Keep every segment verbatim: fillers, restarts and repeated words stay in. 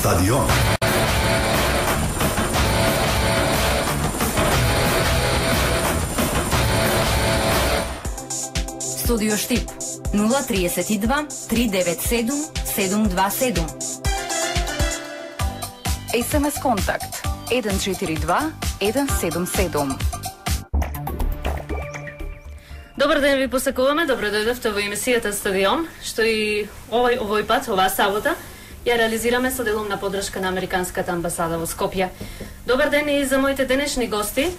Стадион. Студио Штип нула триесет и два три девет седум седум два седум. ес ем ес контакт еден четири два еден седум седум. Добар ден ви посакуваме, добро дојдовте во емисијата Стадион, што и овој овој пат, оваа сабота, ја реализираме со делумна подршка на Американската амбасада во Скопје. Добар ден и за моите денешни гости,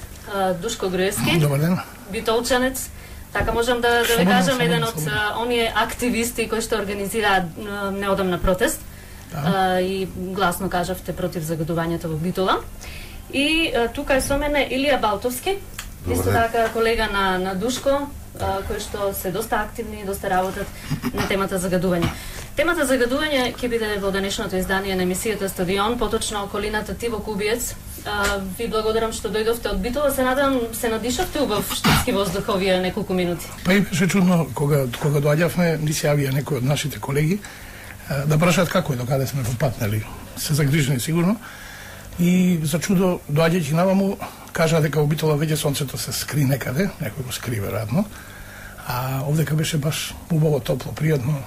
Душко Груевски. Добар ден. Битолчанец. Така можам да, да ви кажам, еден од оние активисти кои што организираат неодамна протест. Да. А, и гласно кажавте против загадувањето во Битола. И а, тука е со мене Илија Балтовски, исто така колега на, на Душко, а, кои што се доста активни и доста работат на темата загадување. Темата загадување ќе биде во денешното издание на емисијата Стадион, поточно околината Тиво Кубиец. А, ви благодарам што дојдовте од Битола, се надам се надишавте убав штипски воздух овие неколку минути. Па и беше чудно кога кога доаѓавме, ни се јавија некои од нашите колеги да прашаат како е, докаде сме во пат, нели? Се загрижени сигурно. И за чудо доаѓајќи наваму кажа дека во Битола веќе сонцето се скри некаде, некој го скри веројатно. А овдека беше баш убаво, топло, пријатно.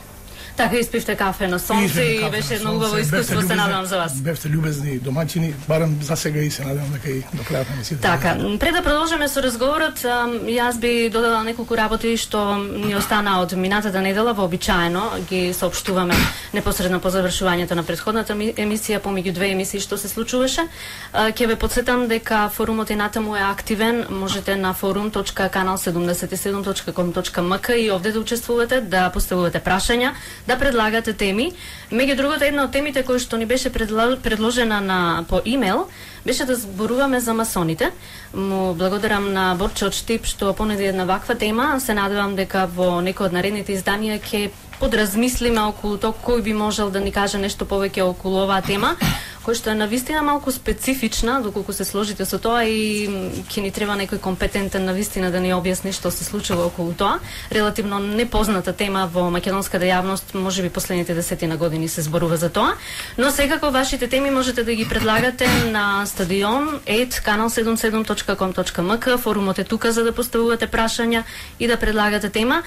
Така испивте кафе на сонце и, и беше едно убаво искуство, се надевам за вас. Бевте љубезни домаќини, барем за сега и се надевам дека и до крајот на емисијата. Така, пред да продолжиме со разговорот, јас би додала неколку работи што ни остана од минатата недела, вообичаено ги соопштуваме непосредно по завршувањето на претходната емисија, помеѓу две емисии што се случуваше. Ќе ве потсетам дека форумот и натаму е активен, можете на forum точка канал седумдесет и седум точка ком точка ем ка и овде да учествувате, да поставувате прашања, да предлагате теми. Меѓу другото, една од темите кои што ни беше предложена на по имейл беше да зборуваме за масоните. Му благодарам на Борче од Штип што понуди една ваква тема. Се надевам дека во некој од наредните изданија ќе подразмислиме околу тоа кој би можел да ни каже нешто повеќе околу оваа тема, кој што е навистина малку специфична, доколку се сложите со тоа и ќе ни треба некој компетентен навистина да ни објасни што се случува околу тоа. Релативно непозната тема во македонската јавност, можеби последните десетина години се зборува за тоа, но секако вашите теми можете да ги предлагате на стадион ет канал седумдесет и седум точка ком точка ем ка. Форумот е тука за да поставувате прашања и да предлагате тема.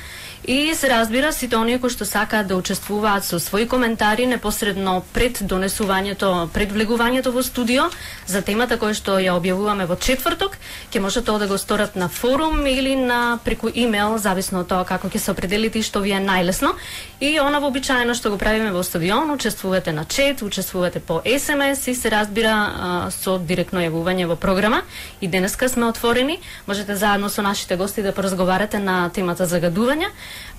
И се разбира, сите оние кои што сакаат да учествуваат со своји коментари непосредно пред донесувањето, пред влегувањето во студио за темата која што ја објавуваме во четврток, ќе може тоа да го сторат на форум или на преку имейл, зависно од тоа како ќе се определите и што ви е најлесно. И она вообичаено што го правиме во стадион, учествувате на чет, учествувате по ес ем ес и се разбира со директно јавување во програма. И денеска сме отворени, можете заедно со нашите гости да поразговарате на темата загадување.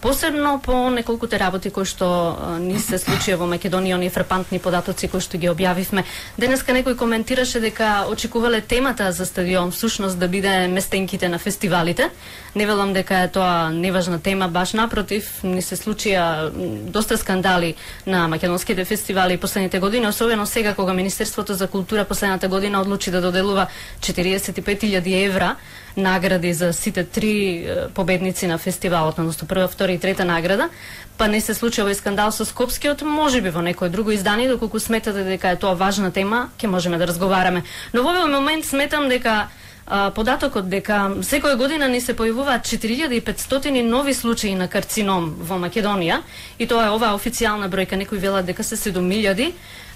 Посебно по неколкуте работи кои што ни се случија во Македонија, оние фрапантни податоци кои што ги објавивме. Денеска некој коментираше дека очекувале темата за стадион всушност да биде местенките на фестивалите. Не велам дека е тоа неважна тема, баш напротив, ни се случија доста скандали на македонските фестивали последните години, особено сега кога Министерството за култура последната година одлучи да доделува четириесет и пет илјади евра награди за сите три победници на фестивалот, односно прва, втора и трета награда, па не се случи овој скандал со Скопскиот, можеби во некој друго издание, доколку сметате дека е тоа важна тема, ќе можеме да разговараме. Но во овој момент сметам дека а, податокот дека секоја година ни се појавуваат четири илјади и петстотини нови случаи на карцином во Македонија, и тоа е оваа официјална бројка, некои велат дека се седум илјади.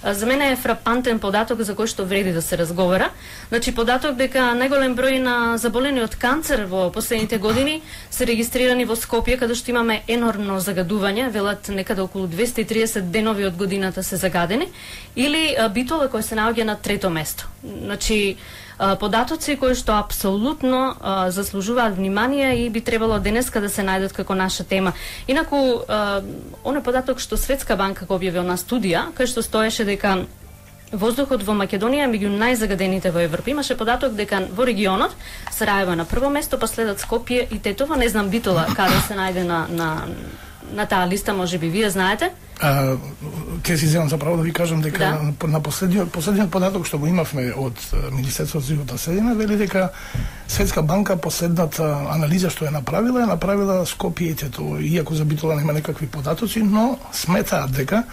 За мене е фрапантен податок за кој што вреди да се разговара. Значи, податок дека најголем број на заболени од канцер во последните години се регистрирани во Скопје, каде што имаме енормно загадување, велат некаде околу двесте и триесет денови од годината се загадени, или Битола кој се наоѓа на трето место. Значи, податоци кои што апсолутно а, заслужуваат внимание и би требало денеска да се најдат како наша тема. Инаку, а, оној податок што Светска банка го објави на студија, кај што стоеше дека воздухот во Македонија е меѓу најзагадените во Европа. Имаше податок дека во регионот Сараево на прво место, па следат Скопје и Тетово, не знам Битола каде се најде на, на, на таа листа, можеби вие знаете. А, ке си земам за право да ви кажам дека да. на последниот последниот податок што го имавме од Министерството за животна средина вели дека Светска банка последната анализа што е направила е направила Скопје и Тетово, иако за Битола нема некакви податоци, но сметаат дека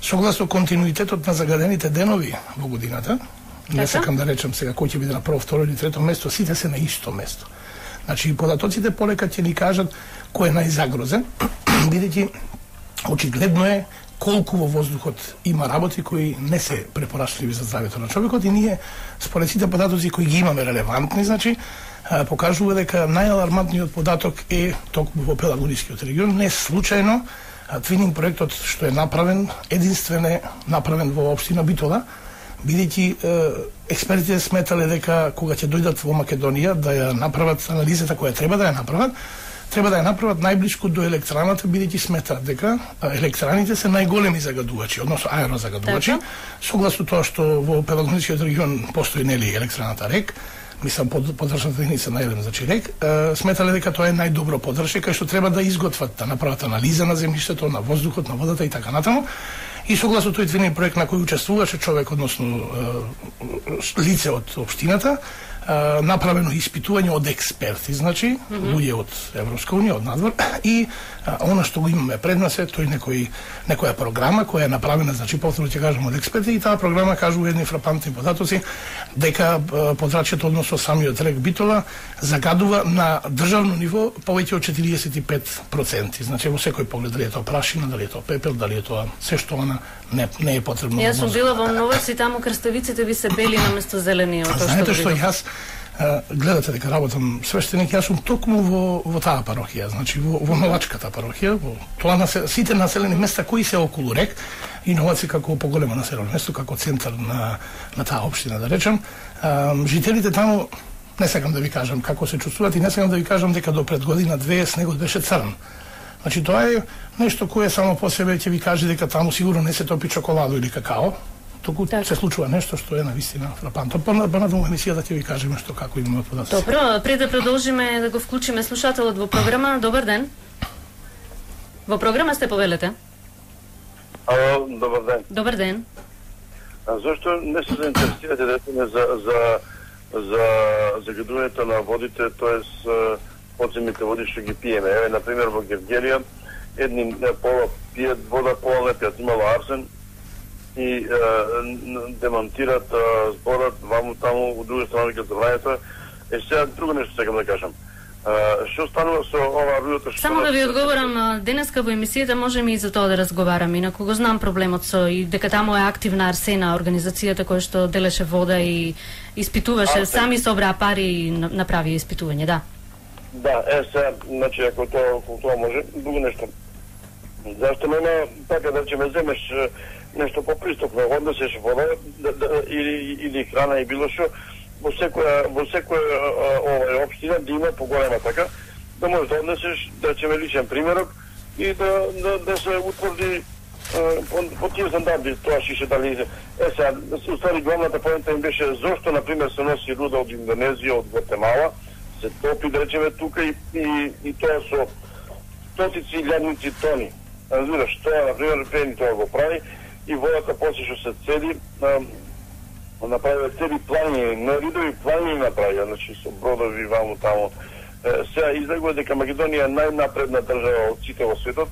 Согласно континуитетот на загадените денови во годината, не сакам да речам сега кој ќе биде на прво, второ или трето место, сите се на исто место. Значи, податоците полека ќе ни кажат кој е најзагрозен, бидејќи очигледно е колку во воздухот има работи кои не се препорачливи за здравјето на човекот и ние, според сите податоци кои ги имаме релевантни, значи, покажува дека најалармантниот податок е токму во Пелагонискиот регион. Не случајно твининг проектот што е направен, единствен е направен во општина Битола, бидејќи експертите сметале дека кога ќе дојдат во Македонија да ја направат анализата која треба да ја направат, треба да ја направат најблиску до електраната, бидејќи сметаат дека електраните се најголеми загадувачи, односно аерозагадувачи, согласно тоа што во Пелагонискиот регион постои нели електраната РЕК, мислам под поддршната единица на еден, значи РЕК, сметале дека тоа е најдобро поддршка кај што треба да изготват, да направат анализа на земјиштето, на воздухот, на водата и така натаму. И согласно тој твининг проект на кој учествуваше човек, односно лице од општината, направено испитување од експерти, значи, mm -hmm. луѓе од Европска унија, од надвор, и а, она што го имаме пред нас е тој некој, некоја програма која е направена, значи, повторно ќе кажам, од експерти, и таа програма кажува едни фрапантни податоци, дека подрачјето, односно самиот РЕК Битола, загадува на државно ниво повеќе од четириесет и пет проценти. Значи, во секој поглед, дали е тоа прашина, дали е тоа пепел, дали е тоа се што она не, не е потребно. Јас сум била во Новац и таму крставиците ви се бели наместо зелени. А знаете што јас гледате дека работам свештеник, јас сум токму во, во таа парохија, значи во, во Новачката парохија, во тоа насел, сите населени места кои се околу РЕК, и Новац е како поголемо населено место, како центар на, на таа општина, да речем, а, жителите таму, не сакам да ви кажам како се чувствуваат и не сакам да ви кажам дека до пред година две снегот беше црн. Значи тоа е нешто кое само по себе ќе ви каже дека таму сигурно не се топи чоколадо или какао, туку так. Се случува нешто што е навистина фрапантно. Понатаму емисијата ќе ви кажеме што како имаме податоци. Добро, пред да продолжиме да го вклучиме слушателот во програма, добар ден. Во програма сте, повелете. Ало, добар ден. Добар ден. А зошто не се заинтересирате да за за за загадувањето на водите, тоест подземните води што ги пиеме? Еве, на пример, во Гевгелија едни пола пијат вода, пола не пијат, имало арсен и е, демонтират е, зборот ваму таму, у друга страна ќе забрањето. Е, сега друго нешто сакам да кажам. Е, што станува со ова рујото што... Само да ви одговорам, денеска во емисијата можеме и за тоа да разговараме, инаку го знам проблемот со и дека таму е активна Арсена, организацијата која што делеше вода и испитуваше, Арсен. Сами собраа пари и направи испитување, да. Да, е, сега, значи, ако тоа, ако тоа може, друго нешто. Зашто нема, така да ќе ме земеш нешто попристапно, однесеш вода да, да, или, или храна и било што, во секоја, во секоја овај општина да има поголема така, да можеш да однесеш, да ќе ме личен примерок и да, да, да се утврди по, по тие стандарди, тоа шише дали... Е, сега, устави главната поента им беше зошто, например, се носи руда од Индонезија, од Гватемала, се топи, да речеме, тука и, и, и тоа со стотици илјадници тони. Разбираш, тоа, например, Пени тоа го прави и водата после што се цели, направи цели плани, на ридови плани направи, значи со бродови ваму таму. Сега излегува дека Македонија е најнапредна држава од сите во светот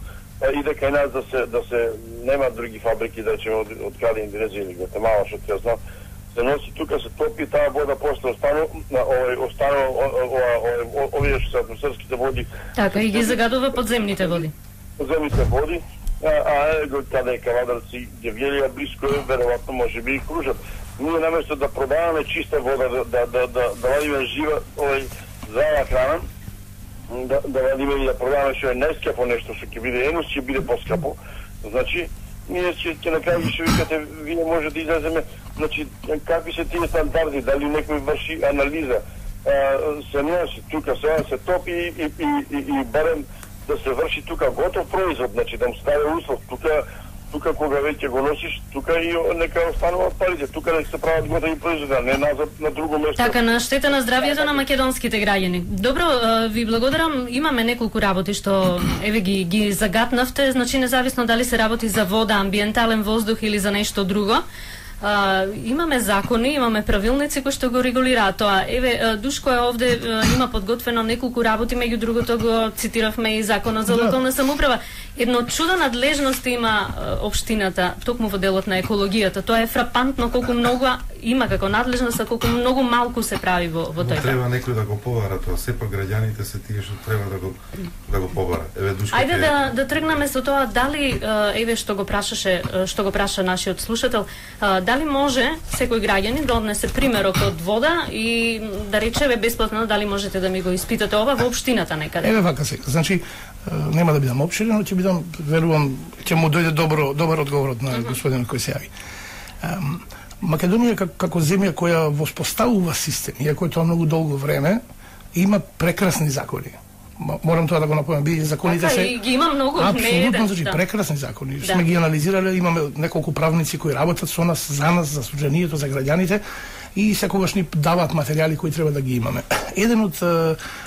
и дека и нас да се да се нема други фабрики, да речеме, од, од каде Индонезија или Гватемала, што ќе знам, се носи тука, се топи таа вода, после останува овој останува овие што се атмосферските води. Така и ги загадува подземните води. Подземните води, а, а го каде е Кавадарци, Гевгелија блиско е, веројатно може би и Кружат. Ние наместо да продаваме чиста вода, да да да да, да вадиме жива, овој здрава храна, да да вадиме и да продаваме што е најскапо нешто, што ќе биде енус, ќе биде поскапо. Значи, ние ќе ќе на крај ќе викате, вие може да излеземе, значи какви се тие стандарди, дали некој врши анализа, а, се носи тука, сега се топи и и и, и, и барем да се врши тука готов производ, значи да му стави услов, тука тука кога веќе го носиш, тука и нека остануваат парите, тука да се прават готови производи, не назад на друго место. Така, на штета на здравјето на македонските граѓани. Добро, ви благодарам, имаме неколку работи што еве ги ги загатнавте, значи независно дали се работи за вода, амбиентален воздух или за нешто друго. А, имаме закони, имаме правилници кои што го регулираат тоа. Еве, Душко е овде, има подготвено неколку работи, меѓу другото го цитиравме и законот за локална самоуправа. Едно чудо надлежности има општината, токму во делот на екологијата. Тоа е фрапантно колку многу има како надлежност, а колку многу малку се прави во, во тој. Треба некој да го побара тоа, сепак граѓаните се тие што треба да го да го побара. Еве Душко. Ајде да да тргнеме со тоа дали еве што го прашаше, што го праша нашиот слушател, дали може секој граѓанин да однесе примерок од вода и да речеме бесплатно дали можете да ми го испитате ова во општината некаде. Еве вака се. Значи нема да бидам опширен, но ќе бидам, верувам, ќе му дојде добро добар одговор од на господинот кој се јави. Македонија како земја која воспоставува систем, иако е тоа многу долго време, има прекрасни закони. Морам тоа да го напомнам, бидејќи законите се ги има многу, апсолутно, значи прекрасни закони. Сме ги анализирале, имаме неколку правници кои работат со нас, за нас, за судженијето, за граѓаните и секогаш ни даваат материјали кои треба да ги имаме. Еден од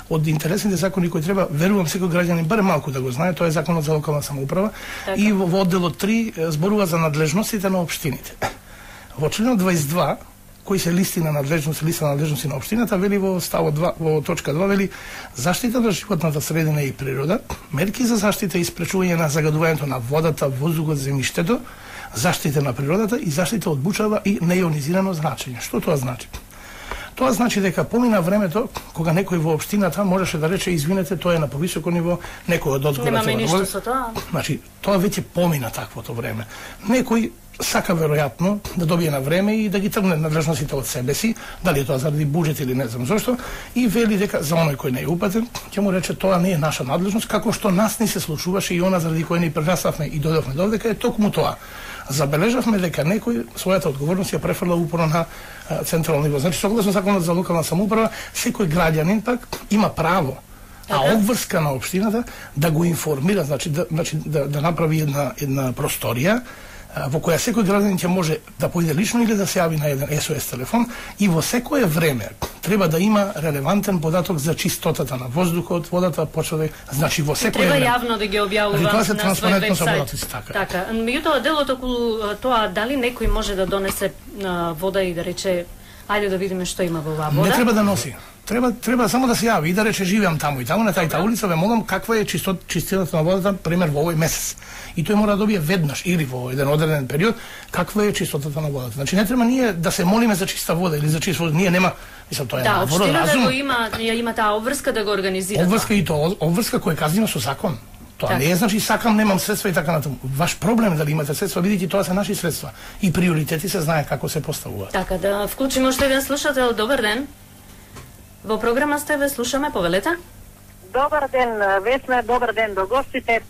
од интересните закони кои треба, верувам, секој граѓанин барем малку да го знае, тоа е законот за локална самоуправа и во, во одделот три зборува за надлежностите на општините. Во членот дваесет и два, кои се листи на надлежност, листа на надлежности на општината, вели во ставот два, во точка два, вели заштита на животната средина и природа, мерки за заштита и спречување на загадувањето на водата, воздухот, земјиштето, заштита на природата и заштита од бучава и неионизирано зрачење. Што тоа значи? Тоа значи дека помина времето кога некој во општината можеше да рече извинете, тоа е на повисоко ниво, некој од одзгора немаме ништо со тоа. Значи, тоа веќе помина таквото време. Некој сака веројатно да добие на време и да ги тргне надлежностите од себе си, дали е тоа заради буџет или не знам зошто, и вели дека за оној кој не е упатен, ќе му рече тоа не е наша надлежност, како што нас ни се случуваше и она заради кој ни прераставме и дојдовме додека е токму тоа. Забележавме дека некој својата одговорност ја префрла упорно на а, централно ниво. Значи, согласно законот за локална самоуправа, секој граѓанин пак има право, а обврска на општината да го информира, значи да, значи, да, да направи една, една просторија во која секој граѓанин ќе може да поиде лично или да се јави на еден ес о ес телефон и во секое време треба да има релевантен податок за чистотата на воздухот, водата, почва, значи во секое треба време. Треба јавно да ги објавува на свој вебсайт. Така. Така. Меѓутоа делот околу тоа дали некој може да донесе вода и да рече ајде да видиме што има во оваа вода. Не треба да носи. Треба треба само да се јави и да рече живеам таму и таму на тајта улица, ве молам каква е чистот, чистината на водата, пример во овој месец. И тој мора да добие веднаш или во еден одреден период каква е чистотата на водата. Значи не треба ние да се молиме за чиста вода или за чиста вода, ние нема, мислам тоа е да, наворот разум. Да, општината го има, ја има таа обврска да го организира. Обврска и тоа, обврска која е казнина со закон. Тоа так. Не е значи сакам, немам средства и така натаму. Ваш проблем е дали имате средства, видите тоа се наши средства и приоритети се знае како се поставуваат. Така да вклучиме уште еден слушател. Добар ден. Во програма сте, ве слушаме, повелете. Добар ден, Весна, добар ден до гостите.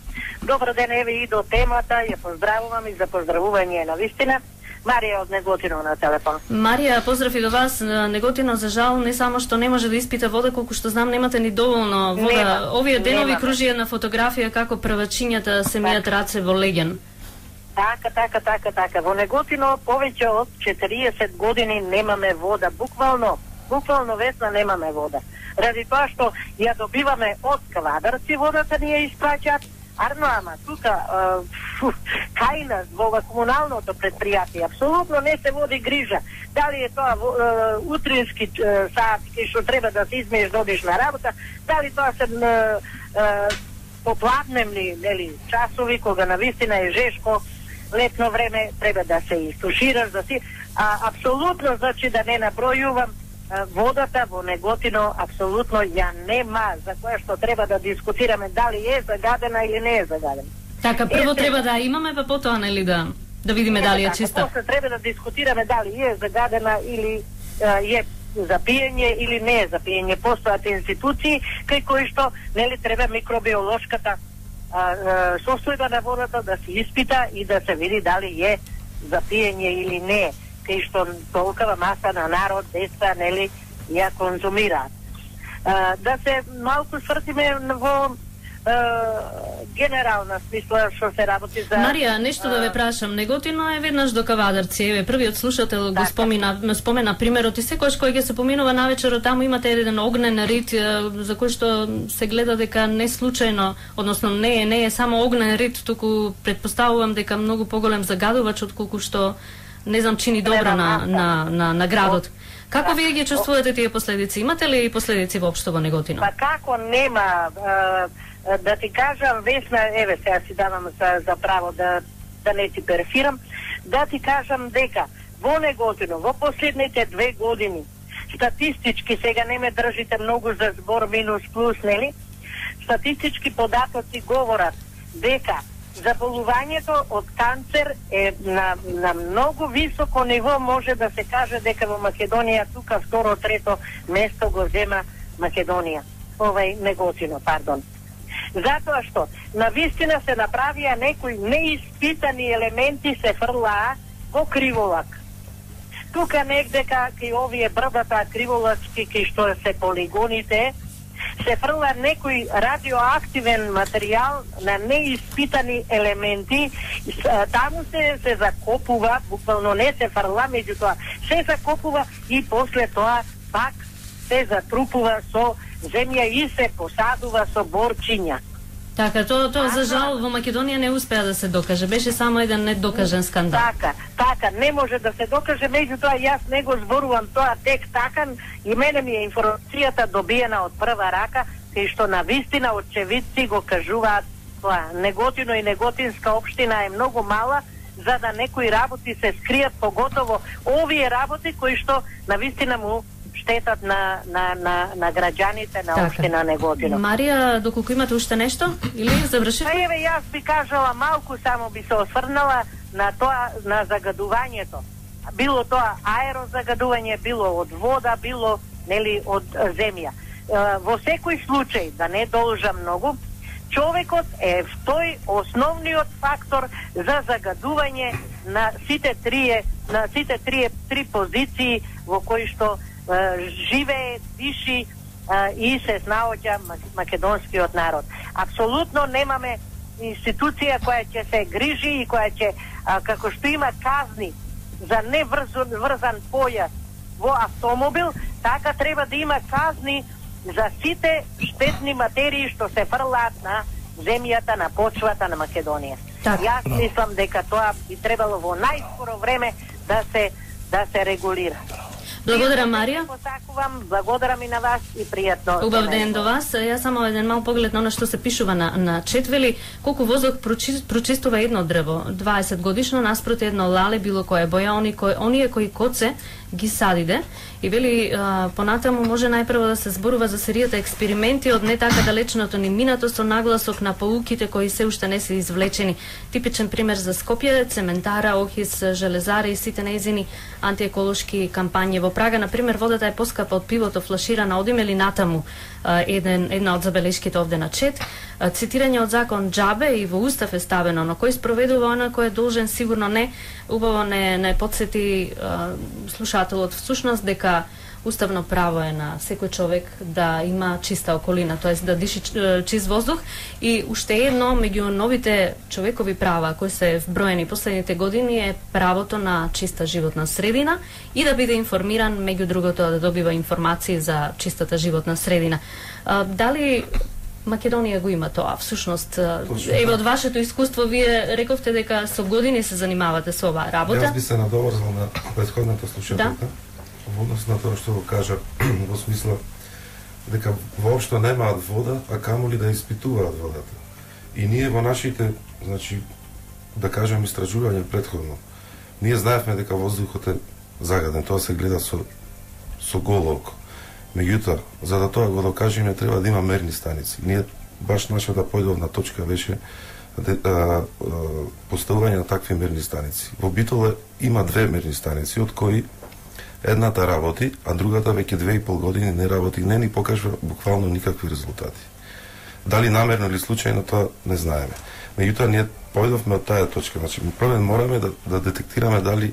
Добар ден, еве и до темата. Ја поздравувам и за поздравување на вистина. Марија од Неготино на телефон. Марија, поздрав и до вас. Неготино, за жал, не само што не може да испита вода, колку што знам, немате ни доволно вода. Нема, Овие денови нема. Кружи една фотографија како првачињата се мијат раце во Леген. Така, така, така, така. Во Неготино повеќе од четириесет години немаме вода. Буквално, буквално Весна немаме вода. Ради тоа што ја добиваме од квадрци водата ни ја испраќаат. Арно, ама, тука, фу, кај нас, во комуналното предпријатие, апсолутно не се води грижа. Дали е тоа е, утрински е, сати, што треба да се измееш, додиш на работа, дали тоа се е, е, попладневни нели, часови, кога навистина е жешко, летно време, треба да се истушираш, да си... А, апсолутно, значи, да не набројувам, водата во Неготино апсолутно ја нема, за која што треба да дискутираме дали е загадена или не е загадена. Така, прво е, треба да имаме, па потоа нели да да видиме дали е чиста. После треба да дискутираме дали е загадена или е, е за пиење или не е за пиење. Постојат институции кај кои што нели треба микробиолошката а, а, состојба на водата да се испита и да се види дали е за пиење или не е. Кај што толкова маса на народ, деца, нели, ја конзумираат. А, да се малку свртиме во а, генерална смисла што се работи за... Марија, нешто да ве прашам. Неготино е веднаш до Кавадарци. Еве, првиот слушател го спомена, спомена примерот и секојаш кој ќе се поминува навечер, таму имате еден огнен рит за кој што се гледа дека не случајно, односно не е, не е само огнен рит, туку предпоставувам дека многу поголем загадувач отколку што не знам, чини добро на, на, на, на градот. Како вие ги чувствувате тие последици? Имате ли последици воопшто во Неготино? Па како нема, да ти кажам, Весна, еве сега си давам за, за право да, да не ти перфирам, да ти кажам дека во Неготино во последните две години статистички, сега не ме држите многу за збор минус плюс, нели? Статистички податоци говорат дека заболувањето од канцер е на, на многу високо ниво, може да се каже дека во Македонија тука второ, трето место го зема Македонија. Овај Неготино, пардон. Затоа што навистина се направија некои неиспитани елементи, се фрлаа во криволак. Тука негде кај овие брдата криволачки, кај што се полигоните, се фрла некој радиоактивен материјал на неиспитани елементи, таму се, се закопува, буквално не се фрла, меѓутоа се закопува и после тоа пак се затрупува со земја и се посадува со борчиња. Така, тоа тоа за жал во Македонија не успеа да се докаже, беше само еден недокажен скандал. Така, така, не може да се докаже, меѓутоа јас не го зборувам тоа тек така, и мене ми е информацијата добиена од прва рака, кај што на вистина очевидци го кажуваат тоа. Неготино и Неготинска општина е многу мала, за да некои работи се скријат, поготово овие работи кои што на вистина му штетат на, на, на, на граѓаните на општина Неготино. Марија, доколку имате уште нешто? Или завршивме? Па еве, јас би кажала малку, само би се осврнала на тоа, на загадувањето. Било тоа аерозагадување, било од вода, било, нели, од земја. Во секој случај, да не должам многу, човекот е тој основниот фактор за загадување на сите трие, на сите трие три позиции во кои што живее, диши и се снаоѓа македонскиот народ. Апсолутно немаме институција која ќе се грижи и која ќе, како што има казни за неврзан појас во автомобил, така треба да има казни за сите штетни материи што се фрлаат на земјата, на почвата на Македонија. Так. Јас мислам дека тоа би требало во најскоро време да се да се регулира. Благодарам, Марија. Посакувам, благодарам и на вас и пријатно. Убав ден до вас. Јас само еден мал поглед на она што се пишува на, на четвели. Колку воздух прочи, прочистува едно дрво, дваесет годишно, наспроти едно лале, било кое боја, они кои, оние кои коце ги садиде. И вели, а, понатаму може најпрво да се зборува за серијата експерименти од не така далечното ни минато со нагласок на поуките кои се уште не се извлечени. Типичен пример за Скопје, цементара, Охис, железари и сите нејзини антиеколошки кампањи. Во Прага, например, водата е поскапа од пивото флаширана, одиме ли натаму, еден, една од забелешките овде на чет. Цитирање од закон џабе и во устав е ставено, но кој спроведува она кој е должен, сигурно не. Убаво не, не подсети а, слушателот всушност дека уставно право е на секој човек да има чиста околина, тоест да диши чист воздух. И уште едно меѓу новите човекови права кои се вброени последните години е правото на чиста животна средина и да биде информиран, меѓу другото да добива информации за чистата животна средина. А, дали Македонија го има тоа? Всушност, еве од вашето искуство, вие рековте дека со години се занимавате со оваа работа. Јас би се надоврзал на претходната слушателка, да? Во однос на тоа што го кажа, во смисла дека воопшто немаат вода, а камоли да испитуваат водата. И ние во нашите, значи, да кажем, истражувања претходно, ние знаевме дека воздухот е загаден, тоа се гледа со, со голо око. Меѓутоа, за да тоа го докажеме, треба да има мерни станици. Ние баш нашата појдовна точка беше де, а, а, поставување на такви мерни станици. Во Битоле има две мерни станици, од кои едната работи, а другата веќе две и пол години не работи, не ни покажува буквално никакви резултати. Дали намерно или случајно, тоа не знаеме. Меѓутоа, ние појдовме од таа точка. Значи, прво мораме да, да детектираме дали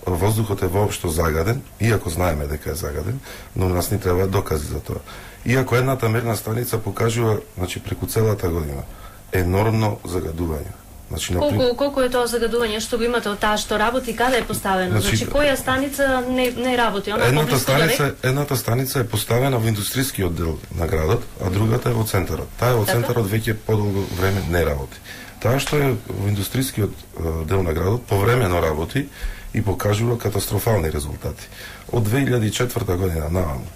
воздухот е воопшто загаден, иако знаеме дека е загаден, но нас ни треба докази за тоа. Иако едната мерна станица покажува, значи, преку целата година енормно загадување. Значи, колку, наприм... колку е тоа загадување што го имате од таа што работи, каде е поставено? Значи, значи која станица не, не работи? Она едната, станица, едната станица е поставена во индустријскиот дел на градот, а другата е во центарот. Таа е во центарот веќе подолго време не работи. Таа што е во индустријскиот дел на градот повремено работи и покажува катастрофални резултати. Од две илјади и четврта година наваму,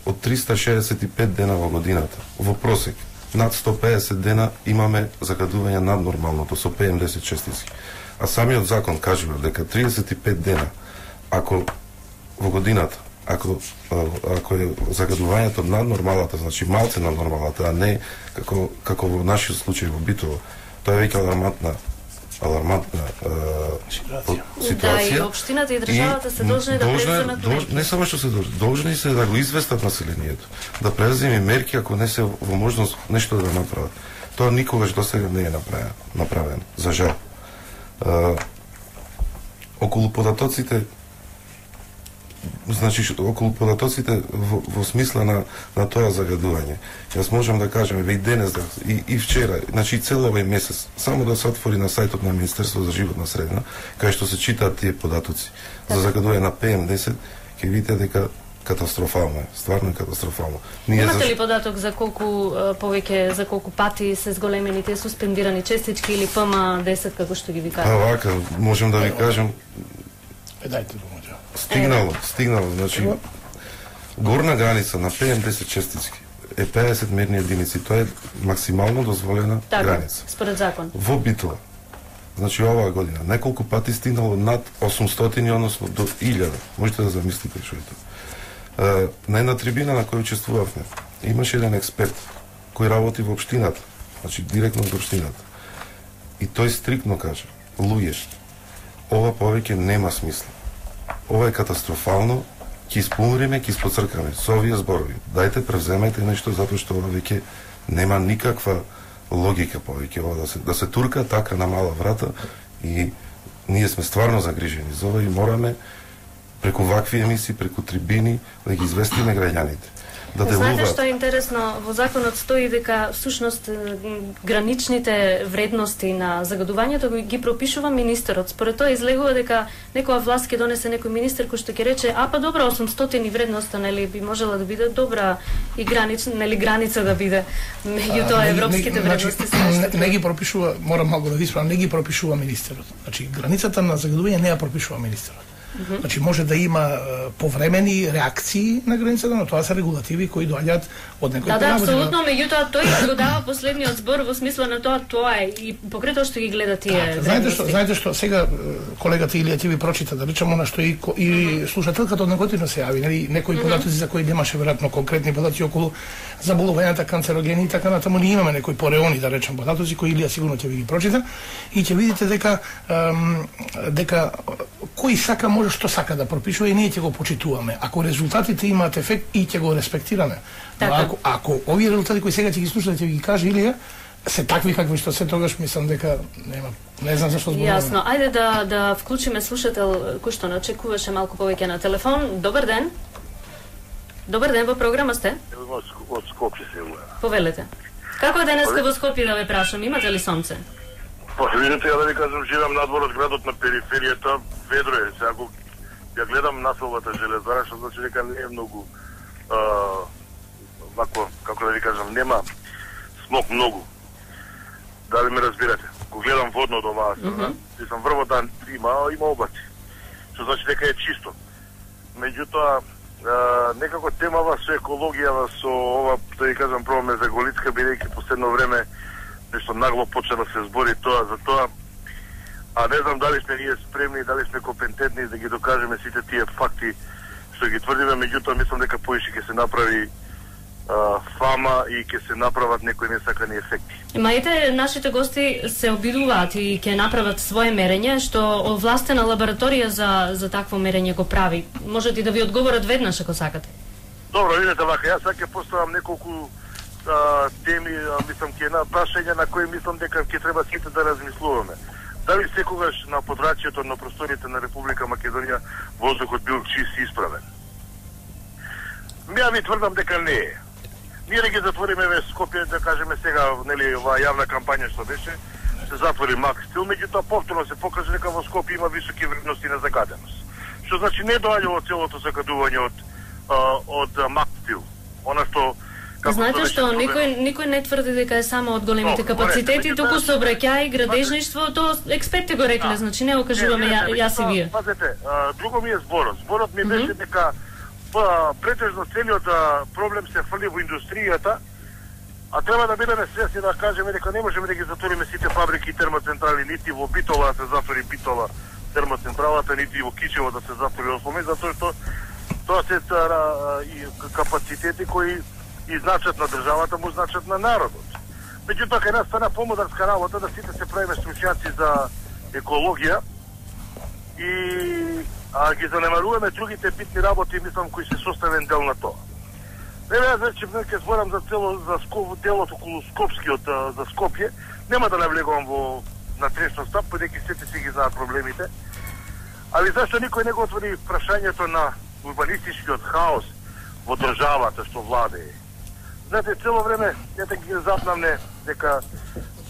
од триста шеесет и пет дена во годината, во просек, над сто пеесет дена имаме загадување над нормалното со пе ем десет честици. А самиот закон кажува дека триесет и пет дена, ако во годината, ако ако е загадувањето над нормалата, значи малце над нормалата, а не како како во нашиот случај во Битово, тоа е веќе алармантна алармантна ситуација. Да, и општината и државата се должни да преземат мерки. Не само што се должни, должни се да го известат населението, да преземе мерки ако не се во можност нешто да направат. Тоа никогаш досега не е направено, направено, за жал. А, околу податоците, значи околу податоците во, во смисла на на тоа загадување. Јас можам да кажам и денес да, и, и вчера, значи цел овој месец, само да се отвори на сајтот на Министерството за животна средина, кај што се читаат тие податоци за загадување на пе ем десет, ќе видите дека катастрофално е, стварно е катастрофално. Ние Имате ли податок за колку повеќе, за колку пати се зголемени тие суспендирани честички или пе ем десет како што ги ви кажа? А вака, можам да ви кажам. Е, дајте го. Стигнало, стигнало, значи горна граница на пе ем десет честички е пеесет мерни единици, тоа е максимално дозволена така, граница. Според закон. Во Битола, значи оваа година, неколку пати стигнало над осумстотини, односно до илјада. Можете да замислите што е тоа. На една трибина на која учествувавме, имаше еден експерт кој работи во општината, значи директно во општината. И тој стриктно кажа: луѓе, ова повеќе нема смисла. Ова е катастрофално, ќе испомриме, ќе испоцркаме со овие зборови. Дајте превземајте нешто затоа што ова веќе нема никаква логика повеќе ова да се да се турка така на мала врата и ние сме стварно загрижени за ова и мораме преку вакви емисии, преку трибини да ги известиме граѓаните. Да делуваат. Знаете што е интересно, во законот стои дека всушност граничните вредности на загадувањето ги пропишува министерот. Според тоа излегува дека некоја власт ќе донесе некој министер кој што ќе рече: "А па добро, осумстотини вредноста, нели би можела да биде добра и гранична, нели граница да биде меѓутоа европските вредности се нешто." Не, не ги пропишува, морам малку да ви исправам, не ги пропишува министерот. Значи границата на загадување не ја пропишува министерот. Mm -hmm. Значи може да има uh, повремени реакции на границата, но тоа се регулативи кои доаѓаат од некој. Да, да, апсолутно, меѓутоа тој го дава последниот збор во смисла на тоа, тоа е и покрај тоа што ги гледа тие. Да, знаете што, знаете што сега колегата Илија ти ви прочита, да речеме она што и и слушателката од неготино се јави, нели, некои mm -hmm. податоци за кои немаше веројатно конкретни податоци околу заболувањата, канцерогени и така натаму, ние имаме некои пореони, да речем, податоци кои Илија сигурно ќе ви ги прочита и ќе видите дека ем, дека кој сака може што сака да пропишува и ние ќе го почитуваме. Ако резултатите имаат ефект и ќе го респектираме. Но ако, ако овие резултати кои сега ќе ги слушате ќе ги каже Илија се такви какви што се, тогаш мислам дека нема, не знам зашто зборуваме. Јасно. Ајде да да вклучиме слушател кој што не очекуваше малку повеќе на телефон. Добар ден. Добар ден, во програма сте? Од Скопје се јавува. Повелете. Како е денеска во Скопје, да ве прашам, имате ли сонце? Па видите, ја да ви кажам, живеам надвор од градот, на периферијата, ведро е. Сега го ја гледам населбата железара, што значи дека не е многу а, вако, како да ви кажам, нема смог многу. Дали ме разбирате? Го гледам водно од оваа страна, mm -hmm. и сам врвота има, има облаци. Што значи дека е чисто. Меѓутоа, некако темава со екологијава, со ова, да ви кажам, пробаме за Голицка, бидејќи последно време нешто нагло почна да се збори тоа за тоа. А не знам дали сме ние спремни, дали сме компетентни да ги докажеме сите тие факти што ги тврдиме, меѓутоа мислам дека поише ќе се направи а, фама и ќе се направат некои несакани ефекти. Мајте, нашите гости се обидуваат и ќе направат своje мерење, што овластена лабораторија за за такво мерење го прави. Можете и да ви одговорат веднаш ако сакате. Добро, видете вака, јас сега ќе поставам неколку а, теми, а, мислам ќе на прашања на кои мислам дека ќе треба сите да размислуваме. Дали секогаш на подрачјето на просториите на Република Македонија воздухот бил чист и исправен? Ја ви тврдам дека не е. Ние да ги затвориме ве Скопје, да кажеме сега, нели, оваа јавна кампања што беше, се затвори Макстил, меѓутоа повторно се покаже дека во Скопје има високи вредности на загаденост. Што значи не доаѓа од целото загадување од од Макстил. Она што Знаете што, никој никој не тврди дека е само од големите капацитети, туку сообраќај, градежништво, тоа експертите го рекле, значи не го кажуваме јас и вие. Пазете, друго ми е зборот. Зборот ми беше дека претежно целиот проблем се фрли во индустријата, а треба да бидеме свесни да кажеме дека не можеме да ги затвориме сите фабрики и термоцентрали, нити во Битола да се затвори Битола термоцентралата, нити во Кичево да се затвори Осмоми, затоа што тоа се и капацитети кои и значат на државата, му значат на народот. Меѓутоа, кај нас стана помодарска работа да сите се правиме стручњаци за екологија и а, ги занемаруваме другите битни работи, мислам, кои се составен дел на тоа. Еве, јас вече ќе зборам за цело за Скоп, делот околу Скопскиот за Скопје. Нема да навлегувам во натрешно стап, бидејќи сите си ги знаат проблемите. Али зашто никој не го отвори прашањето на урбанистичкиот хаос во државата што владее? Знаете, цело време ете ги запнамне дека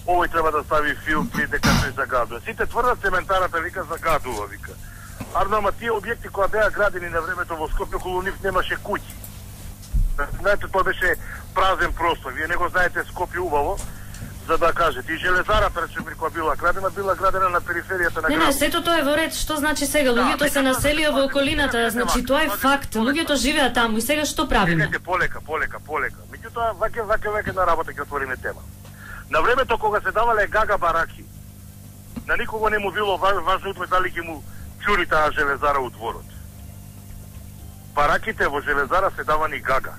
овој треба да стави филтри, дека тој загадува. Сите тврдат цементарата вика загадува, вика. Арно, ама тие објекти кои беа градени на времето во Скопје, околу нив немаше куќи. Знаете, тоа беше празен простор. Вие не го знаете Скопје убаво, за да кажете. И железарата, речеме, која била градена, била градена на периферијата на градот. Не, не, сето тоа е во ред. Што значи сега? Луѓето се населија во околината, значи тоа е факт. Луѓето живеат таму и сега што правиме? Чекайте, полека, полека, полека. Меѓутоа, ваќе, ваќе, ваќе на работа ќе отвориме тема. На времето кога се давале гага бараки, на никого не му било важно дали ќе му чури таа железара у дворот. Бараките во железара се давани гага.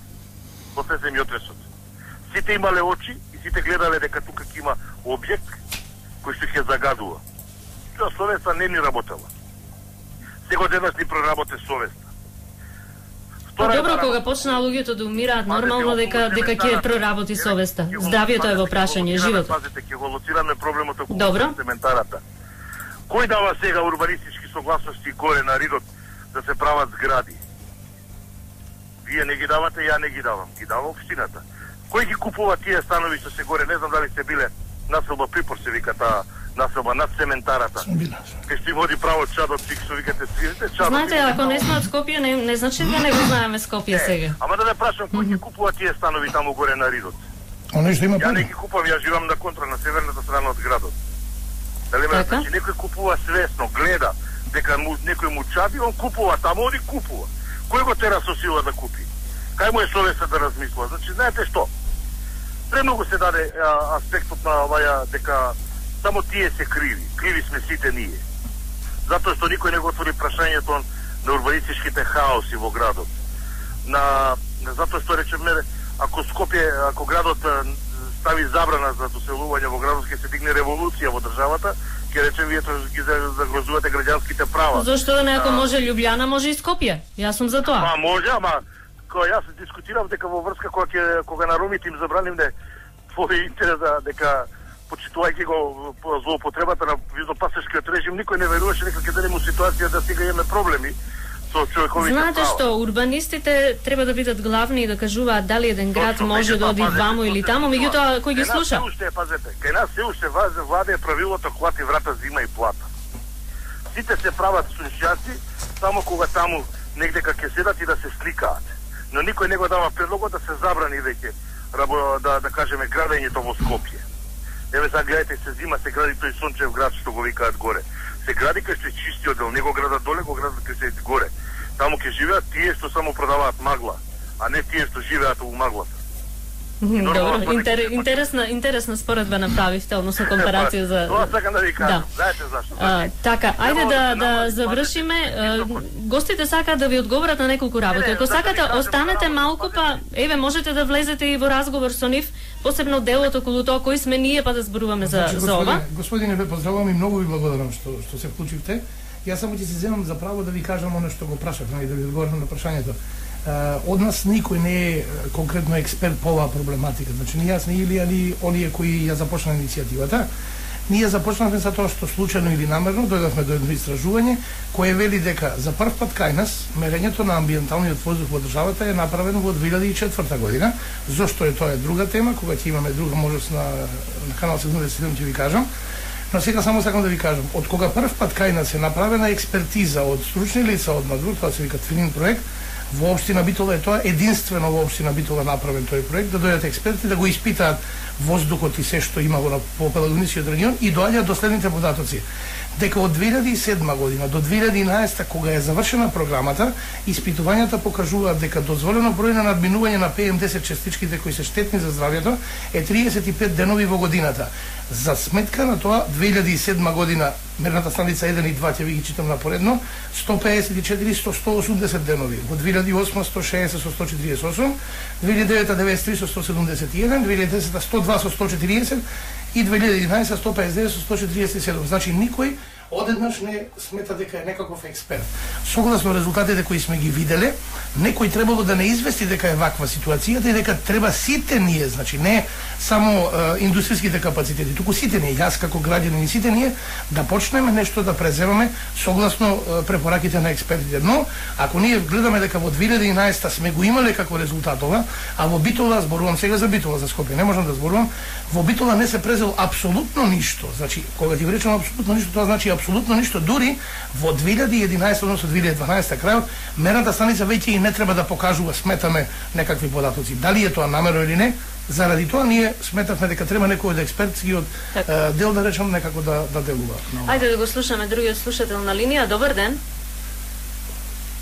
После земјотресот. Сите имале очи и сите гледале дека тука ќе има објект кој што ќе загадува. Тоа совеста не ни работела. Сега денес ни проработе совеста. Па добро, кога почнаа луѓето да умираат, нормално дека дека ќе проработи совеста. Здравието е во прашање, животот. Пазите, ќе го лоцираме проблемот околу цементарата. Кој дава сега урбанистички согласности горе на Ридот да се прават згради? Вие не ги давате, ја не ги давам. Ги дава општината. Кој ги купува тие станови што се горе? Не знам дали сте биле населба Припор, се вика таа населба над цементарата. Кај што им води право чадот, што викате свирите, чадот. Знаете, ако не сме од Скопје, не, не значи да не го знаеме Скопје сега. Ама да не прашам, кој ги купува тие станови таму горе на Ридот? Оно што има Ја не ги купувам, ја живам на контра, на северната страна од градот. Дали ме значи некој купува свесно, гледа дека му, некој му чади, он купува таму, оди купува. Кој го тера со сила да купи? Кај му е совеста да размислува? Значи, знаете што? Премногу се даде а, аспектот на оваја дека само тие се криви. Криви сме сите ние. Затоа што никој не го отвори прашањето на урбанистичките хаоси во градот. На, затоа што речеме, ако Скопје, ако градот стави забрана за доселување во градот, ќе се дигне револуција во државата, ќе речем вие ги загрозувате граѓанските права. Зошто да не, ако може Љубљана, може и Скопје. Јас сум за тоа. Па може, ама кога јас дискутирав дека во врска кога ќе кога на ромите им забранивме твој интерес дека почитувајќи го злоупотребата на визнопасешкиот режим, никој не веруваше дека ќе дадеме ситуација да сега имаме проблеми со човековите права. Знаете што, урбанистите треба да бидат главни и да кажуваат дали еден град Точно, може да оди ваму или таму, меѓутоа кој ги слуша? Кај нас се уште, пазете, кај нас се уште владее правилото клати врата, зима и плата. Сите се прават стручњаци само кога таму негде ќе седат и да се сликаат. Но никој не го дава предлогот да се забрани веќе да да кажеме градењето во Скопје. Еве сега гледате, се зима, се гради тој сончев град што го викаат горе. Се гради кај што е чистиот дел, не го градат доле, го градат кај што е горе. Таму ќе живеат тие што само продаваат магла, а не тие што живеат во маглата. Добро, интер, интересна, интересна споредба направивте, односно компарација за... Тоа сакам да ви кажам, знаете зашто? А, така, ајде да, да завршиме. Гостите сакаат да ви одговорат на неколку работи. Ако сакате, останете малку, па еве можете да влезете и во разговор со нив, посебно делот околу тоа кои сме ние, па да зборуваме за, значи, за ова. Господине, ве поздравувам и многу ви благодарам што што се вклучивте. Јас само ќе се земам за право да ви кажам оно што го прашав, и да ви одговорам на прашањето. Uh, од нас никој не е конкретно експерт по оваа проблематика. Значи, ни јас, ни Илија, ни оние кои ја започнаа иницијативата. Ние започнавме за тоа што случајно или намерно дојдовме до едно истражување кое вели дека за прв пат кај нас мерењето на амбиенталниот воздух во државата е направено во две илјади и четврта година. Зошто е тоа е друга тема, кога ќе имаме друга можност на, на канал седумдесет и седум ќе ви кажам. Но сега само сакам да ви кажам, од кога прв пат кај нас е направена експертиза од стручни лица од надвор, тоа се вика Твинин проект, во општина Битола е тоа единствено во општина Битола направен тој проект, да дојдат експерти да го испитаат воздухот и се што има во попелагоничниот регион и доаѓаат до следните податоци. Дека од две илјади и седма година до две илјади и единаесета, кога е завршена програмата, испитувањата покажуваат дека дозволено број на надминување на Пе Ем десет частичките кои се штетни за здравјето е триесет и пет денови во годината. За сметка на тоа, две илјади и седма година мерната станица еден и два ќе ви ги читам напоредно, сто пеесет и четири со сто осумдесет денови, во две илјади и осма сто шеесет со сто четириесет и осум, две илјади и девета деветдесет и три со сто седумдесет и еден, две илјади и десета сто два со сто четириесет и две илјади и единаесета сто пеесет и девет со сто четириесет и седум. Значи никој одеднаш не смета дека е некаков експерт. Согласно резултатите кои сме ги виделе, некој требало да не извести дека е ваква ситуацијата и дека треба сите ние, значи не само е, индустријските капацитети, туку сите ние, јас како граѓанин и сите ние, да почнеме нешто да преземаме согласно е, препораките на експертите. Но, ако ние гледаме дека во две илјади и единаесета сме го имале како резултат ова, а во Битола, зборувам сега за Битола, за Скопје, не можам да зборувам, во Битола не се презел апсолутно ништо. Значи, кога ти речам апсолутно ништо, тоа значи апсолутно ништо. Дури во две илјади и единаесета, односно две илјади и дванаесета крајот, мерната станица веќе и не треба да покажува, сметаме, некакви податоци. Дали е тоа намерно или не, заради тоа ние сметавме дека треба некој од експертски од е, дел да речам некако да да делува. Ајде да го слушаме другиот слушател на линија. Добар ден.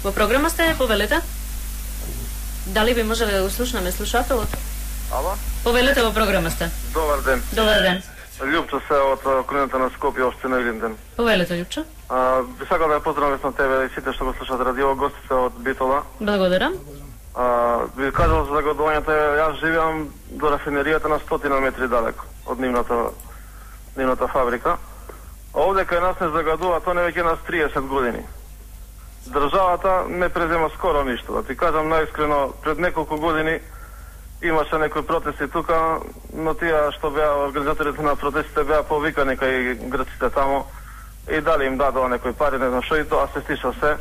Во програма сте, повелете. Дали би можеле да го слушнеме слушателот? Ало? Повелете, во програма сте. Добар ден. Добар ден. Љупчо се од околината на Скопје, општина Илинден. Повелете, Љупчо. А, би сакал да ја поздравам на тебе и сите што го слушаат радио, гостите од Битола. Благодарам. А, би кажал за загадувањето, јас живеам до рафинеријата на стотина метри далеко од нивната, нивната фабрика. А овде кај нас не загадува, тоа не веќе нас триесет години. Државата не презема скоро ништо. Да ти кажам наискрено, пред неколку години имаше некои протести тука, но тие што беа организаторите на протестите беа повикани кај грците тамо и дали им дадоа некои пари, не знам што, и тоа се стиша се.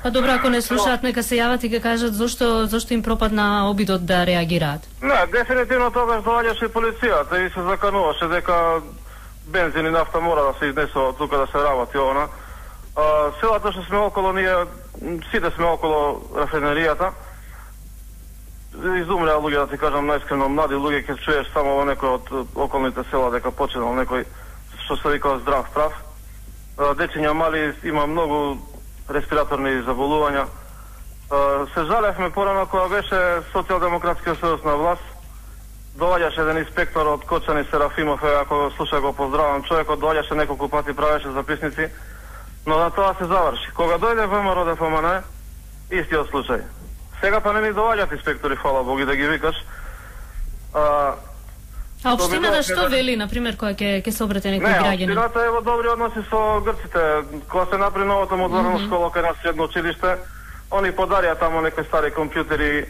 Па добро, ако не слушаат, нека се јават и ке кажат зошто зошто им пропадна обидот да реагираат. Не, дефинитивно тогаш доаѓаше и полицијата и се закануваше дека бензин и нафта мора да се изнесува тука да се работи она. А, селата што сме около ние, сите сме около рафинеријата, изумреа луѓе, да ти кажам наискрено, млади луѓе, ќе чуеш само во некој од околните села дека починал некој што се вика здрав прав. Дечиња мали има многу респираторни заболувања. Се жалевме порано кога беше Социјалдемократскиот сојуз на власт, доаѓаше еден инспектор од Кочани Серафимов, ако слуша го поздравам, човекот доаѓаше неколку пати, правеше записници, но на тоа се заврши. Кога дојде ВМРО Д Ф М Н, истиот случај. Сега па не ни доаѓаат инспектори, фала Бог, и да ги викаш. А, а општината што вели, например, кога ќе ќе се обрате некој граѓанин? Не, општината е во добри односи со грците. Кога се направи новото модерно mm -hmm. школа кај нас средно училиште, они подарија тамо некои стари компјутери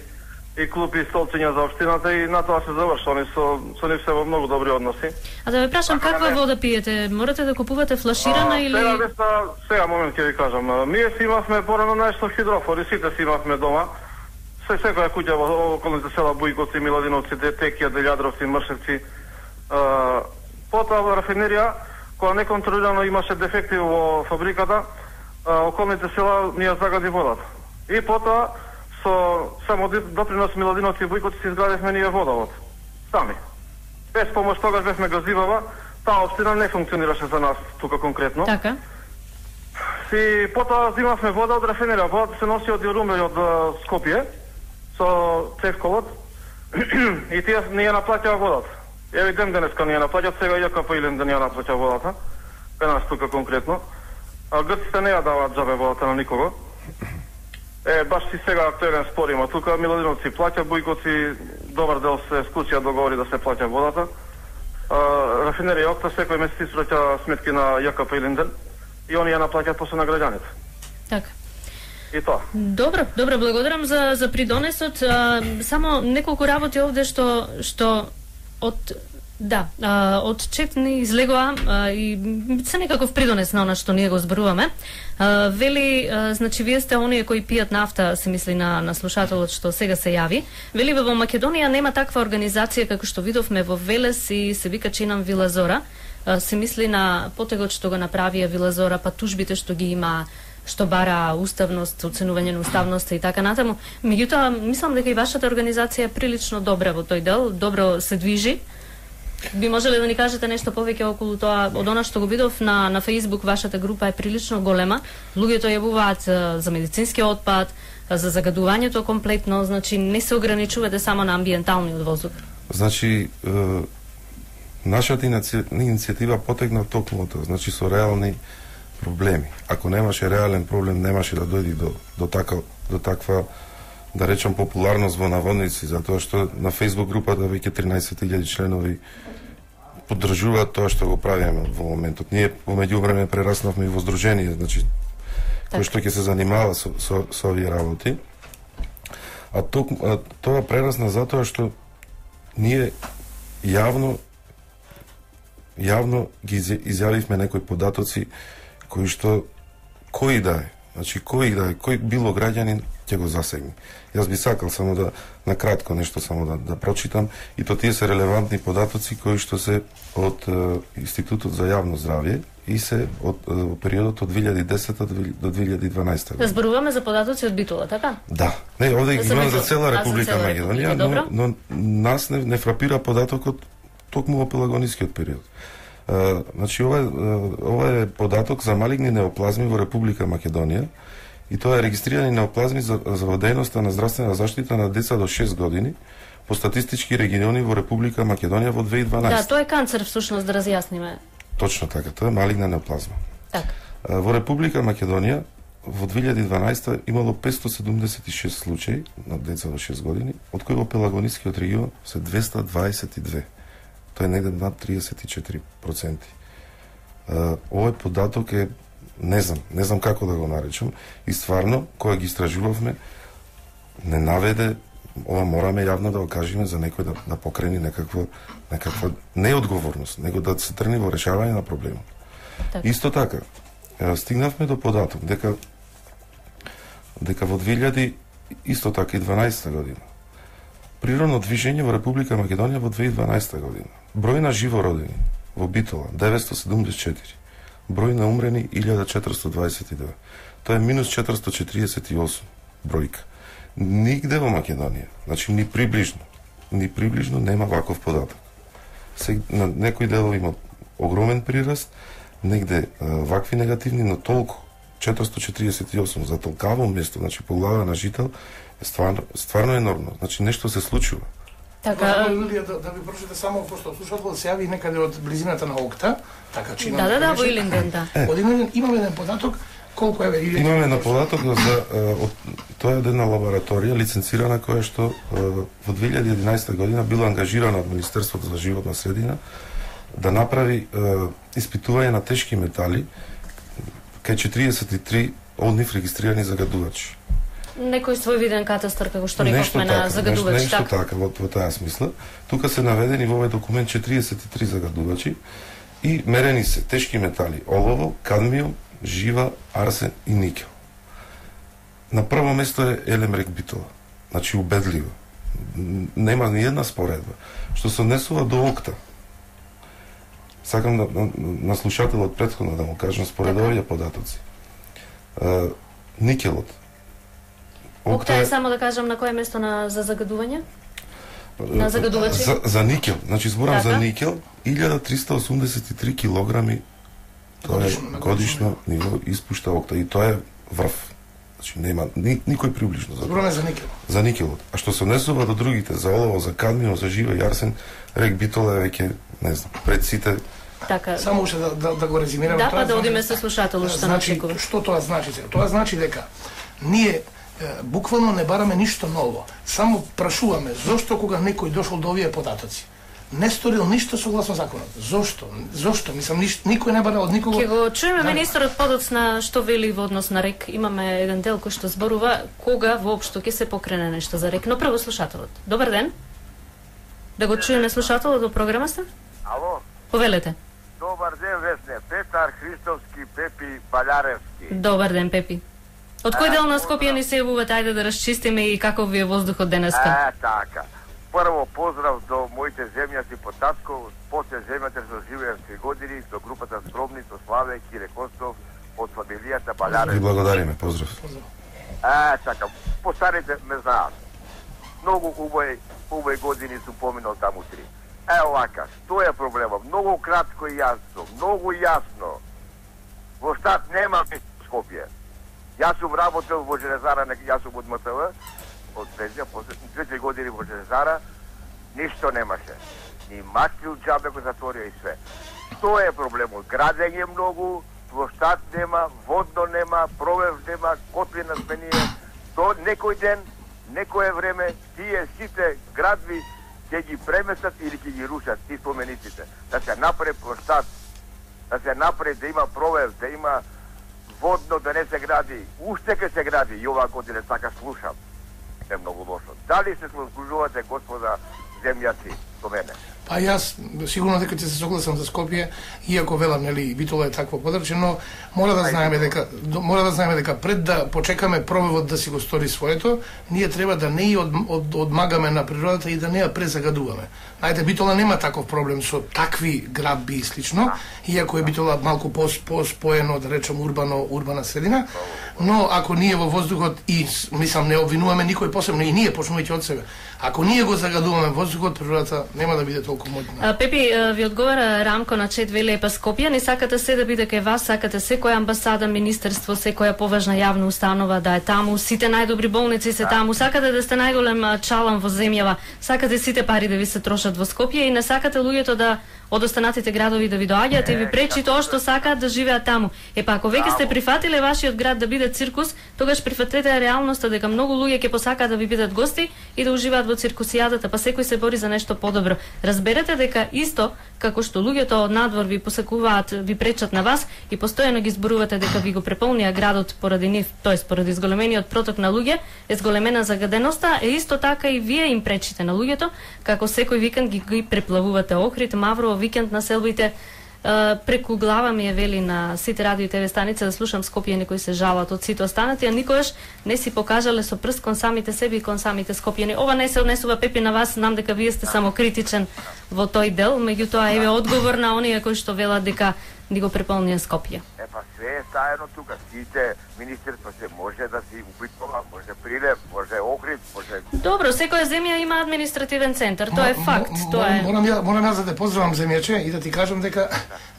и клупи и столциња за општината и на тоа се заврши. Они со со нив се во многу добри односи. А да ве прашам, каква не... вода пиете? Морате да купувате флаширана а, или Сега деста, сега момент ќе ви кажам. Ние си имавме порано нешто хидрофори, сите си имавме дома. Се секоја куќа во околните села Бујковци, Миладиновци, Текија, Делјадровци, Мршевци. Потоа во рафинерија, кога неконтролирано имаше дефекти во фабриката, а, околните села ни ја загади водата. И потоа со само допринос Миладиновци и Бујковци си изградивме ние водовод. Сами. Без помош тогаш бевме газивава, таа општина не функционираше за нас тука конкретно. Така. И потоа зимавме вода од рафинерија. Водата се носи од Јоруме од Скопје со цевковот и тие не ја наплаќаа водата. Еви ден денеска не ја наплаќаат, сега Ја К П Илинден не ја наплаќа водата, кај нас тука конкретно. А грците не ја даваат џабе водата на никого. Е, баш си сега актуелен спор има тука, Миладиновци плаќа, Бујковци добар дел се склучија договори да се плаќа водата. А, рафинерија Окта секој месец испраќа сметки на Ја К П Илинден и они ја наплаќаат после на граѓаните. Така. И тоа. Добро, добро, благодарам за за придонесот. А, само неколку работи овде што што од да, а, од чет ни излегоа а, и се некаков придонес на она што ние го зборуваме. А, вели, а, значи вие сте оние кои пијат нафта, се мисли на на слушателот што сега се јави. Вели во Македонија нема таква организација како што видовме во Велес и се вика Чинам Вила Зора. се мисли на потегот што го направија Вила Зора, па тужбите што ги има, што бара уставност, оценување на уставноста и така натаму. Меѓутоа, мислам дека и вашата организација е прилично добра во тој дел, добро се движи. Би можеле да ни кажете нешто повеќе околу тоа? Од она што го видов на на Facebook, вашата група е прилично голема. Луѓето јавуваат за медицински отпад, за загадувањето комплетно, значи не се ограничувате само на амбиенталниот воздух. Значи, е, нашата иницијатива потекна токму тоа, значи со реални проблеми. Ако немаше реален проблем, немаше да дојди до до така до таква, да речам, популарност во наводници, затоа што на Facebook групата веќе тринаесет илјади членови поддржуваат тоа што го правиме во моментот. Ние во меѓувреме прераснавме и во здружение, значи кој што ќе се занимава со со, со овие работи. А, ток, а тоа прерасна затоа што ние јавно јавно ги изјавивме некои податоци кои што кој да е, значи кој да е, кој било граѓанин ќе го засегне. Јас би сакал само да на кратко нешто само да, да прочитам, и то тие се релевантни податоци кои што се од е, Институтот за јавно здравје и се од е, периодот од две илјади и десета до две илјади и дванаесета година. Зборуваме за податоци од Битола, така? Да. Не, овде ги имам за цела Република цела Македонија, но, но нас не, не фрапира податокот токму во пелагонискиот период. Uh, значи, ова, uh, ова е податок за малигни неоплазми во Република Македонија, и тоа е регистрирани неоплазми за, за дејноста на здравствена заштита на деца до шест години по статистички региони во Република Македонија во две илјади и дванаесета. Да, тоа е канцер всушност, да разјасниме. Точно така, тоа е малигна неоплазма. Так. Uh, во Република Македонија во две илјади и дванаесета имало петстотини седумдесет и шест случаи на деца до шест години, од кои во пелагонискиот регион се двеста дваесет и две. Тоа е негде над триесет и четири проценти. Uh, овој податок е, не знам, не знам како да го наречам, и стварно, кога ги истражувавме, не наведе, ова мораме јавно да го кажеме за некој да, да покрени некаква, некаква неодговорност, него да се тргне во решавање на проблемот. Так. Исто така, стигнавме до податок дека дека во две илјади исто така и дванаесета година природно движење во Република Македонија во две илјади и дванаесета година. Број на живородени во Битола деветстотини седумдесет и четири. Број на умрени илјада четиристотини дваесет и две. Тоа е минус четиристотини четиридесет и осум бројка. Нигде во Македонија, значи ни приближно, ни приближно нема ваков податок. Се, на некои делови има огромен прираст, негде а, вакви негативни, но толку четиристотини четиридесет и осум за толкаво место, значи по глава на жител, е стварно, стварно енормно. Значи нешто се случува. Така, Илија, да, да ви прочите само, пошто слушател се јави некаде од близината на Окта, така че да, да, да, во Илинден, да. Од Илинден имаме еден податок, колку е Илинден? Имаме на податок за од, тоа е една лабораторија лиценцирана која што во две илјади и единаесета година била ангажирана од Министерството за животна средина да направи испитување на тешки метали кај четириесет и три од нив регистрирани загадувачи. Некој свој виден катастар, како што рековме на загадувачи, нешто, нешто така, во, во таа смисла. Тука се наведени во овој документ четириесет и три загадувачи и мерени се тешки метали: олово, кадмиум, жива, арсен и никел. На прво место е Елемрек Битола. Значи убедливо. Нема ни една споредба. Што се однесува до Окта. Сакам да, на, на слушателот претходно да му кажам според овие податоци. Uh, никелот. Окта е, само да кажам, на кое место на за загадување? На загадувачи? За, за никел, значи зборам така? За никел, илјада триста осумдесет и три килограми тоа е годишно ниво испушта Окта, и тоа е врв. Значи нема ни, никој приближно за збораме за никел. За никелот. А што се однесува до другите, за олово, за кадмиум, за жива и арсен, рек Битола е веќе, не знам, пред сите. Така. Само уште да, да, да го резимираме. Да, па да одиме со слушателот што значи, начекува. Што тоа значи? Тоа значи дека ние буквално не бараме ништо ново. Само прашуваме зошто кога некој дошол до овие податоци не сторил ништо согласно законот. Зошто? Зошто? Мислам, ништо, никој не бара од никого. Ќе го чуеме да. Министерот подоцна што вели во однос на рек. Имаме еден дел кој што зборува кога воопшто ќе се покрене нешто за рек. Но прво слушателот. Добар ден. Да го чуеме слушателот во програма сте? Ало. Повелете. Добар ден, Весне. Петар Христовски, Пепи Балјаревски. Добар ден, Пепи. Од кој дел на Скопје ни се јавувате? Ајде да расчистиме и каков ви е воздухот денеска. Е, така. Прво поздрав до моите земјаци по татко, после земјата што живеев три години, до групата Скромни, со Славе, Кире Костов, од фамилијата Балярев. Ви благодариме, поздрав. А, чакам, постарите ме знаат. Многу убави, убави години сум поминал таму три. Е, овака, што е проблема? Многу кратко и јасно, многу јасно. Во штат нема Скопје. Јас сум работел во железара, јас сум од М Т В, од пензија, после две години во железара, ништо немаше. Ни Маквил џабе го затворија и све. Што е проблемот? Градење многу, во штат нема, водно нема, провев нема, котлина сменија. До некој ден, некое време, тие сите градви ќе ги преместат или ќе ги рушат, ти спомениците. Да се направи во штат, да се направи да има провев, да има водно, да не се гради. Уште ке се гради, и оваа година така слушам. Е многу лошо. Дали се слушувате, господа земјаци, со мене? Па јас сигурно дека ќе се согласам за Скопје, иако велам, нели, Битола е такво подрачје, но мора да знаеме дека мора да знаеме дека пред да почекаме провевот да си го стори своето, ние треба да не ја од, од, одмагаме на природата и да не ја презагадуваме. Знаете, Битола нема таков проблем со такви градби и слично, иако е Битола малку по-споено, да речем, урбано, урбана средина, но ако ние во воздухот и, мислам, не обвинуваме никој посебно, и ние почнувајќи од себе, ако ние го загадуваме воздухот, природата нема да биде толку моќна. Пепи, ви одговара Рамко на чет, вели, па Скопје, не сакате се да биде кај вас, сакате секоја амбасада, министерство, секоја поважна јавна установа да е таму, сите најдобри болници се таму, сакате да сте најголем чалам во земјава, сакате сите пари да ви се трошат во Скопје и не сакате луѓето да од останатите градови да ви доаѓаат и ви пречи тоа што сакаат да живеат таму. Е па ако веќе сте прифатиле вашиот град да биде циркус, тогаш прифатете реалноста дека многу луѓе ќе посакаат да ви бидат гости и да уживаат во циркусијадата, па секој се бори за нешто подобро. Разберете дека исто како што луѓето од надвор ви посакуваат, ви пречат на вас и постојано ги зборувате дека ви го преполнија градот поради нив, тоест поради зголемениот проток на луѓе, е зголемена загаденоста, е исто така и вие им пречите на луѓето, како секој викенд ги, ги преплавувате Охрид, Маврово, викенд населбите. Преку глава ми е вели на сите радио и ТВ станица да слушам Скопје, некои се жалат од сите останати, а никогаш не си покажале со прст кон самите себе и кон самите скопјани. Ова не се однесува, Пепи, на вас, знам дека вие сте само критичен во тој дел, меѓутоа еве одговор на оние кои што велат дека ни го преполнија Скопје. Е, па све е стаено тука, сите министерства се може да си Битола, може Прилеп, може Охрид, може... Добро, секоја земја има административен центар, тоа е факт, тоа е... Морам ја, морам јас да те поздравам, земјаче, и да ти кажам дека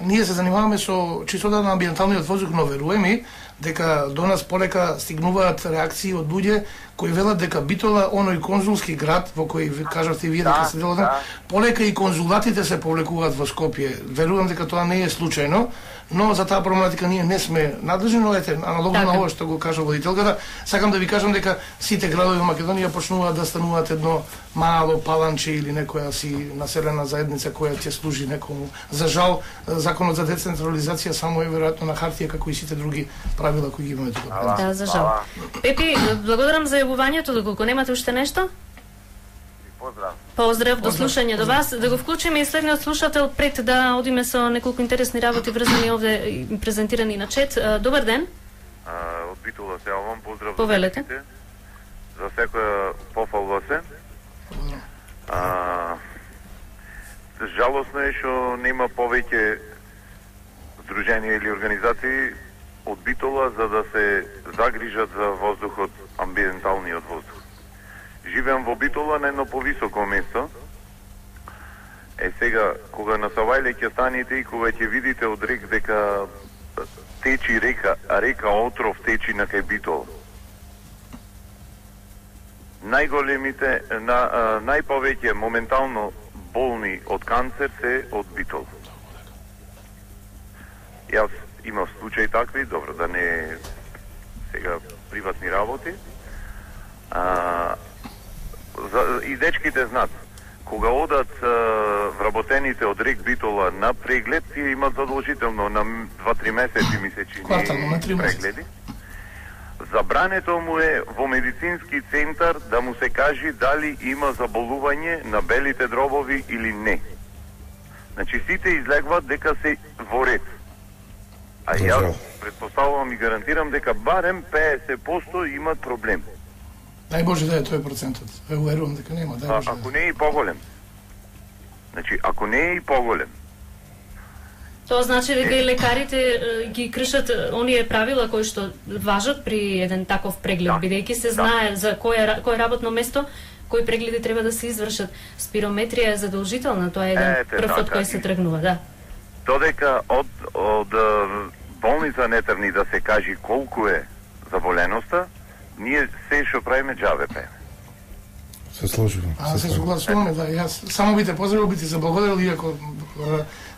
ние се занимаваме со чистотата на амбиенталниот воздух, но веруе ми дека до нас полека стигнуваат реакции од луѓе кои велат дека Битола, оној конзулски град во кој кажавте и вие дека се делате, полека и конзулатите се повлекуваат во Скопје. Верувам дека тоа не е случајно, но за таа проблематика ние не сме надлежни, но ете, аналогно на ова што го кажа водителката, сакам да ви кажам дека сите градови во Македонија почнуваат да стануваат едно мало паланче или некоја си населена заедница која ќе служи некому. За жал, законот за децентрализација само е веројатно на хартија како и сите други правила кои ги имаме тука. Да, за жал. Пепи, благодарам за јавувањето, доколку немате уште нешто? Поздрав. Поздрав, до слушање до вас. Да го вклучиме и следниот слушател пред да одиме со неколку интересни работи врзани овде презентирани на чет. Добар ден. А, од Битола се јавам, поздрав. Повелете. За секоја пофалва се. А, жалосно е што нема повеќе здруженија или организации од Битола за да се загрижат за воздухот, амбиенталниот воздух. Живеам во Битола на едно повисоко место. Е сега, кога на Савајле ќе станете и кога ќе видите од рек дека течи река, а река Отров течи на кај Битола. Најголемите, на, најповеќе моментално болни од канцер се од Битола. Јас имав случаи такви, добро, да не сега приватни работи. А, за, и дечките знаат, кога одат а, вработените од рек Битола на преглед, тие имат задолжително на два-три месеци месечни прегледи. Забрането му е во медицински центар да му се кажи дали има заболување на белите дробови или не. Значи сите излегват дека се во ред. А јас предпоставувам и гарантирам дека барем петдесет проценти имат проблем. Дај Боже да е тој процентот. Ве уверувам дека нема, дај Боже. А, ако не е и поголем. Значи, ако не е и поголем. Тоа значи дека и лекарите е, ги кршат оние правила кои што важат при еден таков преглед, да. Бидејќи се знае да. За кое кое работно место кои прегледи треба да се извршат. Спирометрија е задолжителна, тоа е еден Ете, прв од кој се тргнува, да. Додека од од болница не тргни да се кажи колку е заболеноста, ние се што правиме џабе пееме. Се сложувам. А, се согласуваме, да. Јас само би те поздравил, би ти заблагодарил, иако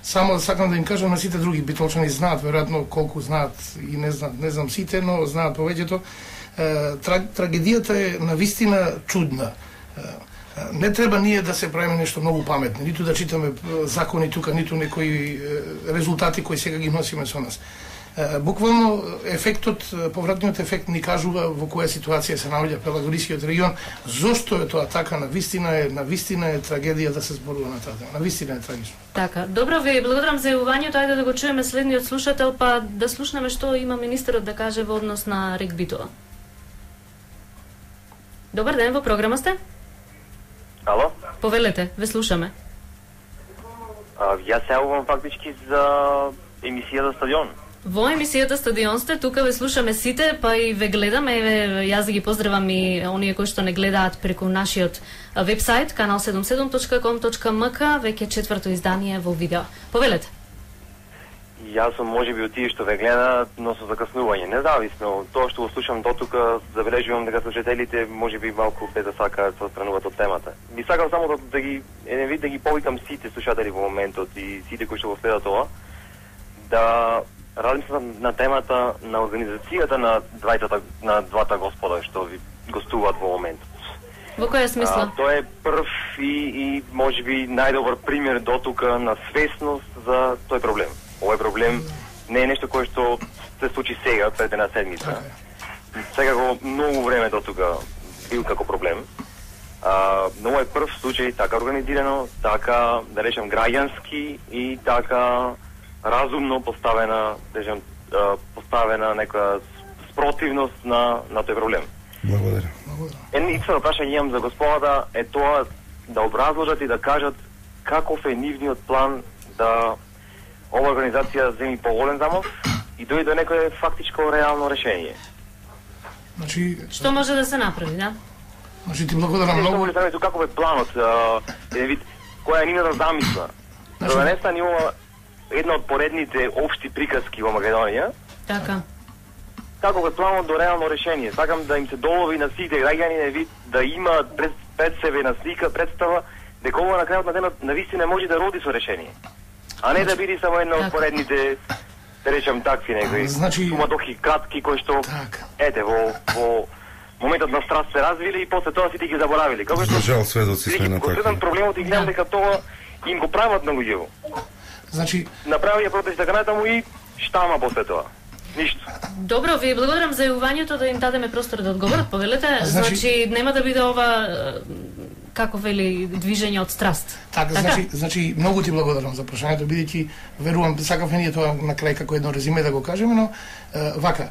само сакам да им кажам на сите други битолчани знаат веројатно колку знаат и не знаат, не знам сите, но знаат повеќето. Трагедијата е навистина чудна. Не треба ние да се правиме нешто многу паметни, ниту да читаме закони тука, ниту некои резултати кои сега ги носиме со нас. Буквално ефектот, повратниот ефект ни кажува во која ситуација се наоѓа Пелагорискиот регион. Зошто е тоа така? Навистина е, навистина е трагедија да се зборува на таа тема. Навистина е трагично. Така, добро ви благодарам за јавувањето. Ајде да го чуеме следниот слушател, па да слушнеме што има министерот да каже во однос на Рек Битола. Добар ден, во програма сте? Ало? Повелете, ве слушаме. А, јас се јавувам фактички за емисијата Стадион. Во емисијата Стадион сте, тука ве слушаме сите, па и ве гледаме, еве, јас да ги поздравам и оние кои што не гледаат преку нашиот вебсайт канал седумдесет и седум точка ком точка ем ка, веќе четврто издание во видео. Повелете. Јас сум можеби од тие што ве гледаат, но со закаснување. Независно од тоа што го слушам дотука, забележувам дека слушателите можеби малку без да сакаат се отстрануваат од темата. Би сакал само да, да ги еден вид да ги повикам сите слушатели во моментот и сите кои што го следат ова, да размислам на темата на организацијата на двајтата на двата господа што ви гостуваат во моментот. Во која смисла? А, тоа е прв и, и можеби најдобар пример дотука на свесност за тој проблем. Овој проблем не е нешто кое што се случи сега, пред една седмица. Сега го многу време дотука бил како проблем. А, но овој прв случај така организирано, така, да речем, граѓански и така разумно поставена, да речем, поставена некоја спротивност на на тој проблем. Благодарам. Едно искрено прашање имам за господата е тоа да образложат и да кажат каков е нивниот план да ова организација земи поголем замов и дојде до некое фактичко реално решение. Значи, што може да се направи, да? Значи ти благодарам многу. Што може да каков е планот, еден вид која е нивната замисла. Значи, да не стане ова една од поредните општи приказки во Македонија. Така. Каков е планот до реално решение? Сакам да им се долови на сите граѓани на вид да има пред, пред себе на слика, представа дека ова на крајот на денот навистина може да роди со решение. А не да биде само една од поредните, да речем такви некои значи, суматохи кратки кои што так. ете во во моментот на страст се развили и после тоа сите ги заборавили. Како што жал сведоци сме на такви. Проблемот и гледам дека тоа им го прават на луѓето. Значи, направија протест така натаму и штама после тоа. Ништо. Добро, ви благодарам за јавувањето, да им дадеме простор да одговорат. Повелете, значи, значи нема да биде ова како вели движење од страст. Така, така? Значи, значи многу ти благодарам за прашањето, бидејќи верувам сакавме ние тоа на крај како едно резиме да го кажеме, но е, вака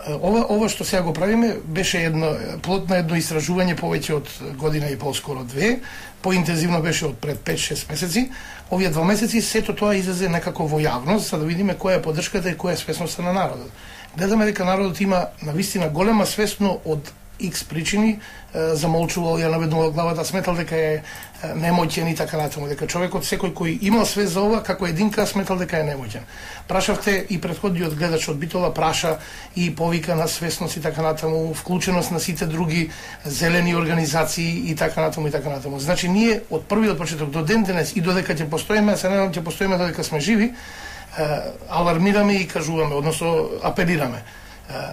ова ова што сега го правиме беше едно плод на едно истражување повеќе од година и пол, скоро две, поинтензивно беше од пред пет-шест месеци. Овие два месеци сето тоа излезе некако во јавност за да видиме која е поддршката и која е свесноста на народот. Гледаме дека народот има навистина голема свесно од X причини, замолчувал, ја наведнувал главата, сметал дека е немоќен и така натаму, дека човекот секој кој имал свест за ова, како единка сметал дека е немоќен. Прашавте и претходниот гледач од Битола праша и повика на свесност и така натаму, вклученост на сите други зелени организации и така натаму и така натаму. Значи ние од првиот почеток до ден денес и додека ќе постоиме, се надевам ќе постоиме додека сме живи, алармираме и кажуваме, односно апелираме.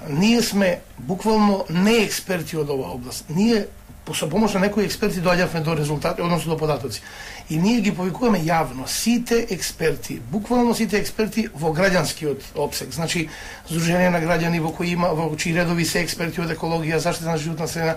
Ние сме буквално не експерти од оваа област. Ние со помош на некои експерти доаѓавме до резултати, односно до податоци. И ние ги повикуваме јавно сите експерти, буквално сите експерти во граѓанскиот опсек. Значи, Здружение на граѓани во кои има во чии редови се експерти од екологија, заштита на животна средина,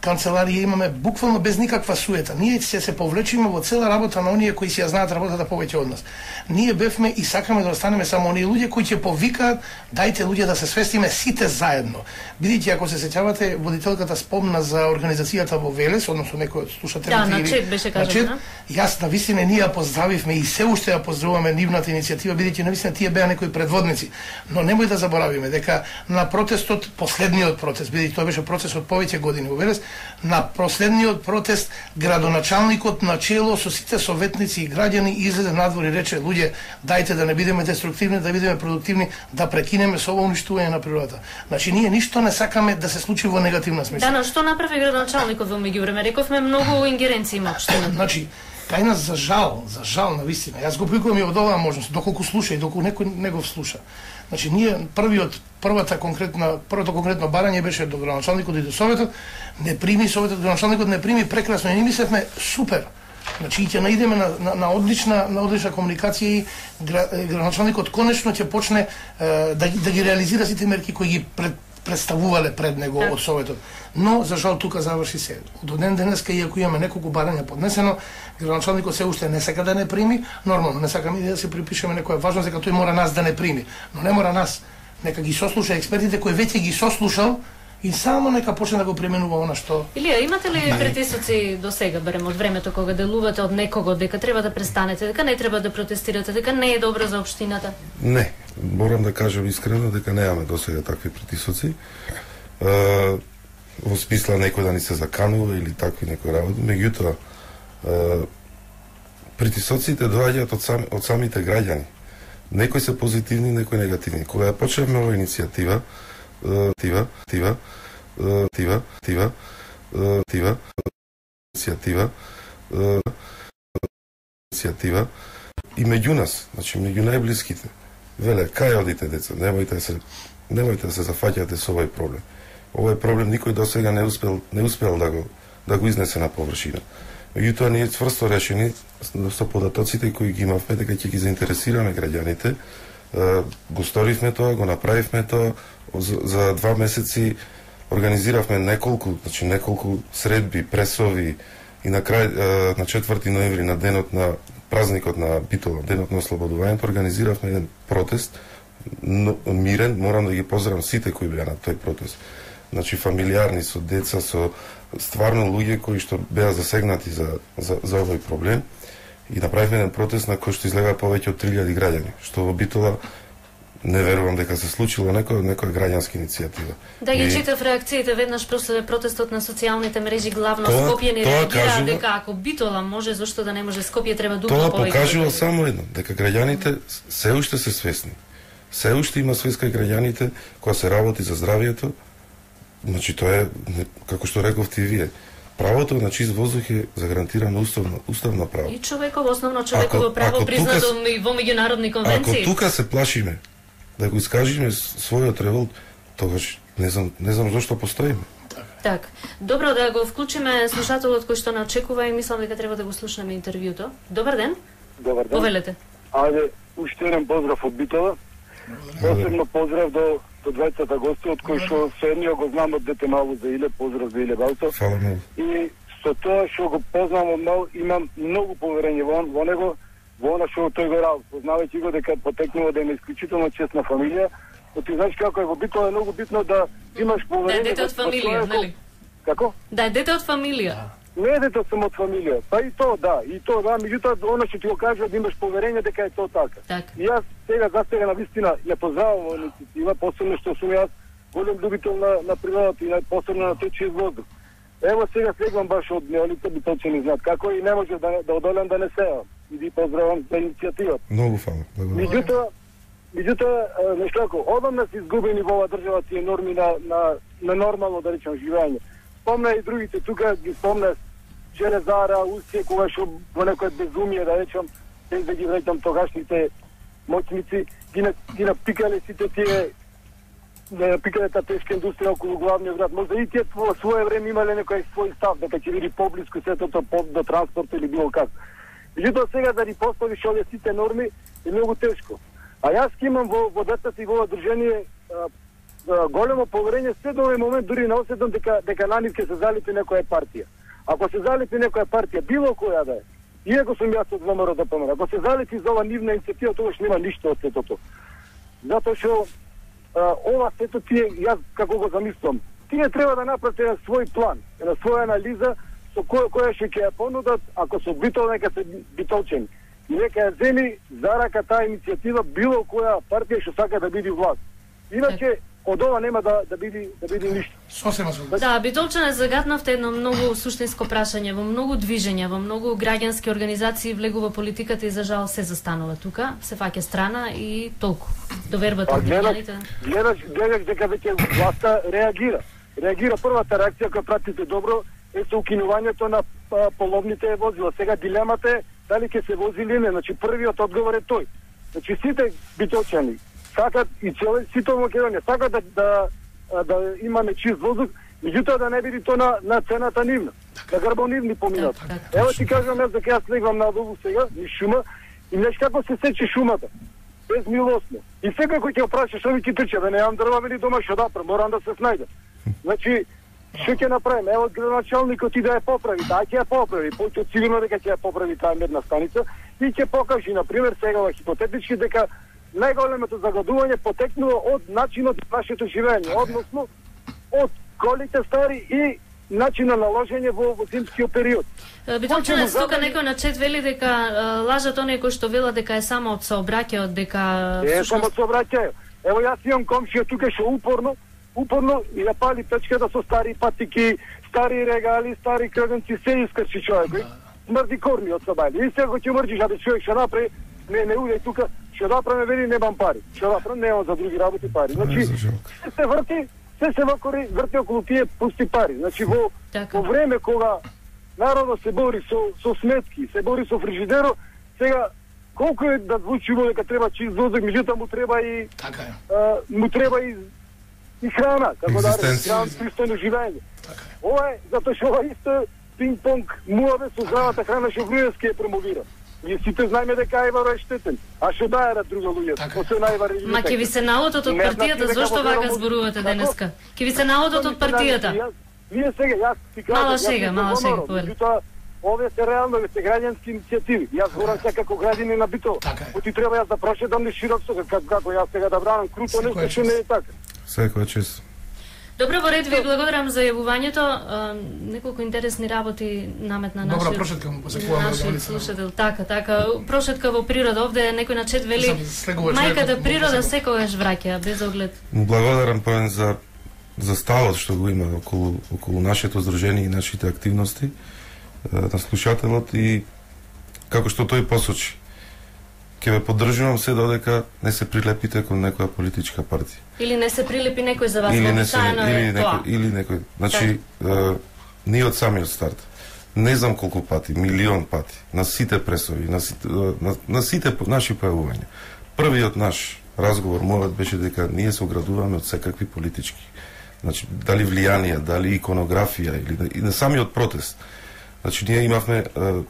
канцеларија, имаме буквално без никаква суета. Ние се се повлечиме во цела работа на оние кои си ја знаат работата повеќе од нас. Ние бевме и сакаме да останеме само оние луѓе кои ќе повикаат, дајте луѓе да се свестиме сите заедно. Бидејќи ако се сеќавате, водителката спомна за организацијата во Велес, односно некој од слушателите. Да, на чет беше кажано. Јас на вистина ние ја поздравивме и се уште ја поздравуваме нивната иницијатива, бидејќи на вистина тие беа некои предводници. Но немој да заборавиме дека на протестот, последниот протест, бидејќи тоа беше процес од повеќе години во Велес, на последниот протест градоначалникот на чело со сите советници и граѓани излезе надвор и рече: луѓе, дајте да не бидеме деструктивни, да бидеме продуктивни, да прекинеме со ова уништување на природата. Значи ние ништо не сакаме да се случи во негативна смисла. Да, но што направи градоначалникот во меѓувреме? Рековме многу ингеренции има општината. Значи, кај нас за жал, за жал на вистина. Јас го повикувам и од оваа можност, доколку слуша и доколку некој не го слуша. Значи ние првиот првата конкретна првото конкретно барање беше до градоначалникот и до советот, не прими советот, градоначалникот не прими, прекрасно и ние мислевме супер. Значи ќе наидеме на, на, на одлична на одлична комуникација и градоначалникот конечно ќе почне е, да, да ги реализира сите мерки кои ги пред, представувале пред него од советот. Но за жал тука заврши се. До ден денеска, иако имаме неколку барања поднесено, градоначалникот се уште не сака да не прими, нормално не сакаме да се припишеме некоја важност дека тој мора нас да не прими, но не мора нас. Нека ги сослуша експертите кои веќе ги сослушал и само нека почне да го применува она што. Илија, имате ли притисоци до сега, барем од времето кога делувате од некого дека треба да престанете, дека не треба да протестирате, дека не е добро за општината? Не, морам да кажам искрено дека немаме до сега такви притисоци. Uh, во смисла некој да ни се заканува или такви некои работи, меѓутоа uh, притисоците доаѓаат од, сам, од самите граѓани. Некои се позитивни, некои негативни. Кога ја почнавме оваа иницијатива, тива, тива, тива, тива, тива, иницијатива, иницијатива и меѓу нас, значи меѓу најблиските, веле, кај одите деца, немојте се, немојте да се зафаќате со овој проблем. Овој проблем никој до сега не успел, не успел да го да го изнесе на површина. Меѓутоа ние цврсто решени со податоците кои ги имавме дека ќе ги заинтересираме граѓаните, го сторивме тоа, го направивме тоа, за, за два месеци организиравме неколку, значи неколку средби, пресови и на крај на четврти ноември на денот на празникот на Битола, денот на ослободувањето, организиравме еден протест, но, мирен, морам да ги поздравам сите кои беа на тој протест. Значи фамилиарни, со деца, со стварно луѓе кои што беа засегнати за, за, за овој проблем. И направивме еден протест на кој што излега повеќе од три илјади граѓани, што во Битола не верувам дека се случило некоја некоја граѓанска иницијатива. Да ги и... читав реакциите веднаш после протестот на социјалните мрежи, главно тоа, Скопје не реагира кажува, дека ако Битола може, зашто да не може Скопје, треба дупlo повеќе. Тоа покажува само едно, дека граѓаните се уште се свесни. Се уште има свест кај граѓаните кога се работи за здравието. Значи тоа е, како што рековте и вие, правото на чист воздух е загарантирано уставно, уставно право. И човеково, основно човеково ако, право, ако признато тука, во меѓународни конвенции. Ако тука се плашиме да го искажиме својот револт, тогаш не знам, не знам зошто постоиме. Так, добро да го вклучиме слушателот кој што не очекува и мислам дека треба да го слушнеме интервјуто. Добар ден. Добар ден. Повелете. Ајде, уште еден поздрав од Битола. Посебно поздрав до до двајцата гости, од кои што се едниот го знам од дете мало за Иле, поздрав за Иле Балто. И со тоа што го познам од мал, имам многу поверење во, во него, во она што тој го работи, познавајќи го дека потекнува да има исклучително честна фамилија, но ти знаеш како е во Битола, е многу битно да имаш поверење. Да е дете од фамилија, нели? Како? Да е дете од фамилија. Не е дете само од фамилија, па и то, да, и то, да, меѓутоа, оно што ти го кажа да имаш поверење дека е тоа така. Так. И јас сега, за сега, на вистина, ја поздравам во иницијатива, посебно што сум јас голем любител на, на природата и посебно на тој чист воздух. Ево сега слегвам баш од неолите битолчени знаат како и не може да, да одолем да не сеам. И ви поздравам за иницијативата. Многу фала. Меѓутоа, меѓутоа, нешто како, одамна се изгубени во оваа држава тие норми на, на, на нормално, да речем, живење. Спомна и другите, тука ги спомна Железара, Устие, кога што во некој безумие, да речем, без да ги вреќам тогашните моќници, ги, на, ги напикале сите тие пиканата тешка индустрија околу главниот град. Може и тие во свое време имале некој свој став дека ќе биде поблиску сето тоа до транспорт или било како. Меѓутоа сега да ни поставиш овие сите норми е многу тешко. А јас ќе имам во во децата и во одружение големо поверење се до овој момент, дури не осетам дека дека на нив ќе се залипи некоја партија. Ако се залипи некоја партија, било која да е, иако сум јас од ВМРО да помера, ако се залипи за ова нивна иницијатива, тогаш нема ништо од сето тоа. Затоа што ова сето тие, јас како го замислам, тие треба да направат на свој план, на своја анализа, со која која ќе ја понудат, ако се битол, нека се битолчени. И нека ја земи за рака таа иницијатива било која партија што сака да биде власт. Иначе од ова нема да да биде да биде ништо. Сосема согласен. Да, битолчане загатнавте едно многу суштинско прашање, во многу движења, во многу граѓански организации влегува политиката и за жал се застанува тука, се фаќа страна и толку. Довербата од граѓаните. Гледаш, гледаш дека веќе власта реагира. Реагира првата реакција која пратите добро е со укинувањето на а, половните возила. Сега дилемата е дали ќе се вози или не. Значи првиот одговор е тој. Значи сите битолчани сакат и цели сите Македонија сакат да да да имаме чист воздух, меѓутоа да не биде тоа на на цената нивна. Да грбонивни поминат. Ево ти кажам јас дека јас легвам на долу сега, низ шума и знаеш како се сече шумата. Безмилосно. И сега кој ќе опрашаш овие ќе трча, да не имам дрва или дома што да правам, морам да се снајдам. Значи што ќе направиме? Ево градоначалникот и да ја поправи, таа ќе ја поправи, поќе сигурно дека ќе ја поправи таа медна станица и ќе покажи на пример сега хипотетички дека најголемото загадување потекнува од начинот на нашето живење, односно од колите стари и начинот на ложење во, во зимскиот период. Битолчане, тука некој на чет вели дека лажат оние кои што велат дека е само од сообраќајот, дека е само од сообраќајот. Ево јас имам комшија тука што упорно, упорно ја пали печката со стари патики, стари регали, стари крвенци, се искрчи човекој. Смрди корни од собајли. И сега ќе мрдиш, а да човек што направи, не не уѓај тука. Што да правиме, вели, немам пари. Што да правиме, немам за други работи пари. Значи, се се врти, се се вакори, врти околу тие пусти пари. Значи, во, во време кога народот се бори со, со сметки, се бори со фрижидеро, сега, колку е да звучиво дека треба чист воздух, меѓутоа му треба и така е. А, му треба и, и храна, како да речем, пристојно живење. Така е. Ова е, затоа што ова исто пинг-понг муаве со здравата храна што Груевски ја промовира. И сите знаеме дека Ајваро е штетен. А што даерат друга луѓе? Освен Ајвар и Ма ќе ви се наодот од партијата, зошто вака зборувате денеска? Ќе ви се наодот од партијата. Вие сега, јас ти кажам, мала шега, мала шега, повели. Овие се реално, овие се граѓански иницијативи. Јас зборам се како граѓанин на Битол. Оти треба јас да прошедам низ широк со како како јас сега да бранам круто нешто што не е така. Секој чест. Добро, во ред, ви благодарам за јавувањето. Неколку интересни работи наметна нашиот. Добра прошетка му посекуваме. Нашиот слушател, така, така. Прошетка во природа, овде некој на чет вели мајката природа секогаш враќа без оглед. Благодарам Павен за за ставот што го има околу околу нашето здружение и нашите активности на слушателот и како што тој посочи. Ќе ве поддржувам се додека не се прилепите кон некоја политичка партија. Или не се прилепи некој за вас, или не се, или некој, тоа. или некој. Значи, е, ние од самиот старт, не знам колку пати, милион пати, на сите пресови, на сите, на, на сите наши појавувања. Првиот наш разговор мојот беше дека ние се оградуваме од секакви политички. Значи, дали влијанија, дали иконографија, или и на самиот протест. Значи, ние имавме е,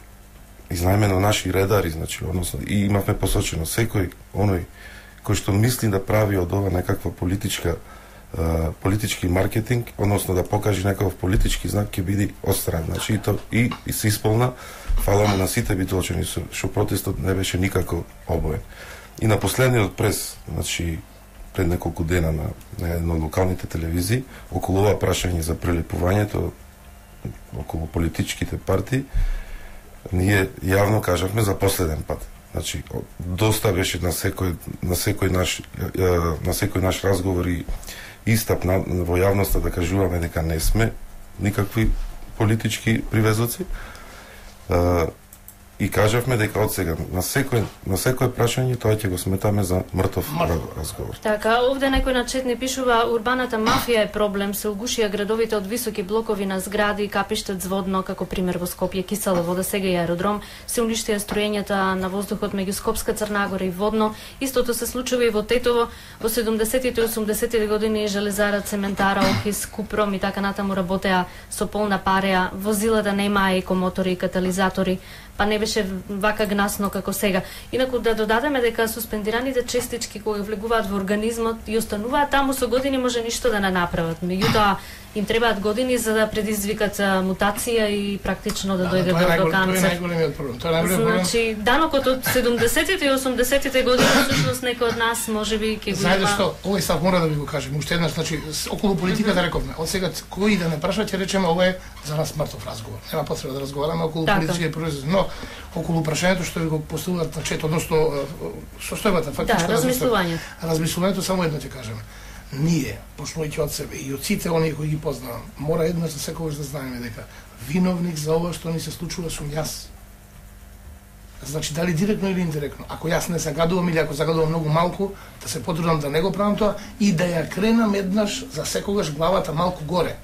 изнајмено наши редари, значи, односно, и имавме посочено секој оној кој што мисли да прави од ова некаква политичка uh, политички маркетинг, односно да покаже некаков политички знак, ќе биде отстран. Значи и то и, и се исполна. Фала му на сите битолчани што протестот не беше никако обоен. И на последниот прес, значи пред неколку дена на, на една од локалните телевизии, околу ова прашање за прелепувањето околу политичките партии, ние јавно кажавме за последен пат. Значи, доста беше на секој на секој наш на секој наш разговор и истап на, во јавноста да кажуваме дека не сме никакви политички привезоци. И кажавме дека од сега на секој на секој прашање тоа ќе го сметаме за мртов разговор. Така, овде некој на чет не пишува: урбаната мафија е проблем, се угушија градовите од високи блокови на згради, капиштат зводно, како пример во Скопје, кисела вода, сега и аеродром, се уништија строењата на воздухот меѓу Скопска, Црна Гора и Водно. Истото се случува и во Тетово. Во седумдесетите и осумдесетите години железара, цементара, Охис, Купром и така натаму работеа со полна пареа, возилата немаа екомотори и катализатори, па не беше вака гнасно како сега. Инаку да додадеме дека суспендираните честички кога влегуваат во организмот и остануваат таму со години може ништо да не направат. Меѓутоа им требаат години за да предизвикат мутација и практично да дојде до канцер. Тоа е најголемиот проблем. Тоа е најголемиот проблем. Значи, данокот од седумдесетите и осумдесетите години всушност некој од нас можеби ќе го има. Знаете што, овој став мора да ви го кажем уште еднаш, значи околу политиката рековме. Од сега кој да не праша ќе речеме ова е за нас мртов разговор. Нема потреба да разговараме околу политички процеси, но околу прашањето што ви го поставуваат на чет, односно состојбата фактичка да, размислувањето. Размислувањето само едно ќе кажеме. Ние, почнувајќи од себе и од сите оние кои ги познавам, мора еднаш за секогаш да знаеме дека виновник за ова што ни се случува сум јас. Значи, дали директно или индиректно. Ако јас не загадувам или ако загадувам многу малку, да се потрудам да не го правам тоа и да ја кренам еднаш за секогаш главата малку горе.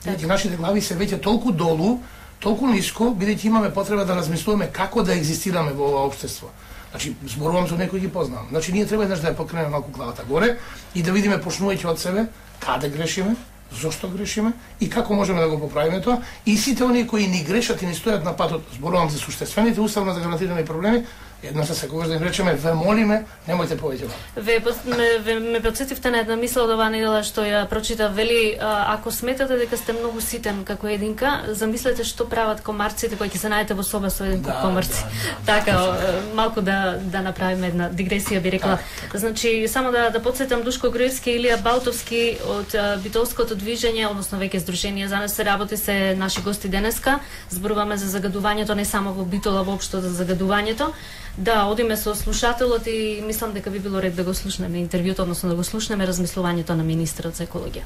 Бидејќи нашите глави се веќе толку долу, толку ниско, бидејќи имаме потреба да размислуваме како да екзистираме во ова општество. Значи, зборувам со некој ги познавам. Значи, ние треба еднаш да ја покренеме малку главата горе и да видиме, почнувајќи од себе, каде грешиме, зошто грешиме и како можеме да го поправиме тоа. И сите оние кои ни грешат и ни стојат на патот, зборувам за суштествените уставно загарантирани проблеми, едно се секогаш да им речеме: ве молиме, немојте повеќе. Ве ме, ве, ме потсетивте на една мисла од оваа недела што ја прочита, вели: а, ако сметате дека сте многу ситен како единка, замислете што прават комарците кои ќе се најдете во соба со еден да, комарци. Да, да, така, да, малку да да направиме една дигресија, би рекла. Да. Значи, само да да потсетам Душко Груевски и Илија Балтовски од Битолското движење, односно веќе Сдружение за нас се работи, се наши гости денеска. Зборуваме за загадувањето не само во Битола, воопшто за загадувањето. Да, одиме со слушателот и мислам дека би било ред да го слушнеме интервјуто, односно да го слушнеме размислувањето на министерот за екологија.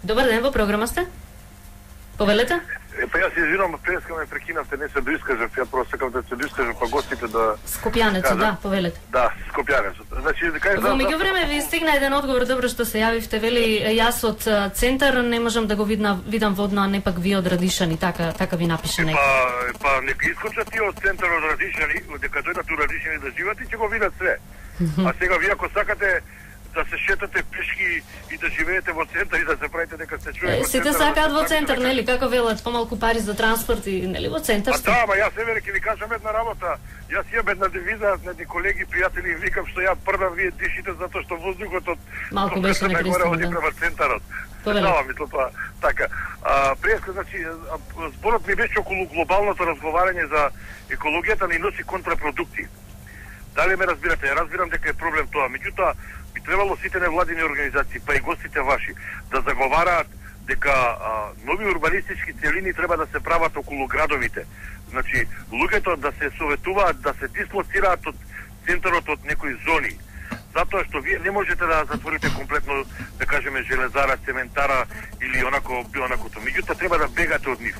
Добар ден, во програма сте? Повелете? Е, па јас извинувам, преска ме прекинавте, не се доискажав, ја просто сакам да се доискажам па гостите да... Скопјанецот, да, повелете. Да, Скопјанецот. Значи, кај Во меѓувреме ви стигна еден одговор, добро што се јавивте, вели: јас од центар не можам да го видна, видам Водно, а не пак ви од Радишани, така така ви напише некој. Па, па нека искочат тие од центар од Радишани, дека дојдат у Радишани да живеат и ќе го видат све. А сега вие ако сакате да се шетате пешки и да живеете во центар и да се правите дека сте човек. Е, сите сакаат во центар, нели? Како велат, помалку пари за транспорт и нели во центар сте? А да, ма јас еве ќе ви кажам една работа. Јас имам една девиза на едни колеги, пријатели, и викам што ја првам вие дишите затоа што воздухот од малку беше некристено, да. Према центарот. Да, мислам тоа. Така. А, преска, значи, зборот ми беше околу глобалното разговарање за екологијата, ни носи контрапродукти. Дали ме разбирате? Ја разбирам дека е проблем тоа, меѓутоа би требало сите невладини организации, па и гостите ваши, да заговараат дека а, нови урбанистички целини треба да се прават околу градовите. Значи, луѓето да се советуваат, да се дислоцираат од центарот од некои зони. Затоа што вие не можете да затворите комплетно, да кажеме, железара, цементара или онако онакото. Меѓутоа треба да бегате од нив.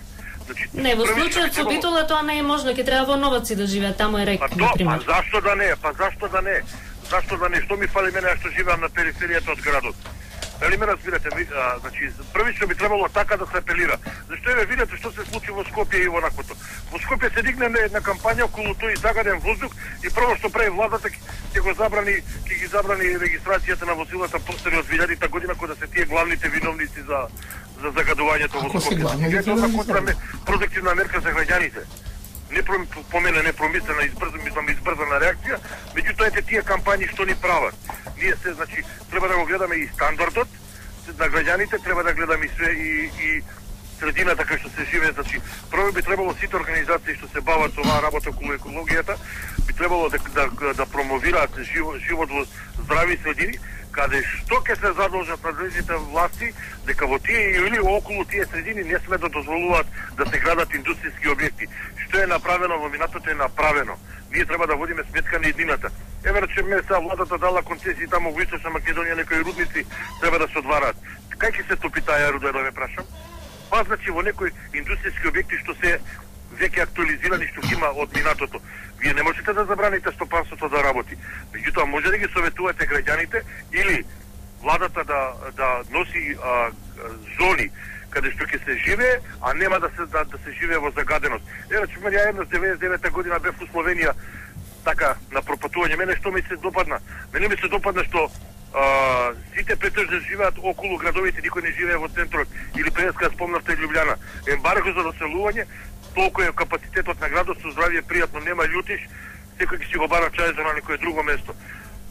Значи, не, во случајот со Битола тоа не е можно, ќе треба во Новаци да живеат, таму е рек, на пример. Па зашто да не? Па зашто да не? Зашто да не? Што ми фали мене што живеам на периферијата од градот? Дали ме разбирате? А, значи, првично би требало така да се апелира. Зашто еве видите што се случи во Скопје и во онаквото. Во Скопје се дигна една кампања околу тој загаден воздух и прво што прави владата ќе го забрани, ќе ги забрани регистрацијата на возилата постари од две илјадета година, кога се тие главните виновници за за загадувањето во Скопје. Тоа е контрапродуктивна мерка за граѓаните. Не по мене не промислена, избрзана, мислам избрзана реакција, меѓутоа ете тие кампањи што ни прават. Ние се, значи, треба да го гледаме и стандардот на граѓаните, треба да гледаме и све и, и средината кај што се живее, значи, прво би требало сите организации што се бават со оваа работа околу екологијата, би требало да, да, да промовираат живот, живот во здрави средини, каде што ќе се задолжат надлежните власти дека во тие или околу тие средини не сме да дозволуваат да се градат индустријски објекти. Што е направено во минатото е направено. Ние треба да водиме сметка на еднината. Еве речеме сега владата дала концесии таму во Источна Македонија, некои рудници треба да се одвараат. Кај ќе се топи таа руда, да ме прашам? Па значи во некои индустријски објекти што се веќе актуализирани што ги има од минатото. Вие не можете да забраните стопанството да работи. Меѓутоа може да ги советувате граѓаните или владата да да носи а, зони каде што ќе се живее, а нема да се да, да се живее во загаденост. Ева, че ја еднаш деветдесет и девета година бев во Словенија така на пропатување. Мене што ми се допадна? Мене ми се допадна што а, сите претежно живеат околу градовите, никој не живее во центрот. Или преска спомнавте Љубљана. Ембарго за доселување, толку е капацитетот на градот, со здравје пријатно, нема љутиш, секој ќе си го бара чај за на некое друго место.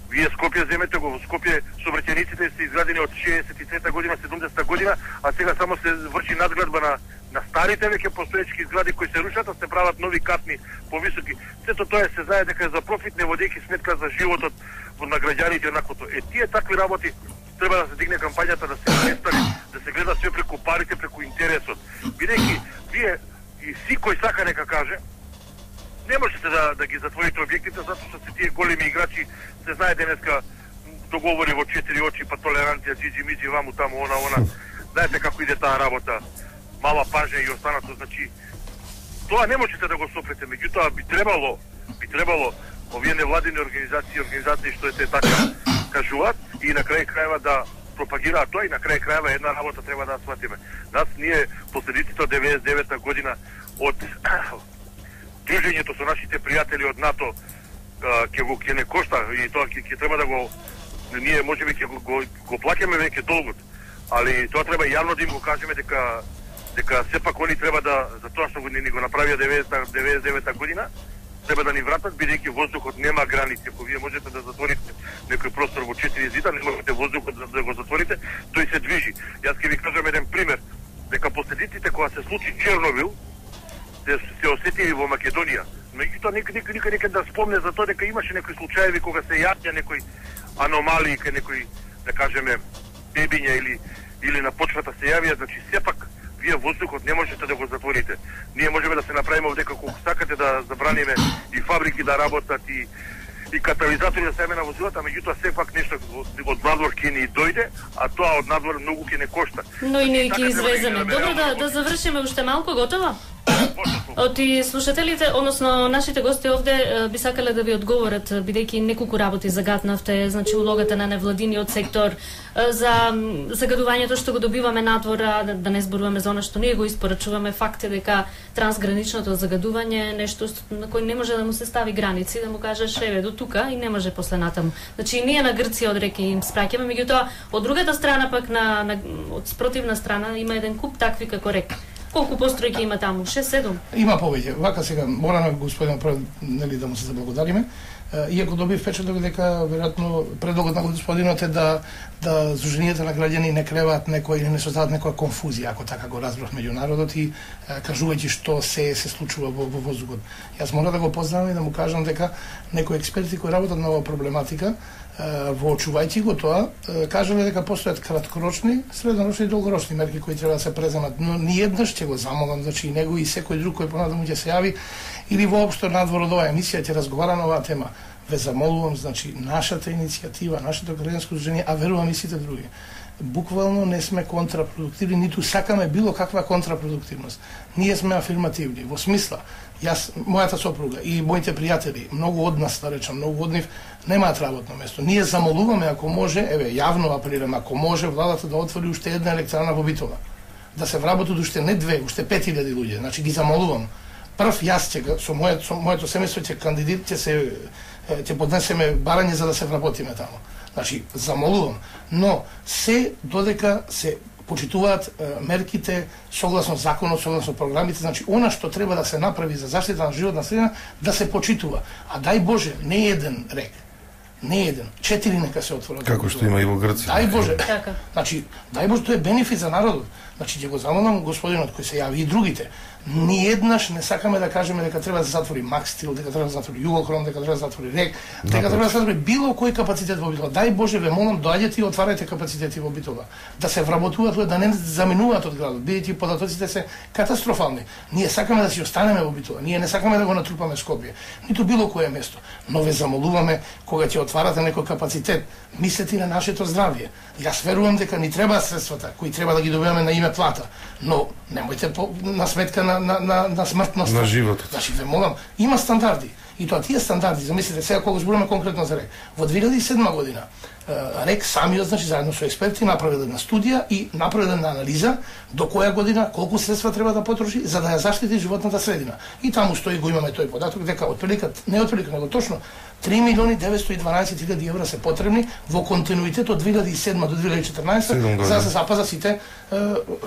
Вие Скопје земете го, во Скопје сообраќајниците се изградени од шеесет и трета година, седумдесета година, а сега само се врши надградба на на старите веќе постоечки згради кои се рушат, а се прават нови катни повисоки. Сето тоа се знае дека е за профит, не водејќи сметка за животот на граѓаните еднаквото. Е тие такви работи треба да се дигне кампањата, да се престане, да се гледа све преку парите, преку интересот. Бидејќи вие и си кој сака нека каже, не можете да, да ги затворите објектите, затоа што се тие големи играчи, се знае денеска договори во четири очи, па толеранција, джиджи миджи, ваму таму, она, она. Знаете како иде таа работа, мала пажа и останато, значи, тоа не можете да го сопрете, меѓутоа би требало, би требало овие невладини организации, организации што е така кажуваат и на крај крајва да пропагираат тоа и на крај крајва една работа треба да сватиме. Нас ние последиците од деветдесет и девета година од дружењето со нашите пријатели од НАТО ќе го ќе не кошта и тоа ќе треба да го ние можеби ќе го, го, го плаќаме веќе долгот, али тоа треба јавно да им го кажеме дека дека сепак они треба да за тоа што го ни го направија деветдесет и девета година треба да ни вратат, бидејќи воздухот нема граници. Ако вие можете да затворите некој простор во четири зида, не можете воздухот да, да го затворите, тој се движи. Јас ќе ви кажам еден пример, дека последиците кога се случи Чернобил се, се осетили во Македонија. Меѓутоа никој никој никој никој да спомне за тоа дека имаше некои случаеви кога се јавија некои аномалии, кај некои, да кажеме, бебиња или или на почвата се јавија, значи сепак вие воздухот не можете да го затворите. Ние можеме да се направиме овдека колку сакате да забраниме и фабрики да работат и и катализатори да се на возилата, меѓутоа сепак нешто од надвор ќе ни дојде, а тоа од надвор многу ќе не кошта. Но и ние ќе извеземе. Добро, да да завршиме уште малку, готово? Оти слушателите, односно нашите гости овде би сакале да ви одговорат, бидејќи неколку работи загатнавте, значи улогата на невладиниот сектор, за загадувањето што го добиваме надвор, да, да не зборуваме за она што ние го испорачуваме. Факт е дека трансграничното загадување е нешто на кој не може да му се стави граници, да му кажеш еве до тука и не може после натаму. Значи ние на Грција од реки им спраќаме, меѓутоа од другата страна пак на, на од спротивна страна има еден куп такви како рек. Колку постројки има таму? шест седум? Има повеќе. Вака сега мораме господин пред нели да му се заблагодариме. Иако добив впечаток дека веројатно предлогот на господинот е да да здруженијата на граѓани не креваат некој или не создадат некоја конфузија, ако така го разбрав меѓу народот и кажувајќи што се се случува во, во воздухот. Јас мора да го поздравам и да му кажам дека некои експерти кои работат на оваа проблематика, воочувајќи го тоа, кажале дека постојат краткорочни, среднорочни и долгорочни мерки кои треба да се преземат, но ни еднаш ќе го замолам, значи и него и секој друг кој понатаму ќе се јави или воопшто надвор од оваа емисија ќе разговара на оваа тема. Ве замолувам, значи нашата иницијатива, нашето граѓанско здружение, а верувам и сите други. Буквално не сме контрапродуктивни, ниту сакаме било каква контрапродуктивност. Ние сме афирмативни, во смисла, јас, мојата сопруга и моите пријатели, многу од нас, да речам, многу од нив, немаат работно место. Ние замолуваме, ако може, еве, јавно апелираме, ако може, владата да отвори уште една електрана во Битола. Да се вработат уште не две, уште пет илјади луѓе. Значи ги замолувам. Прв јас ќе со моето со моето семејство ќе кандидат ќе се ќе поднесеме барање за да се вработиме таму. Значи замолувам, но се додека се почитуваат е, мерките согласно законот, согласно програмите, значи она што треба да се направи за заштита на животна средина да се почитува. А дај Боже, не еден рек, не еден, четири нека се отворат. Како што има и во Грција. Дај Боже. Значи, дај Боже, тоа е бенефит за народот. Значи, ќе го замолам господинот кој се јави и другите. Ни еднаш не сакаме да кажеме дека треба да се затвори Макстил, дека треба да се затвори Југохром, дека треба да се затвори Рек, дека треба да се затвори било кој капацитет во Битола. Дај Боже, ве молам, доаѓете и отварајте капацитети во Битола. Да се вработуваат, да не заминуваат од градот, бидејќи податоците се катастрофални. Ние сакаме да си останеме во Битола, ние не сакаме да го натрупаме Скопје, ниту било кое место. Но ве замолуваме, кога ќе отварате некој капацитет, мислете и на нашето здравје. Јас верувам дека ни треба средствата кои треба да ги добиваме на име плата, но немојте по, на сметка на на на, на смртност. На животот. Значи ве молам, има стандарди. И тоа тие стандарди, замислете сега кога зборуваме конкретно за РЕК. Во две илјади и седма година РЕК самиот, значи заедно со експерти направил една студија и направил една анализа до која година колку средства треба да потроши за да ја заштити животната средина. И таму стои, го имаме тој податок дека отприлика, не отприлика, него точно три милиони деветстотини и дванаесет илјади евра се потребни во континуитет од две илјади и седма до две илјади и четрнаесета за да се запаза сите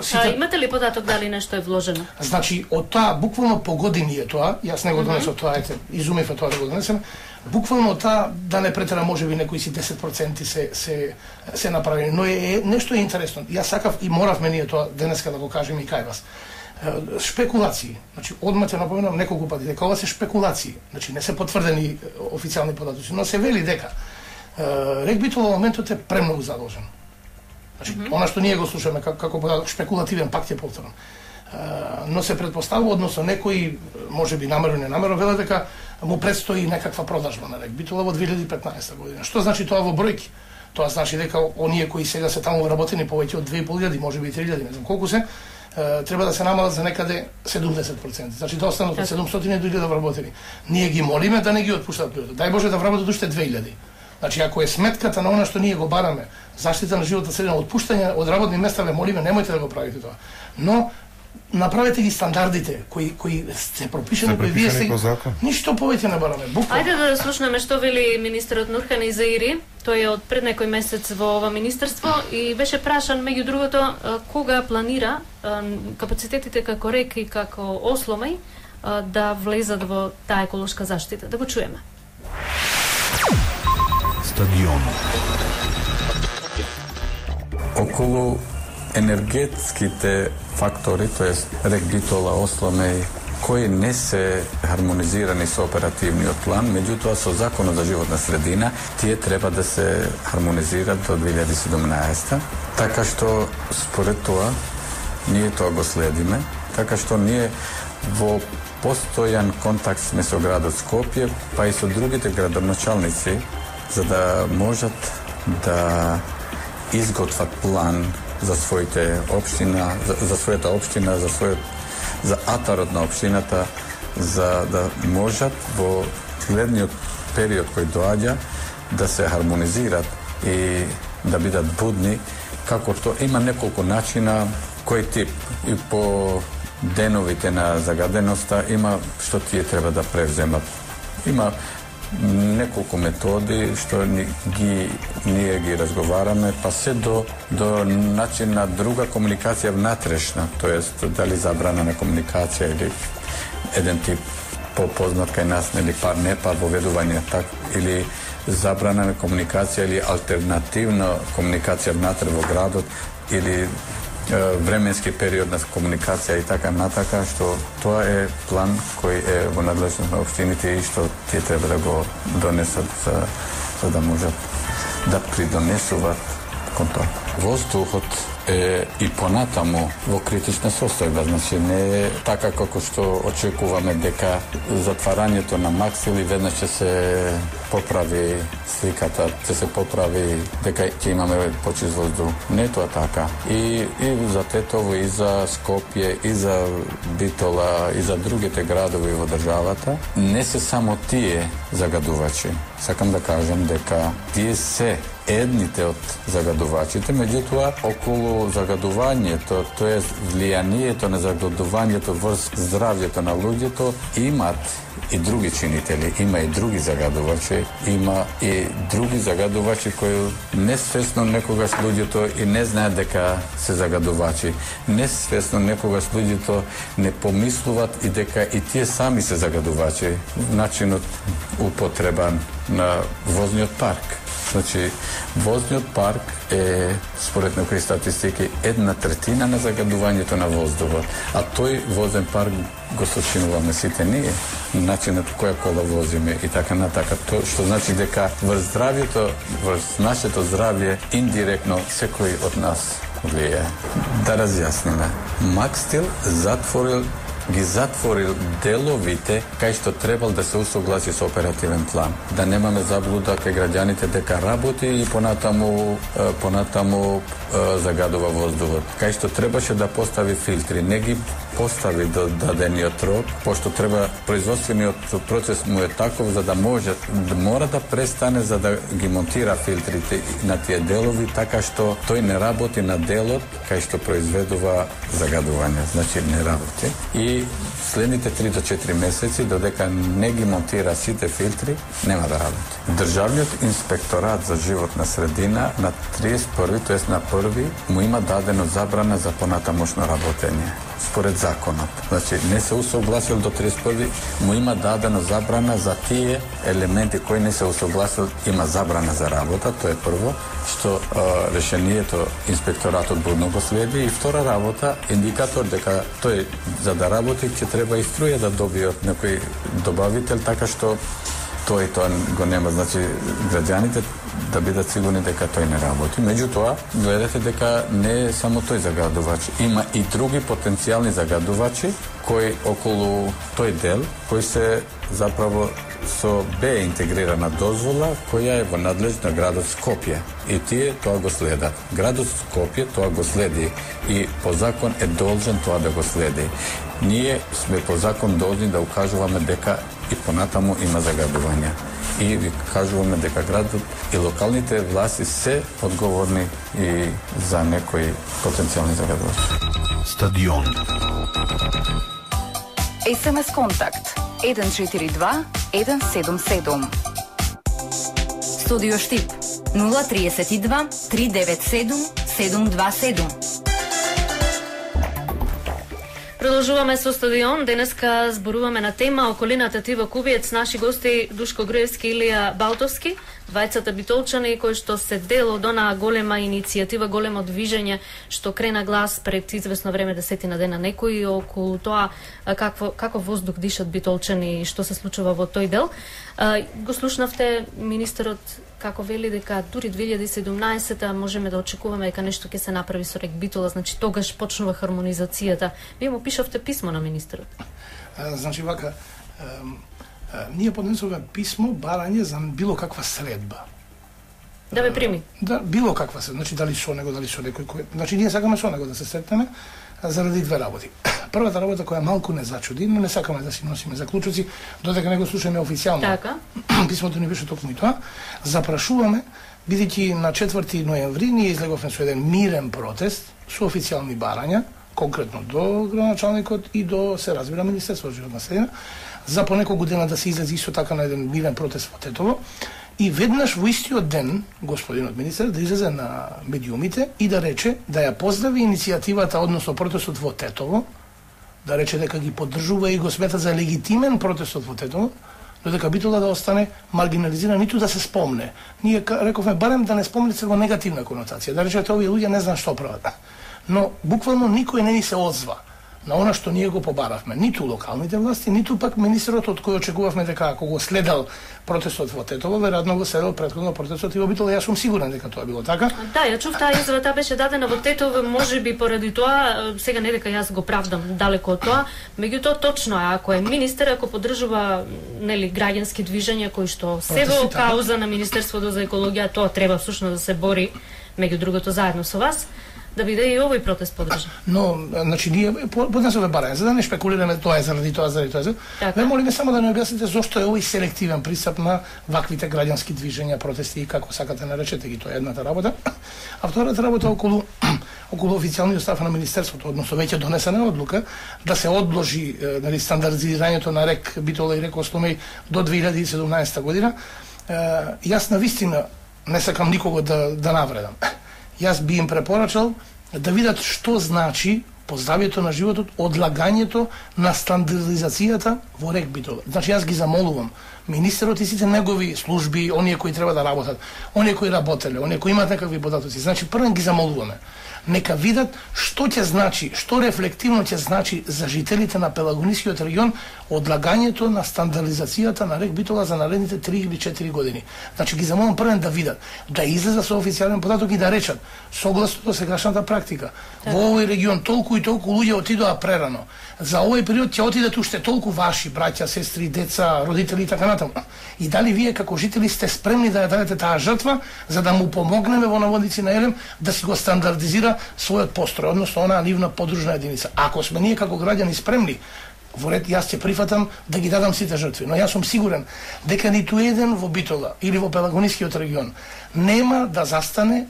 сите. А имате ли податок дали нешто е вложено? Значи од тоа буквално по години е тоа, јас не го донесов тоа, ете, изумив тоа да го донесем. Буквално тоа да не претера можеби некои си десет проценти се се се направени, но е нешто е интересно. Јас сакав и моравме ние тоа денеска да го кажеме и кај вас. Шпекулации. Значи одма ќе напоменам неколку пати дека ова се шпекулации. Значи не се потврдени официјални податоци, но се вели дека РЕК Битола во моментот е премногу задолжен. Значи mm -hmm. она што ние го слушаме како, како податок шпекулативен, пак ќе повторам. Но се предпоставува, односно некои можеби намерно не намерно велат дека му предстои некаква продажба на РЕК Битола во две илјади и петнаесета година. Што значи тоа во бројки? Тоа значи дека оние кои сега се таму вработени повеќе од две и пол илјади, можеби и три илјади, не знам колку се, треба да се намалат за некаде седумдесет проценти. Значи да останат од седумстотини до илјада вработени. Ние ги молиме да не ги отпуштат луѓето. Дај Боже да вработат уште две илјади. Значи ако е сметката на она што ние го бараме, заштита на животот средина, отпуштање од работни места, ве молиме немојте да го правите тоа. Но направете ги стандардите кои кои се пропишани, кои вие се ништо повеќе не бараме. Буквално. Ајде да слушнеме што вели министерот Нурхан Изаири. Тој е од пред некој месец во ова министерство и беше прашан меѓу другото кога планира капацитетите како РЕК и како Осломеј да влезат во таа еколошка заштита. Да го чуеме. Стадион. Околу енергетските фактори, тоест РЕК Битола, Осломеј, кои не се хармонизирани со оперативниот план, меѓутоа со Законот за животна средина, тие треба да се хармонизират до две илјади и седумнаесета, така што според тоа ние тоа го следиме, така што ние во постојан контакт сме со градот Скопје, па и со другите градоначалници, за да можат да изготват план за своите општина, за, за својата општина, за својот за атарот на општината, за да можат во следниот период кој доаѓа да се хармонизират и да бидат будни, како тоа има неколку начина кој тип и по деновите на загаденоста има што тие треба да превземат. Има неколку методи што ни, ги, ние ги разговараме, па се до, до начин на друга комуникација внатрешна, тоест дали забрана на комуникација или еден тип попознат кај нас, нели пар не пар воведување так, или забрана на комуникација или алтернативна комуникација внатре во градот, или временски период на комуникација и така натака, што тоа е план кој е во надлежност на општините и што тие треба да го донесат за, за да можат да придонесуваат кон тоа. Воздухот е и понатаму во критична состојба, значи не е така како што очекуваме дека затварањето на Максил и веднаш ќе се поправи сликата, ќе се поправи дека ќе имаме почист воздух. Не е тоа така. И, и за Тетово, и за Скопје, и за Битола, и за другите градови во државата, не се само тие загадувачи. Сакам да кажам дека тие се едните од загадувачите, меѓутоа околу загадувањето, тоа е влијанието на загадувањето врз здравјето на луѓето, имат и други чинители, има и други загадувачи, има и други загадувачи кои несвесно некогаш луѓето и не знаат дека се загадувачи. Несвесно некогаш луѓето не помислуваат и дека и тие сами се загадувачи. Начинот употреба на возниот парк. Значи, возниот парк е, според некои статистики, една третина на загадувањето на воздухот. А тој возен парк го сочинуваме сите ние, начинот која кола возиме и така натака. То, што значи дека врз здравјето, врз нашето здравје, индиректно секој од нас влијае. Да разјасниме. Макстил затворил ги затворил деловите кај што требал да се усогласи со оперативен план. Да немаме заблуда кај граѓаните дека работи и понатаму понатаму загадува воздухот. Кај што требаше да постави филтри, не ги постави до дадениот рок, пошто треба производствениот процес му е таков за да може да мора да престане за да ги монтира филтрите на тие делови така што тој не работи на делот кај што произведува загадување, значи не работи. И следните три до четири месеци додека не ги монтира сите филтри, нема да работи. Државниот инспекторат за животна средина на триесет и први, тоест на први, му има дадено забрана за понатамошно работење според законот. Значи, не се усогласил до триесет и први, му има дадено забрана за тие елементи кои не се усогласил, има забрана за работа, тоа е прво, што а, решението инспекторатот будно го следи, и втора работа, индикатор дека тој за да работи ќе треба и струја да добие од некој добавител, така што тој тоа го нема, значи граѓаните да бидат сигурни дека тој не работи. Меѓутоа, гледате дека не е само тој загадувач, има и други потенцијални загадувачи кои околу тој дел, кои се заправо со Б интегрирана дозвола која е во надлежност на градот Скопје. И тие тоа го следат. Градот Скопје тоа го следи и по закон е должен тоа да го следи. Ние сме по закон должни да укажуваме дека и понатаму има загадување. И ви кажуваме дека градот и локалните власти се одговорни и за некои потенцијални загадувачи. Стадион. ес ем ес контакт еден четири два еден седум седум. Студио Штип нула триесет и два три девет седум седум два седум. Продолжуваме со Стадион. Денеска зборуваме на тема околината Тива Кубиец. Наши гости Душко Груевски и Илија Балтовски, двајцата битолчани кои што се дел од онаа голема иницијатива, големо движење што крена глас пред известно време, десетина дена некои, околу тоа какво како воздух дишат битолчани и што се случува во тој дел. Го слушнавте министерот како вели дека дури две илјади и седумнаесета можеме да очекуваме дека нешто ќе се направи со рек Битола, значи тогаш почнува хармонизацијата. Вие му пишавте писмо на министерот. А, значи вака, а, а, ние поднесуваме писмо барање за било каква средба. Да ме прими. Да, било каква се, значи дали со него, дали со некој кој, значи ние сакаме со него да се сретнеме заради две работи. Првата работа која малку не зачуди, но не сакаме да си носиме заклучоци додека не го слушаме официјално. Така. Писмото ни беше токму и тоа. Запрашуваме, бидејќи на четврти ноември ние излеговме со еден мирен протест со официјални барања, конкретно до градоначалникот и до, се разбира, Министерство за животна средина, за по неколку дена да се излезе исто така на еден мирен протест во Тетово. И веднаш во истиот ден, господинот министер, да излезе на медиумите и да рече, да ја поздрави иницијативата, односно протестот во Тетово, да рече дека ги поддржува и го смета за легитимен протестот во Тетово, додека Битола да остане маргинализиран, ниту да се спомне. Ние рековме барем да не спомнете во негативна конотација, да речете овие луѓе не знаат што прават. Но буквално никој не ни се одзва на она што ние го побаравме, ниту локалните власти, ниту пак министерот од кој очекувавме дека ако го следел протестот во Тетово, веројатно го следел претходно протестот и во Битола. Јас сум сигурен дека тоа било така. Да, ја чув таа изјава, таа беше дадена во Тетово, можеби поради тоа, сега не дека јас го правдам далеко од тоа, меѓутоа точно е, ако е министер, ако поддржува нели граѓански движења кои што се во кауза на Министерството за екологија, тоа треба всушност да се бори, меѓу другото заедно со вас, да биде и овој протест поддржан. Но, значи, ние поднесуваме барање, за да не шпекулираме тоа е заради тоа, заради тоа. Така. Ве молиме само да не објасните зошто е овој селективен пристап на ваквите граѓански движења, протести и како сакате наречете ги, тоа е едната работа. А втората работа околу околу официјалниот став на министерството, односно веќе донесена одлука да се одложи нели стандардизирањето на рек Битола и рек Осломеј до две илјади и седумнаесета година. Јас навистина не сакам никого да да навредам. Јас би им препорачал да видат што значи по здравјето на животот одлагањето на стандардизацијата во рек Битола. Значи јас ги замолувам министерот и сите негови служби, оние кои треба да работат, оние кои работеле, оние кои имаат некакви податоци. Значи првен ги замолуваме. Нека видат што ќе значи, што рефлективно ќе значи за жителите на Пелагонискиот регион одлагањето на стандардизацијата на рек Битола за наредните три или четири години. Значи ги замолувам првен да видат, да излезат со официјален податок и да речат согласно до сегашната практика. Во овој регион толку и толку луѓе отидоа прерано. за овој период ќе отидат уште толку ваши браќа, сестри, деца, родители и така натаму. И дали вие како жители сте спремни да ја дадете таа жртва за да му помогнеме во Наводници на Елем да си го стандардизира својот построј, односно онаа нивна подружна единица. Ако сме ние како граѓани спремни, во ред јас ќе прифатам да ги дадам сите жртви, но јас сум сигурен дека ниту еден во Битола или во Пелагонискиот регион нема да застане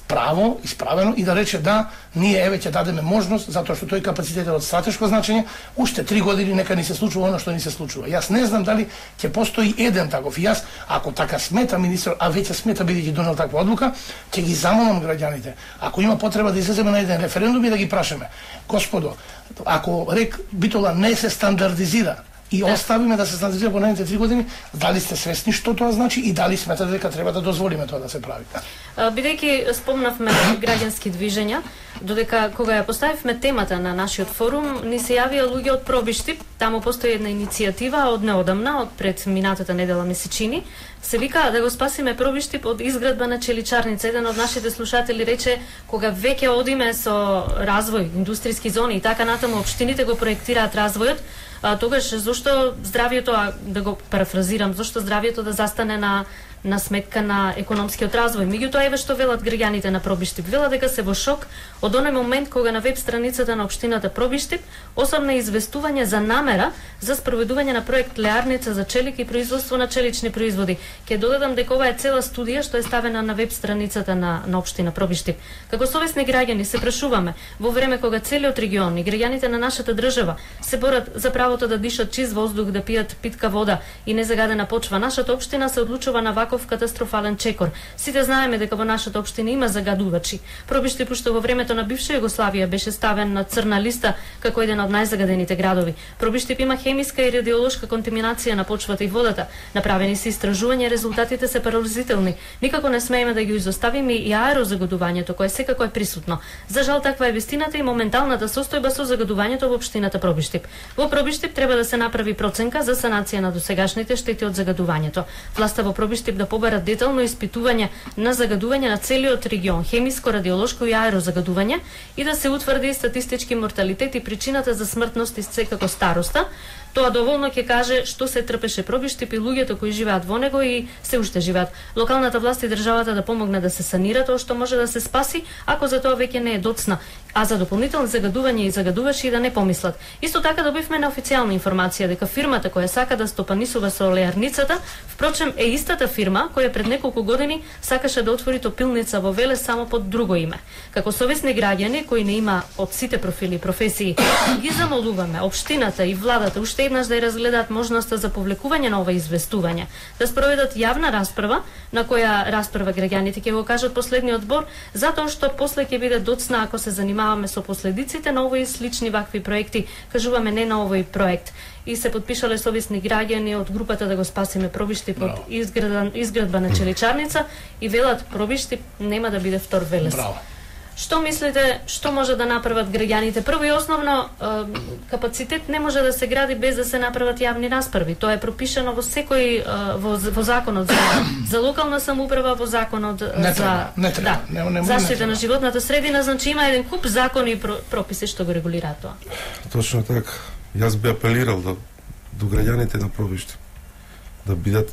право, исправено и да рече да, ние еве ќе дадеме можност, затоа што тој капацитет е од стратешко значење, уште три години нека ни се случува оно што ни се случува. Јас не знам дали ќе постои еден таков. И јас, ако така смета министер, а веќе смета бидејќи донел таква одлука, ќе ги замолам граѓаните. Ако има потреба да излеземе на еден референдум и да ги прашаме, господо, ако рек Битола не се стандардизира и да. Оставиме да се стандардизира по наредните три години, дали сте свесни што тоа значи и дали сметате дека треба да дозволиме тоа да се прави? Бидејќи спомнавме граѓански движења, додека кога ја поставивме темата на нашиот форум, ни се јавија луѓе од Пробиштип, таму постои една иницијатива од неодамна, од пред минатата недела ми се чини, се вика да го спасиме Пробиштип од изградба на челичарница. Еден од нашите слушатели рече, кога веќе одиме со развој, индустријски зони и така натаму, општините го проектираат развојот, а, тогаш зошто здравието, а, да го парафразирам, зошто здравието да застане на на сметка на економскиот развој. Меѓутоа еве што велат граѓаните на Пробиштип. Велат дека се во шок од оној момент кога на веб страницата на општината Пробиштип осамна известување за намера за спроведување на проект Леарница за челик и производство на челични производи. Ќе додадам дека ова е цела студија што е ставена на веб страницата на на општина Пробиштип. Како совесни граѓани се прашуваме во време кога целиот регион и граѓаните на нашата држава се борат за правото да дишат чист воздух, да пијат питка вода и незагадена почва, нашата општина се одлучува на ваков катастрофален чекор. Сите знаеме дека во нашата општина има загадувачи. Пробиштип уште во времето на бивша Југославија беше ставен на црна листа како еден од најзагадените градови. Пробиштип има хемиска и радиолошка контаминација на почвата и водата. Направени се истражувања, резултатите се поразителни. Никако не смееме да ги изоставиме и аерозагадувањето кое секако е присутно. За жал таква е вистината и моменталната состојба со загадувањето во општината Пробиштип. Во Пробиштип треба да се направи проценка за санација на досегашните штети од загадувањето. Власта во Пробиштип да побарат детално испитување на загадување на целиот регион, хемиско, радиолошко и аерозагадување и да се утврди статистички морталитет и причината за смртност и секако староста. Тоа доволно ќе каже што се трпеше Пробиштип и луѓето кои живеат во него и се уште живеат. Локалната власт и државата да помогне да се санира тоа што може да се спаси, ако за тоа веќе не е доцна, а за дополнителни загадувања и загадувачи да не помислат. Исто така добивме неофицијална информација дека фирмата која сака да стопанисува со леарницата, впрочем е истата фирма која пред неколку години сакаше да отвори топилница во Велес само под друго име. Како совесни граѓани кои не има од сите профили и професии, ги замолуваме општината и владата уште еднаш да ја разгледаат можноста за повлекување на ова известување, да спроведат јавна расправа, на која расправа граѓаните ќе го кажат последниот збор, затоа што после ќе биде доцна ако се занимаваме со последиците на овој слични вакви проекти, кажуваме не на овој проект. И се подпишале совесни граѓани од групата да го спасиме Пробиштип од изградба, изградба на челичарница и велат Пробиштип нема да биде втор Велес. Браво. Што мислите, што може да направат граѓаните? Прво и основно, капацитет не може да се гради без да се направат јавни расправи. Тоа е пропишано во секој во, во законот за, за локална самоуправа, во законот не за треба, не треба, да, не, не, заштита не на животната средина, значи има еден куп закони и прописи што го регулираат тоа. Точно така. Јас би апелирал да, до граѓаните на Пробиштип да бидат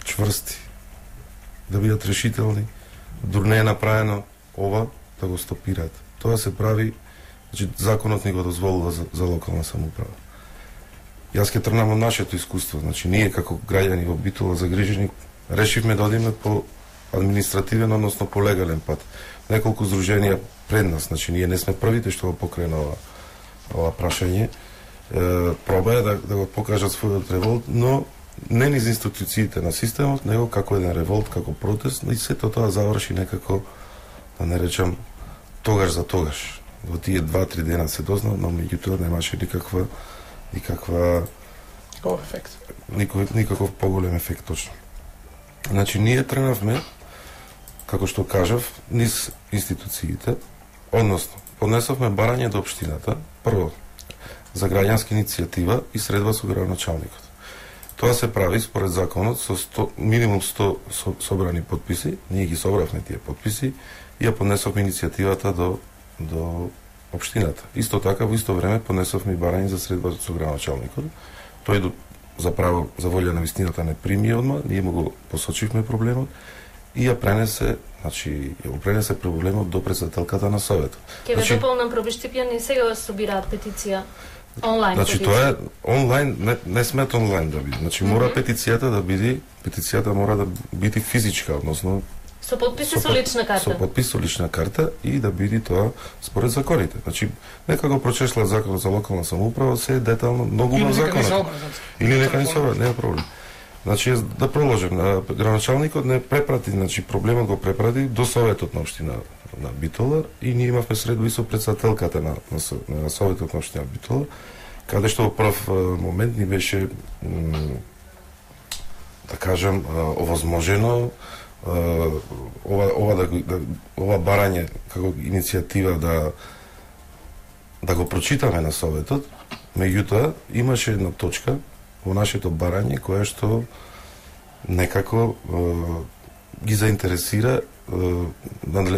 чврсти, да бидат решителни, дур не е направено ова, да го стопираат. Тоа се прави, значи законот ни го дозволува за, за локална самоуправа. Јас ќе тргнам од нашето искуство, значи ние како граѓани во Битола загрижени решивме да одиме по административен, односно по легален пат. Неколку здруженија пред нас, значи ние не сме првите што го покрена ова, ова прашање. Е, проба е да, да го покажат својот револт, но не низ институциите на системот, него како еден револт, како протест, и сето тоа заврши некако, да не речам, тогаш за тогаш. Во тие два-три дена се дознал, но меѓутоа немаше никаква никаква Никаков ефект. Никаков, никаков поголем ефект точно. Значи ние тренавме, како што кажав, низ институциите, односно поднесовме барање до општината, прво за граѓанска иницијатива и средба со градоначалникот. Тоа се прави според законот со сто, минимум сто со, собрани подписи, ние ги собравме тие подписи и ја поднесовме иницијативата до до општината. Исто така во исто време понесовме и барање за средба со градоначалникот. Тој заправо за волја на вистината не прими одма, ние му го посочивме проблемот и ја пренесе, значи ја го пренесе проблемот до председателката на советот. Ке ве значи, дополнам пробиштипјани сега собираат петиција онлайн. Значи петиција. тоа е онлайн, не, не смет онлайн да биде. Значи мора mm -hmm. петицијата да биде, петицијата мора да биде физичка, односно со подпис и со лична карта. Со подпис со лична карта и да биде тоа според законите. Значи нека го прочешла законот за локална самоуправа, се е детално многу во законот. Или нека не се образи, нема проблем. Значи да проложим, градоначалникот не препрати, значи проблемот го препрати до советот на општина на Битола и ние имавме средба и со председателката на, на, на советот на општина Битола, каде што во прв момент ни беше да кажам овозможено ова ова да, да ова барање како иницијатива да да го прочитаме на советот. Меѓутоа имаше една точка во нашето барање која што некако е, ги заинтересира е,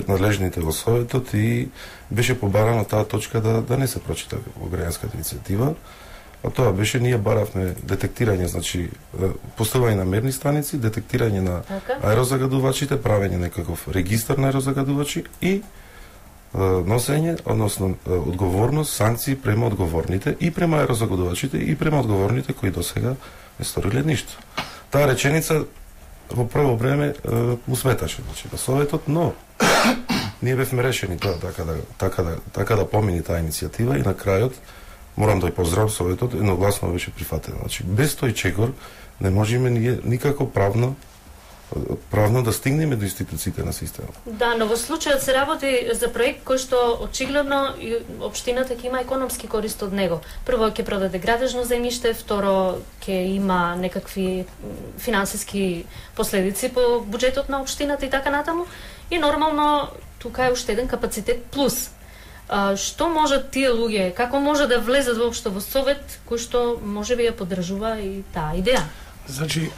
надлежните во советот и беше побарано таа точка да да не се прочита во граѓанската иницијатива. А тоа беше, ние баравме детектирање, значи поставање на мерни станици, детектирање на аерозагадувачите, правење некаков регистар на аерозагадувачи и е, носење, односно е, одговорност, санкции према одговорните и према аерозагадувачите и према одговорните кои досега не сториле ништо. Таа реченица во прво време е, му сметаше, значи, на советот, но ние бевме решени тоа така да така да така да помини таа иницијатива и на крајот морам да ја поздравам советот, едногласно беше прифатено. Значи без тој чекор не можеме ние никако правно правно да стигнеме до институциите на системот. Да, но во случајот се работи за проект кој што очигледно општината ќе има економски корист од него. Прво ќе продаде градежно земјиште, второ ќе има некакви финансиски последици по буџетот на општината и така натаму. И нормално тука е уште еден капацитет плюс. А, што можат тие луѓе, како може да влезат воопшто во совет кој што можеби ја поддржува и таа идеја? Значи,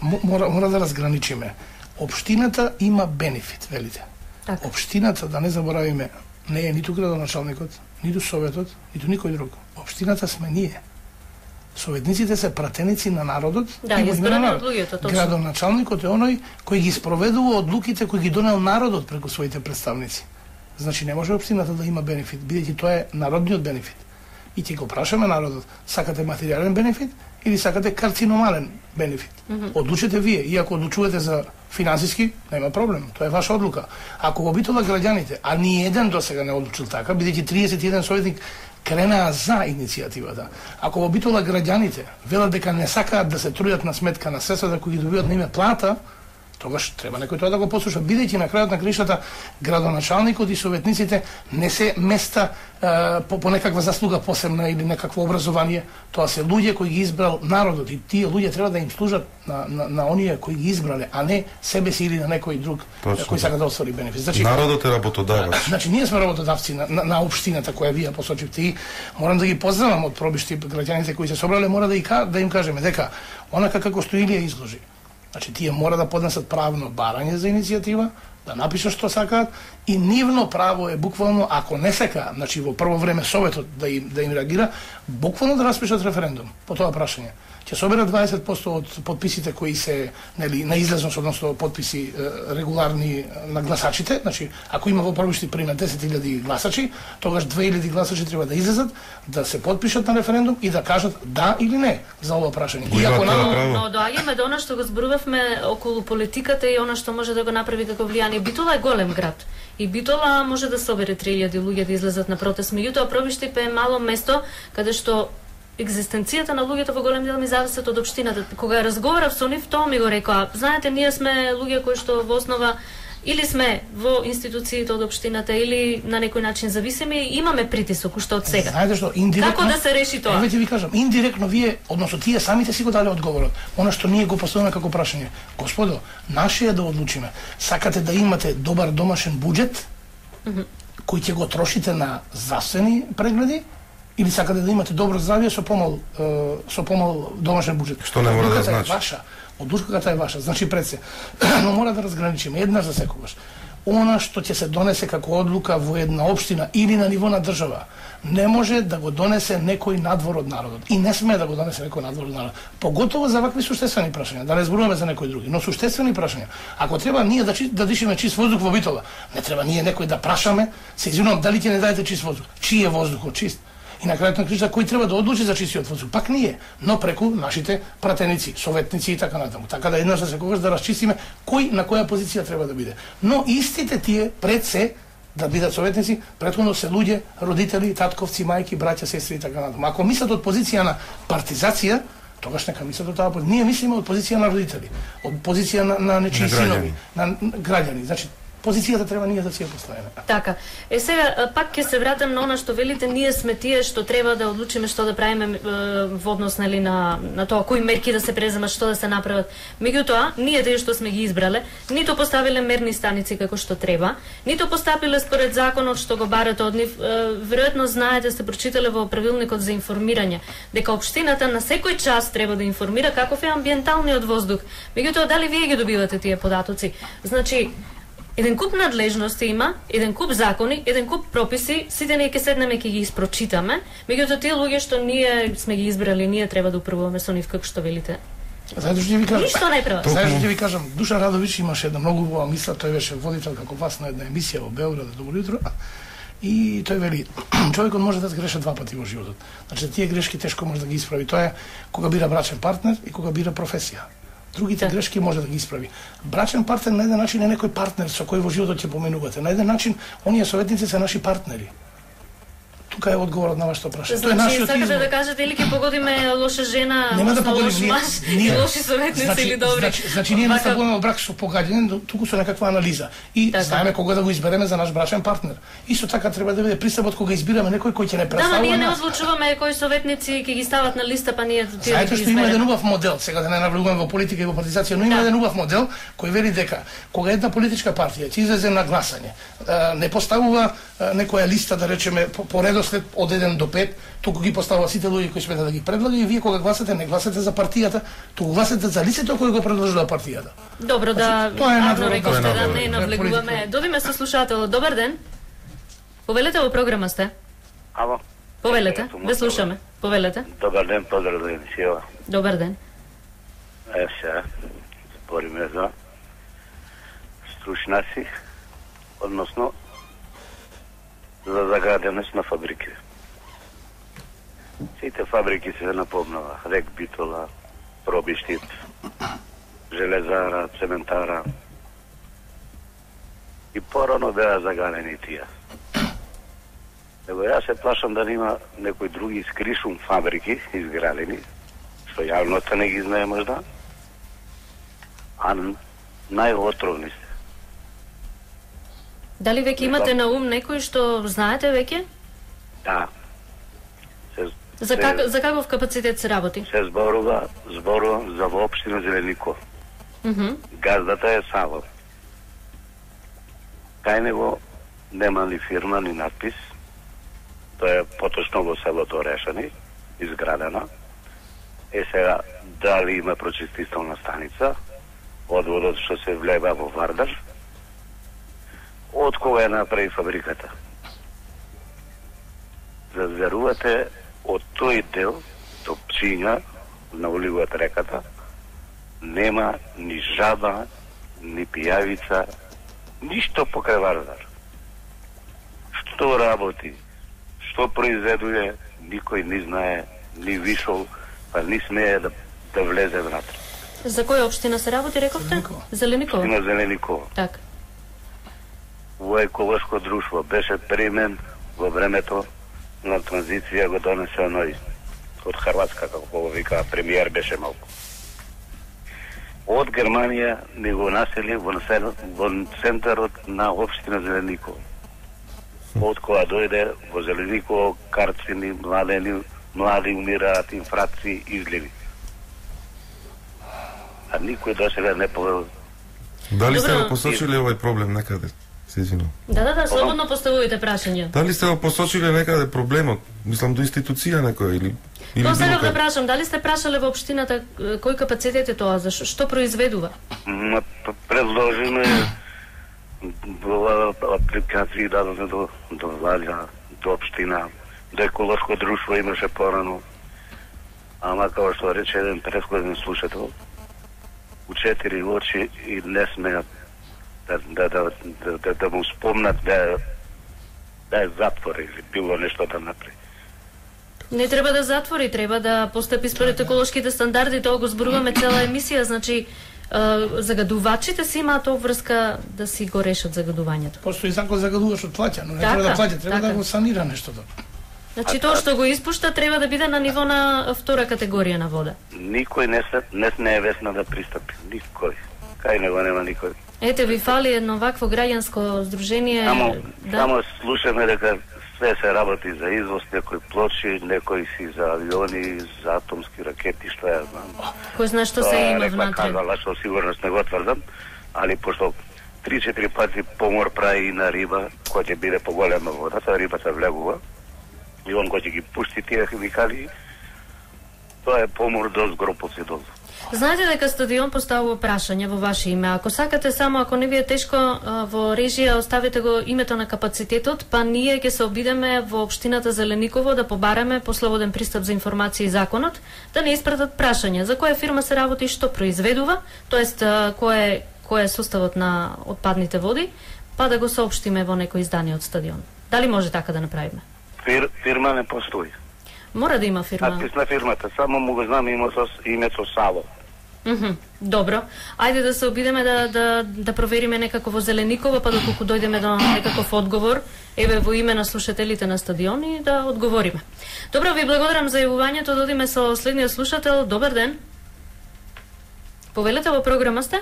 мора, мора да разграничиме. Општината има бенефит, велите. Так. Општината, да не заборавиме, не е ниту градоначалникот, ниту советот, ниту никој друг. Општината сме ние. Советниците се пратеници на народот. Да, избрани од луѓето, точно. Градоначалникот е оној кој ги спроведува одлуките кои ги донел народот преку своите представници. Значи не може општината да има бенефит, бидејќи тоа е народниот бенефит. И ќе го прашаме народот, сакате материјален бенефит или сакате карциномален бенефит? Mm -hmm. Одлучете вие, и ако одлучувате за финансиски, нема проблем, тоа е ваша одлука. Ако го битола граѓаните, а ни еден досега не одлучил така, бидејќи триесет и еден советник кренаа за иницијативата. Ако во битола граѓаните велат дека не сакаат да се трудат на сметка на средствата кои ги добиваат на име плата, тогаш треба некој тоа да го послуша, бидејќи на крајот на кришата градоначалникот и советниците не се места е, по, по некаква заслуга посебна или некакво образование, тоа се луѓе кои ги избрал народот и тие луѓе треба да им служат на, на, на оние кои ги избрале, а не себе си или на некој друг точно, кој сака да оствари бенефит. Значи, народот е работодавач. Значи ние сме работодавци на, на, на општината која вие посочивте и морам да ги поздравам од пробишти граѓаните кои се собрале, мора да, и, да им кажеме дека онака како што Илија изложи. Значи, тие мора да поднесат правно барање за иницијатива, да напишат што сакаат и нивно право е буквално, ако не сека, значи во прво време советот да им, да им реагира, буквално да распишат референдум по тоа прашање. Ќе соберат дваесет проценти од подписите кои се, нели, на излезност, односно подписи е, регуларни на гласачите, значи ако има во Пробишти пример десет илјади гласачи, тогаш две илјади гласачи треба да излезат, да се подпишат на референдум и да кажат да или не за ова прашање. И ако на... Но доаѓаме до она што го зборувавме околу политиката и она што може да го направи како влијание. Битола е голем град. И Битола може да собере три илјади луѓе да излезат на протест. Меѓутоа Пробишти е мало место каде што екзистенцијата на луѓето во голем дел ми зависат од општината. Кога разговарав со нив, тоа ми го рекоа. Знаете, ние сме луѓе кои што во основа или сме во институциите од општината или на некој начин зависими и имаме притисок уште од сега. Знаете што, индиректно како да се реши тоа? Еве ти ви кажам, индиректно вие, односно тие самите си го дале одговорот. Она што ние го поставуваме како прашање. Господо, наше е да одлучиме. Сакате да имате добар домашен буџет mm -hmm. кој ќе го трошите на здравствени прегледи или сакате да имате добро здравје со помал со помал домашен буџет? Што не мора да значи? Ваша. Одлуката е ваша, значи пред се. Но мора да разграничиме еднаш за секогаш. она што ќе се донесе како одлука во една општина или на ниво на држава, не може да го донесе некој надвор од народот. И не смее да го донесе некој надвор од народот. Поготово за вакви суштествени прашања, да не зборуваме за некои други, но суштествени прашања. Ако треба ние да, да дишиме чист воздух во Битола, не треба ние некој да прашаме, се извинувам, дали ќе не дадете чист воздух. Чиј е воздухот чист? И на крајот на кришта кој треба да одлучи за чистиот воздух? Пак ние, но преку нашите пратеници, советници и така натаму. Така да еднаш за секогаш да расчистиме кој на која позиција треба да биде. Но истите тие пред се да бидат советници, претходно се луѓе, родители, татковци, мајки, браќа, сестри и така натаму. Ако мислат од позиција на партизација, тогаш нека мислат од таа позиција. Ние мислиме од позиција на родители, од позиција на, на нечии синови, на граѓани. Значи, позицијата треба ние да си ја поставиме. Така. Е сега пак ќе се вратам на она што велите, ние сме тие што треба да одлучиме што да правиме во однос нели на на тоа кои мерки да се преземат, што да се направат. Меѓутоа, ние тие што сме ги избрале, нито поставиле мерни станици како што треба, нито постапиле според законот што го барате од нив. Веројатно знаете, сте прочитале во правилникот за информирање дека општината на секој час треба да информира каков е амбиенталниот воздух. Меѓутоа, дали вие ги добивате тие податоци? Значи, еден куп надлежности има, еден куп закони, еден куп прописи, сите ние ќе седнеме ќе ги испрочитаме, меѓутоа тие луѓе што ние сме ги избрали, ние треба да управуваме со нив како што велите. Знаете што ќе ви кажам? Ништо не прават. Знаете што ќе ви кажам? Душан Радович имаше една многу убава мисла, тој беше водител како вас на една емисија во Белград, Добро утро. И тој вели, човекот може да сгреше два пати во животот. Значи тие грешки тешко може да ги исправи. Тоа е кога бира брачен партнер и кога бира професија. Другите да. грешки може да ги исправи. Брачен партнер на еден начин е некој партнер со кој во животот ќе поменувате. На еден начин, оние советници се наши партнери. Тука е одговорот на вашето прашање. Значи, тоа е нашиот избор. Сакате да кажете или ќе погодиме лоша жена, нема да погодиме лош маж, ние, лоши советници значи, или добри. Значи, значи ние не ставуваме брак со погаѓање, туку со некаква анализа. И така. Знаеме кога да го избереме за наш брачен партнер. Исто така треба да биде пристапот кога избираме некој кој ќе не представува. Да, ние не одлучуваме кои советници ќе ги стават на листа, па ние тие. Знаете што има еден убав модел, сега да не навлегуваме во политика и во партизација, но има да. еден убав модел кој вели дека кога една политичка партија ќе излезе на гласање, не поставува некоја листа, да речеме, по редослед од еден до пет, туку ги поставува сите луѓе кои смета да ги предлага и вие кога гласате не гласате за партијата, туку гласате за лицето кој го предложила партијата. Добро, да, тоа е надвор, рековте да не навлегуваме. Добиме со слушател. Добар ден. Повелете во програма сте. Ало. Повелете, ве слушаме. Повелете. Добар ден, поздрав за емисија. Добар ден. Е, сега, спориме за стручнаци, односно за загаденост на фабрики. Сите фабрики се напомнува. Рек Битола, Пробиштит, Железара, Цементара. И порано беа загалени тие. Ево јас се плашам да нема некои други скришум фабрики изградени, што јавноста не ги знае можда, а најотровни се. Дали веќе имате на ум некој што знаете веќе? Да. Се, за, как, се, за каков капацитет се работи? Се зборува, зборува за во општина Зеленико. Mm -hmm. Газдата е Саво. Кај него нема ни фирма, ни надпис. Тоа е поточно во селото Решани, изградена. Е сега, дали има прочистителна станица, одводот што се влева во Вардар, од кога е направи фабриката. Зазерувате од тој дел до Пчиња, на уливот реката, нема ни жаба, ни пијавица, ништо покрај Вардар. Што работи, што произведува, никој не знае, ни вишол, па не смее да, да влезе внатре. За која општина се работи, рековте? Зелениково. Општина Зелениково. Так. Во еколошко друштво беше примен во времето на транзиција, го донесе оној од Хрватска, како го вика, премиер беше малку. Од Германија ни го насели во, во центарот на општина Зелениково. Од кога дојде во Зелениково, карцини, младени, млади умираат, инфракции, изливи. А никој до сега не повел. Дали сте го посочиле овој проблем некаде? Се извинувам. Да, да, да, слободно поставувате прашања. Дали сте го посочиле некаде проблемот? Мислам до институција некоја или или Но сега да прашам, дали сте прашале во општината кој капацитет е тоа, за што произведува? Ма предложиме апликации дадоме до, до Валја, до општина, до еколошко друштво имаше порано. Ама, како што рече еден претходен слушател, у четири очи и не смеат да, да, да, да, да, да му спомнат да, да е затвор или било нешто да направи. Не треба да затвори, треба да постапи според еколошките стандарди, тоа го зборуваме цела емисија, значи загадувачите си имаат обврска да си го решат загадувањето. Постои закон загадуваш од плаќа, но не така, треба да плаќа, треба така. да го санира нештото. Значи тоа што го испушта треба да биде на ниво на втора категорија на вода. Никој не се не, не е весна да пристапи, никој. Кај него нема никој. Ете ви фали едно вакво граѓанско здружение. Само, да. само слушаме дека све се работи за извоз, некои плочи, некои си за авиони, за атомски ракети, што ја знам. Кој знае што се има внатре. Тоа казала, со сигурност не го тврдам, али пошто три-четири пати помор прави и на риба, која ќе биде поголема водата, рибата влегува, и он кој ќе ги пушти тие химикали, тоа е помор до згропоци дозу. Знаете дека стадион поставува прашање во ваше име. Ако сакате само, ако не ви е тешко, во режија оставите го името на капацитетот, па ние ќе се обидеме во општината Зелениково да побараме по слободен пристап за информација и законот, да не испратат прашање за која фирма се работи и што произведува, тоест кој е кој е составот на отпадните води, па да го соопштиме во некој издание од стадион. Дали може така да направиме? Фир, фирма не постои. Мора да има фирма. Надпис на фирмата, само му го знам името, името Саво. Mm -hmm. Добро. Ајде да се обидеме да, да, да провериме некако во Зелениково, па доколку дојдеме до некаков одговор, еве во име на слушателите на стадион и да одговориме. Добро, ви благодарам за јавувањето, додиме со следниот слушател. Добар ден. Повелете во програма сте?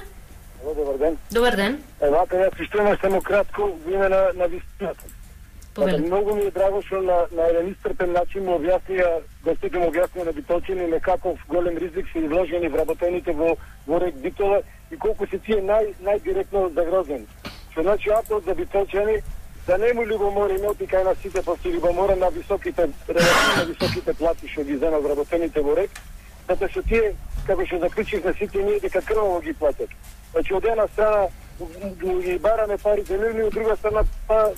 Добар ден. Добар ден. Е, вака ја пиштувам само кратко во име на, на вистината. Многу ми е драго што на, на еден истрпен начин му објаснија, гостите му објаснија на битолчани на каков голем ризик се изложени вработените во, во рек Битола и колку се тие нај, најдиректно загрозени. Што значи апел за битолчани да не му љубомориме кај на сите после љубомора на високите, релативно на високите плати што ги земат вработените во рек, затоа што тие, како што заклучивме сите ние, дека крваво ги платат. Значи од една страна ги бараме парите нивни, од друга страна па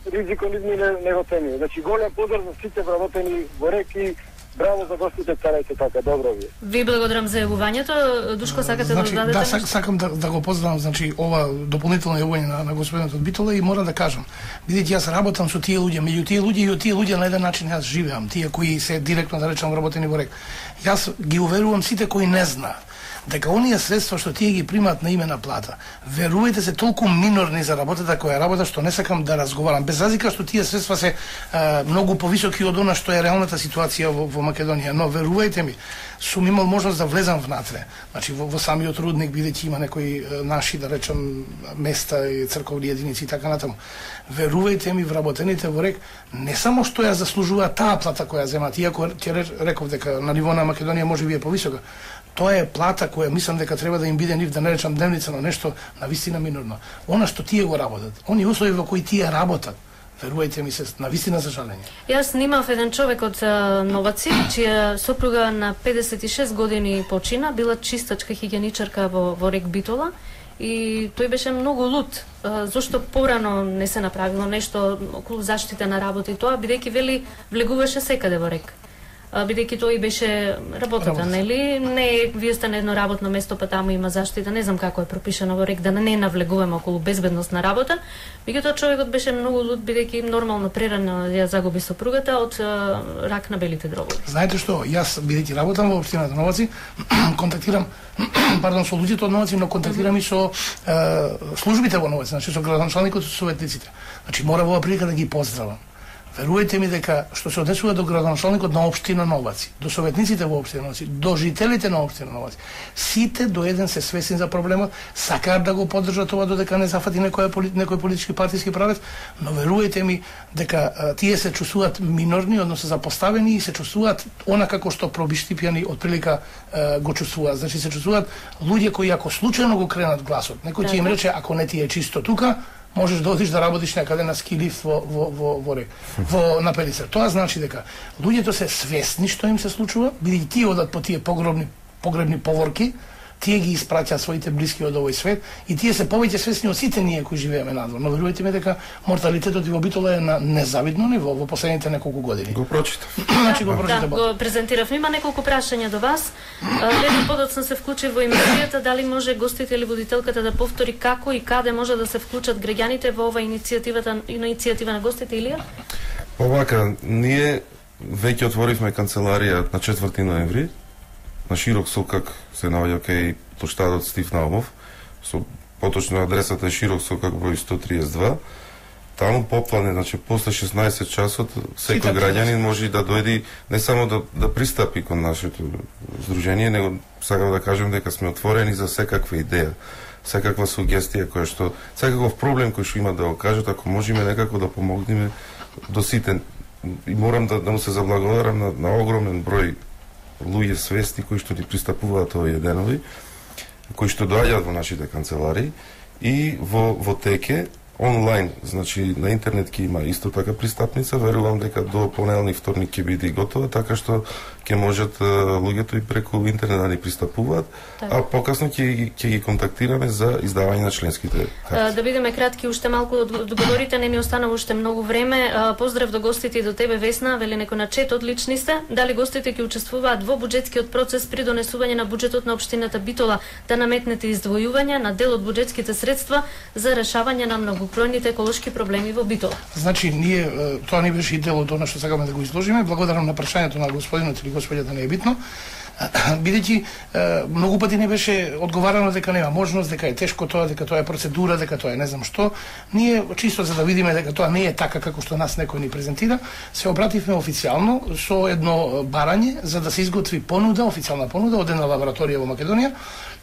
ризикот нивни не, не го цени. Значи голем поздрав за сите вработени во рек и браво за гостите, карајте така, добро ви. Ви благодарам за јавувањето. Душко, сакате значи, да дадете? Да, сак, сакам да, да го поздравам, значи ова дополнително јавување на, на господинот од Битола и мора да кажам, бидејќи јас работам со тие луѓе, меѓу тие луѓе и од тие луѓе на еден начин јас живеам, тие кои се директно да речам вработени во рек. Јас ги уверувам сите кои не знаат дека оние средства што тие ги примаат на име на плата, верувајте се толку минорни за работата која работа што не сакам да разговарам, без разлика што тие средства се а, многу повисоки од она што е реалната ситуација во, во Македонија, но верувајте ми, сум имал можност да влезам внатре, значи во, во самиот рудник, бидејќи има некои наши, да речам, места и црковни единици и така натаму. Верувајте ми, вработените во рек не само што ја заслужуваат таа плата која земат, иако ќе реков дека на ниво на Македонија може би е повисока, тоа е плата која мислам дека треба да им биде нив, да не речам дневница, но нешто на вистина минорно. Она што тие го работат, они услови во кои тие работат, верувајте ми се, на вистина за жалење. Јас снимав еден човек од Новаци, чија сопруга на педесет и шест години почина, била чистачка хигиеничарка во, во рек Битола, и тој беше многу лут. Зошто порано не се направило нешто околу заштита на работа и тоа, бидејќи вели влегуваше секаде во рек. Бидејќи тој беше работата, Работа. нели? Не, вие сте на едно работно место, па таму има заштита, не знам како е пропишано во рек, да не навлегуваме околу безбедност на работа. Меѓутоа човекот беше многу лут, бидејќи нормално прерано ја загуби сопругата од рак на белите дробови. Знаете што, јас бидејќи работам во општината Новаци, контактирам, пардон, со луѓето од Новаци, но контактирам и со е, службите во Новаци, значи со градоначалникот и со советниците. Значи мора во прилика да ги поздравам. Верувајте ми дека што се однесува до градоначалникот на општина Новаци, до советниците во општина Новаци, до жителите на општина Новаци, сите до еден се свесни за проблемот, сакаат да го поддржат ова додека не зафати некој некој политички партиски правец, но верувајте ми дека а, тие се чувствуваат минорни, односно запоставени и се чувствуваат она како што пробиштипјани од прилика а, го чувствуваат. Значи се чувствуваат луѓе кои ако случајно го кренат гласот, некој ќе им рече ако не ти е чисто тука, можеш да одиш да работиш некаде на ски лифт во во во во рек, во на Пелицар. Тоа значи дека луѓето се свесни што им се случува, бидејќи тие одат по тие погребни погребни поворки, тие ги испраќаат своите блиски од овој свет и тие се повеќе свесни од сите ние кои живееме надвор. Но верувајте ми дека морталитетот во Битола е на незавидно ниво во последните неколку години. Го прочитав. Значи го прочитав. Да, го презентирав. Има неколку прашања до вас. Леди подоцна се вклучи во емисијата, дали може гостите или водителката да повтори како и каде може да се вклучат граѓаните во ова иницијативата иницијатива на гостите, Илија? Овака, ние веќе отворивме канцеларија на четврти ноември на Широк сокак, се наоѓа кај плоштадот Стив Наумов, со поточно адресата е Широк сокак број сто триесет и два. Таму поплане, значи после шеснаесет часот секој граѓанин може да дојде не само да да пристапи кон нашето здружение, него сакам да кажем дека сме отворени за секаква идеја, секаква сугестија која што секаков проблем кој што има да го кажат, ако можеме некако да помогнеме до сите. И морам да, да му се заблагодарам на, на огромен број луѓе свесни кои што ни пристапуваат овие денови, кои што доаѓаат во нашите канцеларии и во во теке онлайн, значи на интернет ќе има исто така пристапница, верувам дека до понеделник, вторник ќе биде готова, така што ќе можат луѓето и преку интернет да ни пристапуваат, така. А покасно ќе ќе ги контактираме за издавање на членските карти. Да бидеме кратки, уште малку одговорите, не ни останува уште многу време. Поздрав до гостите и до тебе, Весна, вели некој на чет, одлични сте. Дали гостите ќе учествуваат во буџетскиот процес при донесување на буџетот на општината Битола, да наметнете издвојување на дел од буџетските средства за решавање на многобројните еколошки проблеми во Битола? Значи, ние, тоа не беше и дел од она што сакаме да го изложиме. Благодарам на прашањето на господинот или господјата, не е битно. Бидејќи многу пати не беше одговарано дека нема можност, дека е тешко тоа, дека тоа е процедура, дека тоа е не знам што. Ние чисто за да видиме дека тоа не е така како што нас некој ни презентира, се обративме официјално со едно барање за да се изготви понуда, официјална понуда од една лабораторија во Македонија.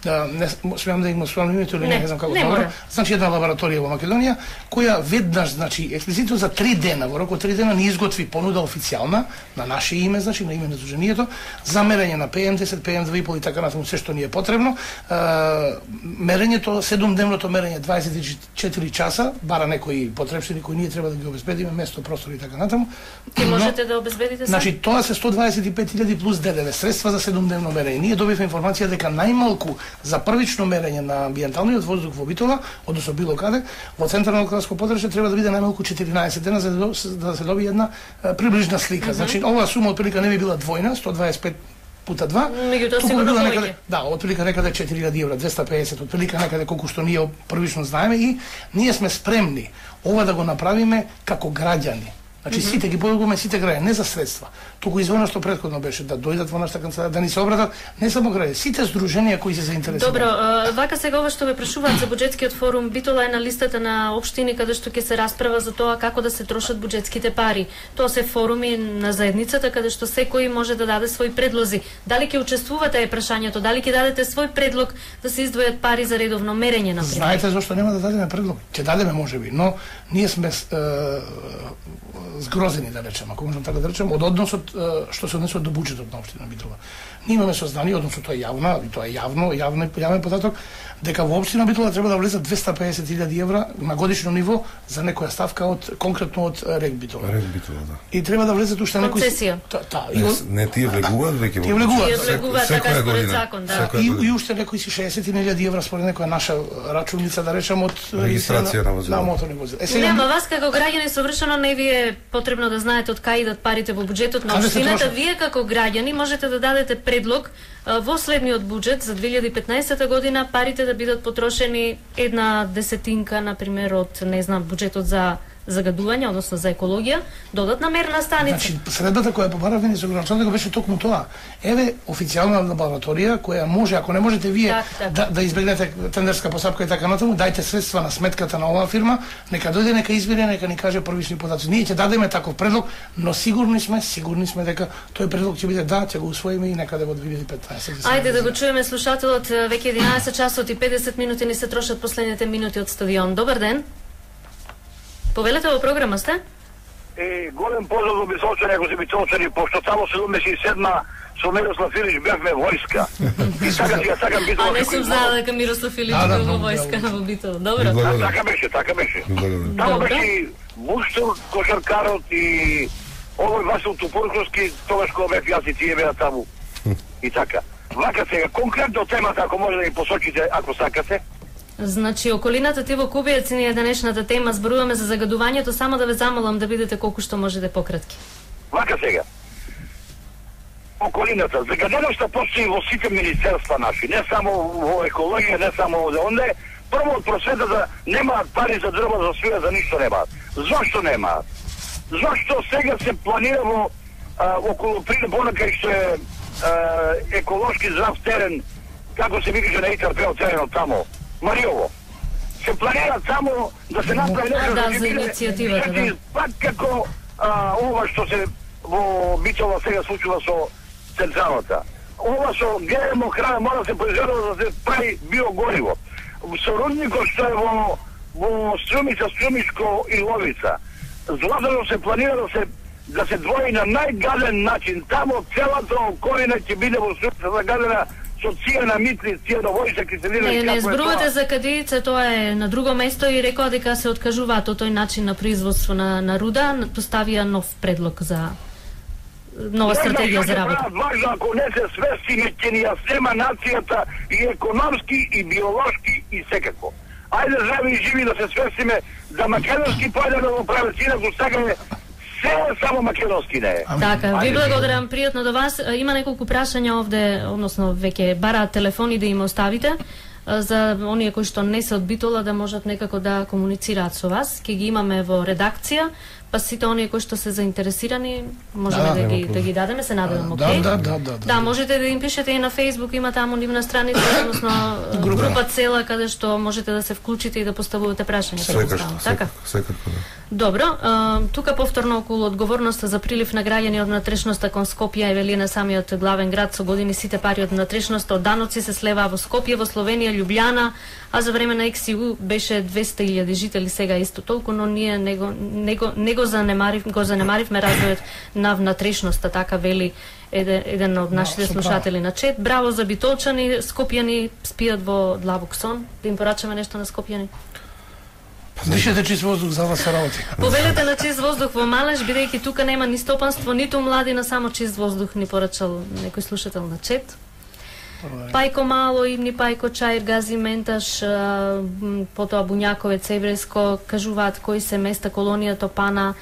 Не смеам да им спомнам името или не, не знам како тоа. Значи една лабораторија во Македонија која веднаш, значи експлицитно за три дена, во рок од три дена ни изготви понуда официјална на наше име, значи на име на здруженијето, за мерење на пе ем десет, пе ем две и пол и така натаму се што ни е потребно. Мерењето, седумдневното мерење дваесет и четири часа, бара некои потребштини кои ние треба да ги обезбедиме, место, простор и така натаму. Ке можете да обезбедите се? Значи тоа се сто дваесет и пет илјади плюс ДДВ средства за седумдневно мерење. Ние добивме информација дека најмалку за првично мерење на амбиенталниот воздух во Битола, односно било каде, во централно градско подрачје треба да биде најмалку четиринаесет дена за да се добие една приближна слика. Mm-hmm. Значи оваа сума отприлика не би била двојна, сто дваесет и пет пута два. Меѓутоа сигурно некаде, да, отприлика некаде четири илјади евра, двесте и педесет, отприлика некаде колку што ние првично знаеме и ние сме спремни ова да го направиме како граѓани. Значи mm -hmm. сите ги подготвуваме сите граѓани, не за средства. Туку извоно што претходно беше да дојдат во нашата канцеларија, да ни се обратат не само граѓани, сите здруженија кои се заинтересирани. Добро, вака сега ова што ме прашуваат за буџетскиот форум, Битола е на листата на општини каде што ќе се расправа за тоа како да се трошат буџетските пари. Тоа се форуми на заедницата каде што секој може да даде свои предлози. Дали ќе учествувате е прашањето, дали ќе дадете свој предлог да се издвојат пари за редовно мерење на пример? Знаете зошто нема да дадеме предлог? Ќе дадеме можеби, но ние сме е, згрозени, да речем, ако можам така да речем, од односот што се однесува до буџетот на општина Битола. Ние имаме сознание, односно тоа е јавно, и тоа е јавно, јавен, јавен податок, дека во општина Битола треба да влезат двесте и педесет илјади евра на годишно ниво за некоја ставка од конкретно од РЕК Битола. РЕК Битола, да. И треба да влезат уште некои концесија. Та, не, не тие влегуваат веќе во. Тие влегуваат, тие влегуваат така според закон, да. И, и уште некои си шеесет илјади евра според некоја наша рачуница, да речем, од регистрација на возила. На моторни возила. Е, сега нема вас како граѓани совршено не ви е потребно да знаете од кај идат парите во буџетот на општината. Вие како граѓани можете да дадете предлог во следниот буџет за две илјади и петнаесета година парите да бидат потрошени една десетинка, на пример, од не знам буџетот за загадување, односно за екологија, додатна мерна станица. Значи, средбата која побаравме ни со граѓаните беше токму тоа. Еве официјална лабораторија која може, ако не можете вие так, так. да, да избегнете тендерска постапка и така натаму, дајте средства на сметката на оваа фирма, нека дојде, нека извери, нека ни каже првични податоци. Ние ќе дадеме таков предлог, но сигурни сме, сигурни сме дека тој предлог ќе биде да, ќе го усвоиме и некаде во две илјади и петнаесета. Ајде да го чуеме слушателот, веќе единаесет часот и педесет минути ни се трошат последните минути од стадион. Добар ден. Повелете во програма сте? Е, голем поздрав до Бисолчани, ако се Бисолчани, пошто само седумдесет и седма со Мирослав Илич бевме војска. И така си ја сакам Битола. А не сум знала дека Мирослав Илич бил во војска во Битола. Добро. Така беше, така беше. Тамо беше Буштур, кошаркарот и овој Васил Тупурковски, тогаш кога бев јас и тие беа таму. И така. Вака сега, конкретно темата, ако може да ни посочите, ако сакате. Значи, околината ти во Кубијац ни е денешната тема, зборуваме за загадувањето, само да ве замолам да бидете колку што можете пократки. Вака сега. Околината, загаденоста постои во сите министерства наши, не само во екологија, не само во онде. Прво од просветата немаат пари за дрва, за свија, за ништо немаат. Зошто немаат? Зошто сега се планира во а, околу понакај што е а, еколошки здрав терен, како се викаше на ИТРП теренот тамо, Мариово. Се планира само да се направи нешто да, за иницијативата, да. Пак како а, ова што се во Битола сега случува со централата. Ова со ГМО храна мора да се произведе да се прави биогориво. Со рудникот што е во, во Струмица, Струмишко и Ловица. Златано се планира да се да се двои на најгаден начин. Тамо целата околина ќе биде во Струмица загадена со цијана митли, цијана војса, киселина. Не, не зборувате за кадијица, тоа е на друго место и рекоа дека се откажуваат од тој начин на производство на, на руда, поставија нов предлог за нова стратегија за работа. Важно, ако не се свестиме, ќе ни ја снема нацијата и економски, и биолошки, и секако. Ајде здрави и живи да се свестиме да македонски појде да го правят, инаку сакаме се само македонски не е. Така, ви благодарам, пријатно до вас. Има неколку прашања овде, односно веќе бараат телефони да им оставите за оние кои што не се од Битола да можат некако да комуницираат со вас. Ке ги имаме во редакција, па сите оние кои што се заинтересирани можеме да, да, ги, да ги дадеме, се надевам, окей? Да, да, да, да. Да, можете да им пишете и на Facebook, има таму нивна страница, односно група. група цела каде што можете да се вклучите и да поставувате прашања. Секако, така? Секако, да. Добро, а, тука повторно околу одговорноста за прилив на граѓани од внатрешноста кон Скопје и вели на самиот главен град, со години сите пари од внатрешноста од даноци се слеваа во Скопје, во Словенија, Љубљана, а за време на Икс И У беше двесте илјади жители, сега исто толку, но ние него него него занемарив, го занемаривме развојот на внатрешноста, така вели еден, еден од нашите слушатели на чет. Браво за битолчани, скопјани спијат во длабок сон. Да им порачаме нешто на скопјани. Дишете чист воздух за вас се работи. Повелете на чист воздух во Малеш, бидејќи тука нема ни стопанство, ниту младина, само чист воздух ни порачал некој слушател на чет. Пајко Мало, Ивни Пајко, Чаир, Гази Менташ, потоа Буњаковец, Еврејско, кажуваат кои се места, колонија Топана,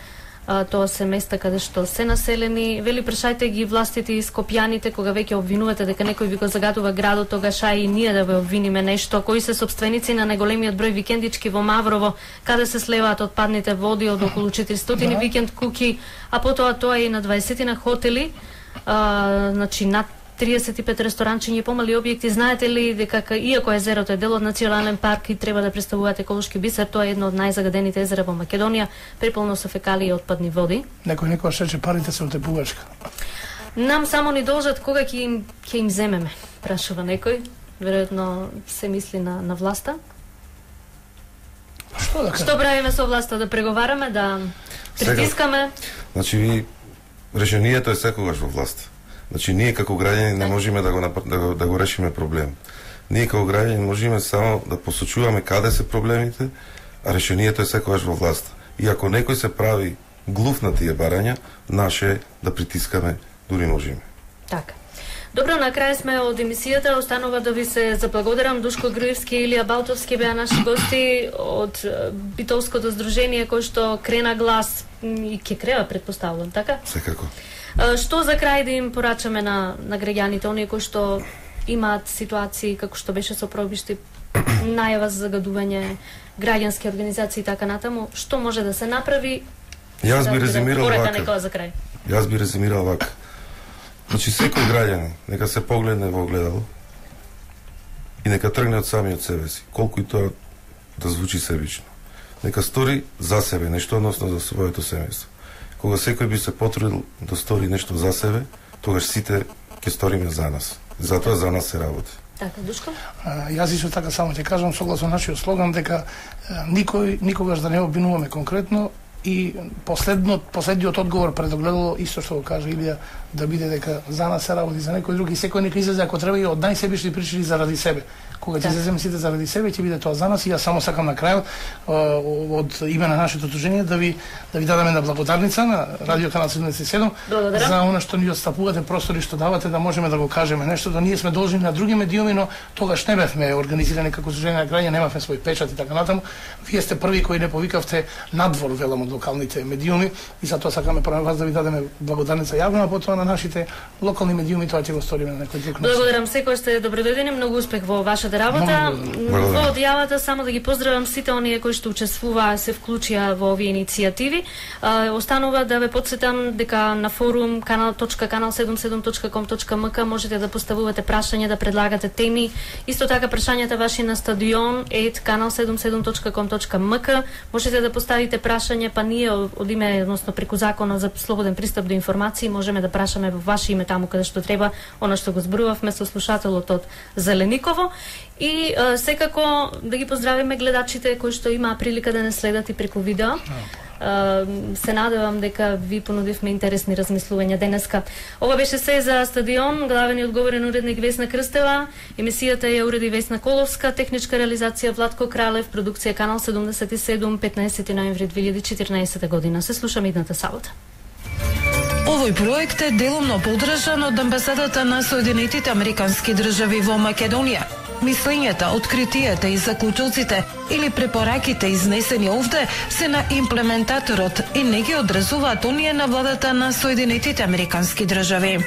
тоа се места каде што се населени. Вели, прашајте ги властите и скопјаните, кога веќе обвинувате дека некој ви го загадува градот, тогаш ај и ние да ве обвиниме нешто. Кои се собственици на најголемиот број викендички во Маврово, каде се слеваат отпадните води од околу четиристотини да. викенд куки, а потоа тоа и на дваесет хотели, а, значи над триесет и пет ресторанчиња и помали објекти. Знаете ли дека иако езерото е дел од национален парк и треба да представуваат еколошки бисер, тоа е едно од најзагадените езера во Македонија, преполно со фекалии и отпадни води. Некој некој шече парите се од тепувачка. Нам само ни должат кога ќе им ќе им земеме, прашува некој. Веројатно се мисли на на власта. Што да кажа? Што правиме со власта, да преговараме, да притискаме? Сега, значи ви решението е секогаш во власта. Значи ние како граѓани не можеме да го да го, да го решиме проблем. Ние како граѓани можеме само да посочуваме каде се проблемите, а решението е секогаш во власта. И ако некој се прави глув на тие барања, наше е да притискаме, дури можеме. Така. Добро, на крај сме од емисијата. Останува да ви се заблагодарам. Душко Груевски и Илија Балтовски беа наши гости од Битолското здружение кој што крена глас и ќе крева, претпоставувам, така? Секако. Што за крај да им порачаме на, на граѓаните, оние кои што имаат ситуации како што беше со пробишти, најава за загадување, граѓански организации и така натаму, што може да се направи? Јас би резимирал вака. За крај. Јас би резимирал вака. Значи секој граѓанин нека се погледне во огледало и нека тргне од самиот себе си, колку и тоа да звучи себично. Нека стори за себе нешто, односно за своето семејство. Кога секој би се потрудил да стори нешто за себе, тогаш сите ќе сториме за нас. Затоа за нас се работи. Така, Душко? А, јас исто така само ќе кажам, согласно нашиот слоган, дека а, никој, никогаш да не обвинуваме конкретно, И последно, последниот одговор пред огледало, исто што го кажа Илија, да биде дека за нас се работи, за некој друг и секој нека излезе ако треба и од најсебични причини заради себе. Кога ќе излеземе сите заради себе, ќе биде тоа за нас и јас само сакам на крајот од име на нашето удружение да ви да ви дадеме на благодарница на Радио Канал седумдесет и седум за она што ни отстапувате простори, што давате да можеме да го кажеме нешто, да ние сме должни на други медиуми, но тогаш не бевме организирани како удружение на граѓани, немавме свој печат и така натаму. Вие сте први кои не повикавте надвор велам од локалните медиуми и затоа сакаме прво вас да ви дадеме благодарница јавно, а потоа на нашите локални медиуми тоа ќе го сториме на некој друг начин. Благодарам секој сте добродојдени, многу успех во вашата работа. Во одјавата само да ги поздравам сите оние кои што учествуваа, се вклучија во овие иницијативи. Останува да ве потсетам дека на форум канал точка канал седумдесет и седум точка ком точка ем ка можете да поставувате прашања, да предлагате теми. Исто така прашањата ваши на стадион ет канал седумдесет и седум точка ком точка ем ка можете да поставите прашања, па ние од име, односно преку законот за слободен пристап до информации можеме да прашаме во ваше име таму каде што треба, она што го зборувавме со слушателот од Зелениково. И а, секако да ги поздравиме гледачите кои што имаа прилика да не следат и преку видео. Uh, се надевам дека ви понудивме интересни размислувања денеска. Ова беше се за стадион. Главен и одговорен уредник Весна Крстева. Емисијата ја уреди Весна Коловска, техничка реализација Владко Кралев, продукција Канал седумдесет и седум, петнаесети ноември две илјади и четирнаесета година. Се слушаме идната сабота. Овој проект е делумно поддржан од Амбасадата на Соединетите Американски држави во Македонија. Мислењата, откритијата и заклучоците или препораките изнесени овде се на имплементаторот и не ги одразуваат оние на владата на Соединетите Американски држави.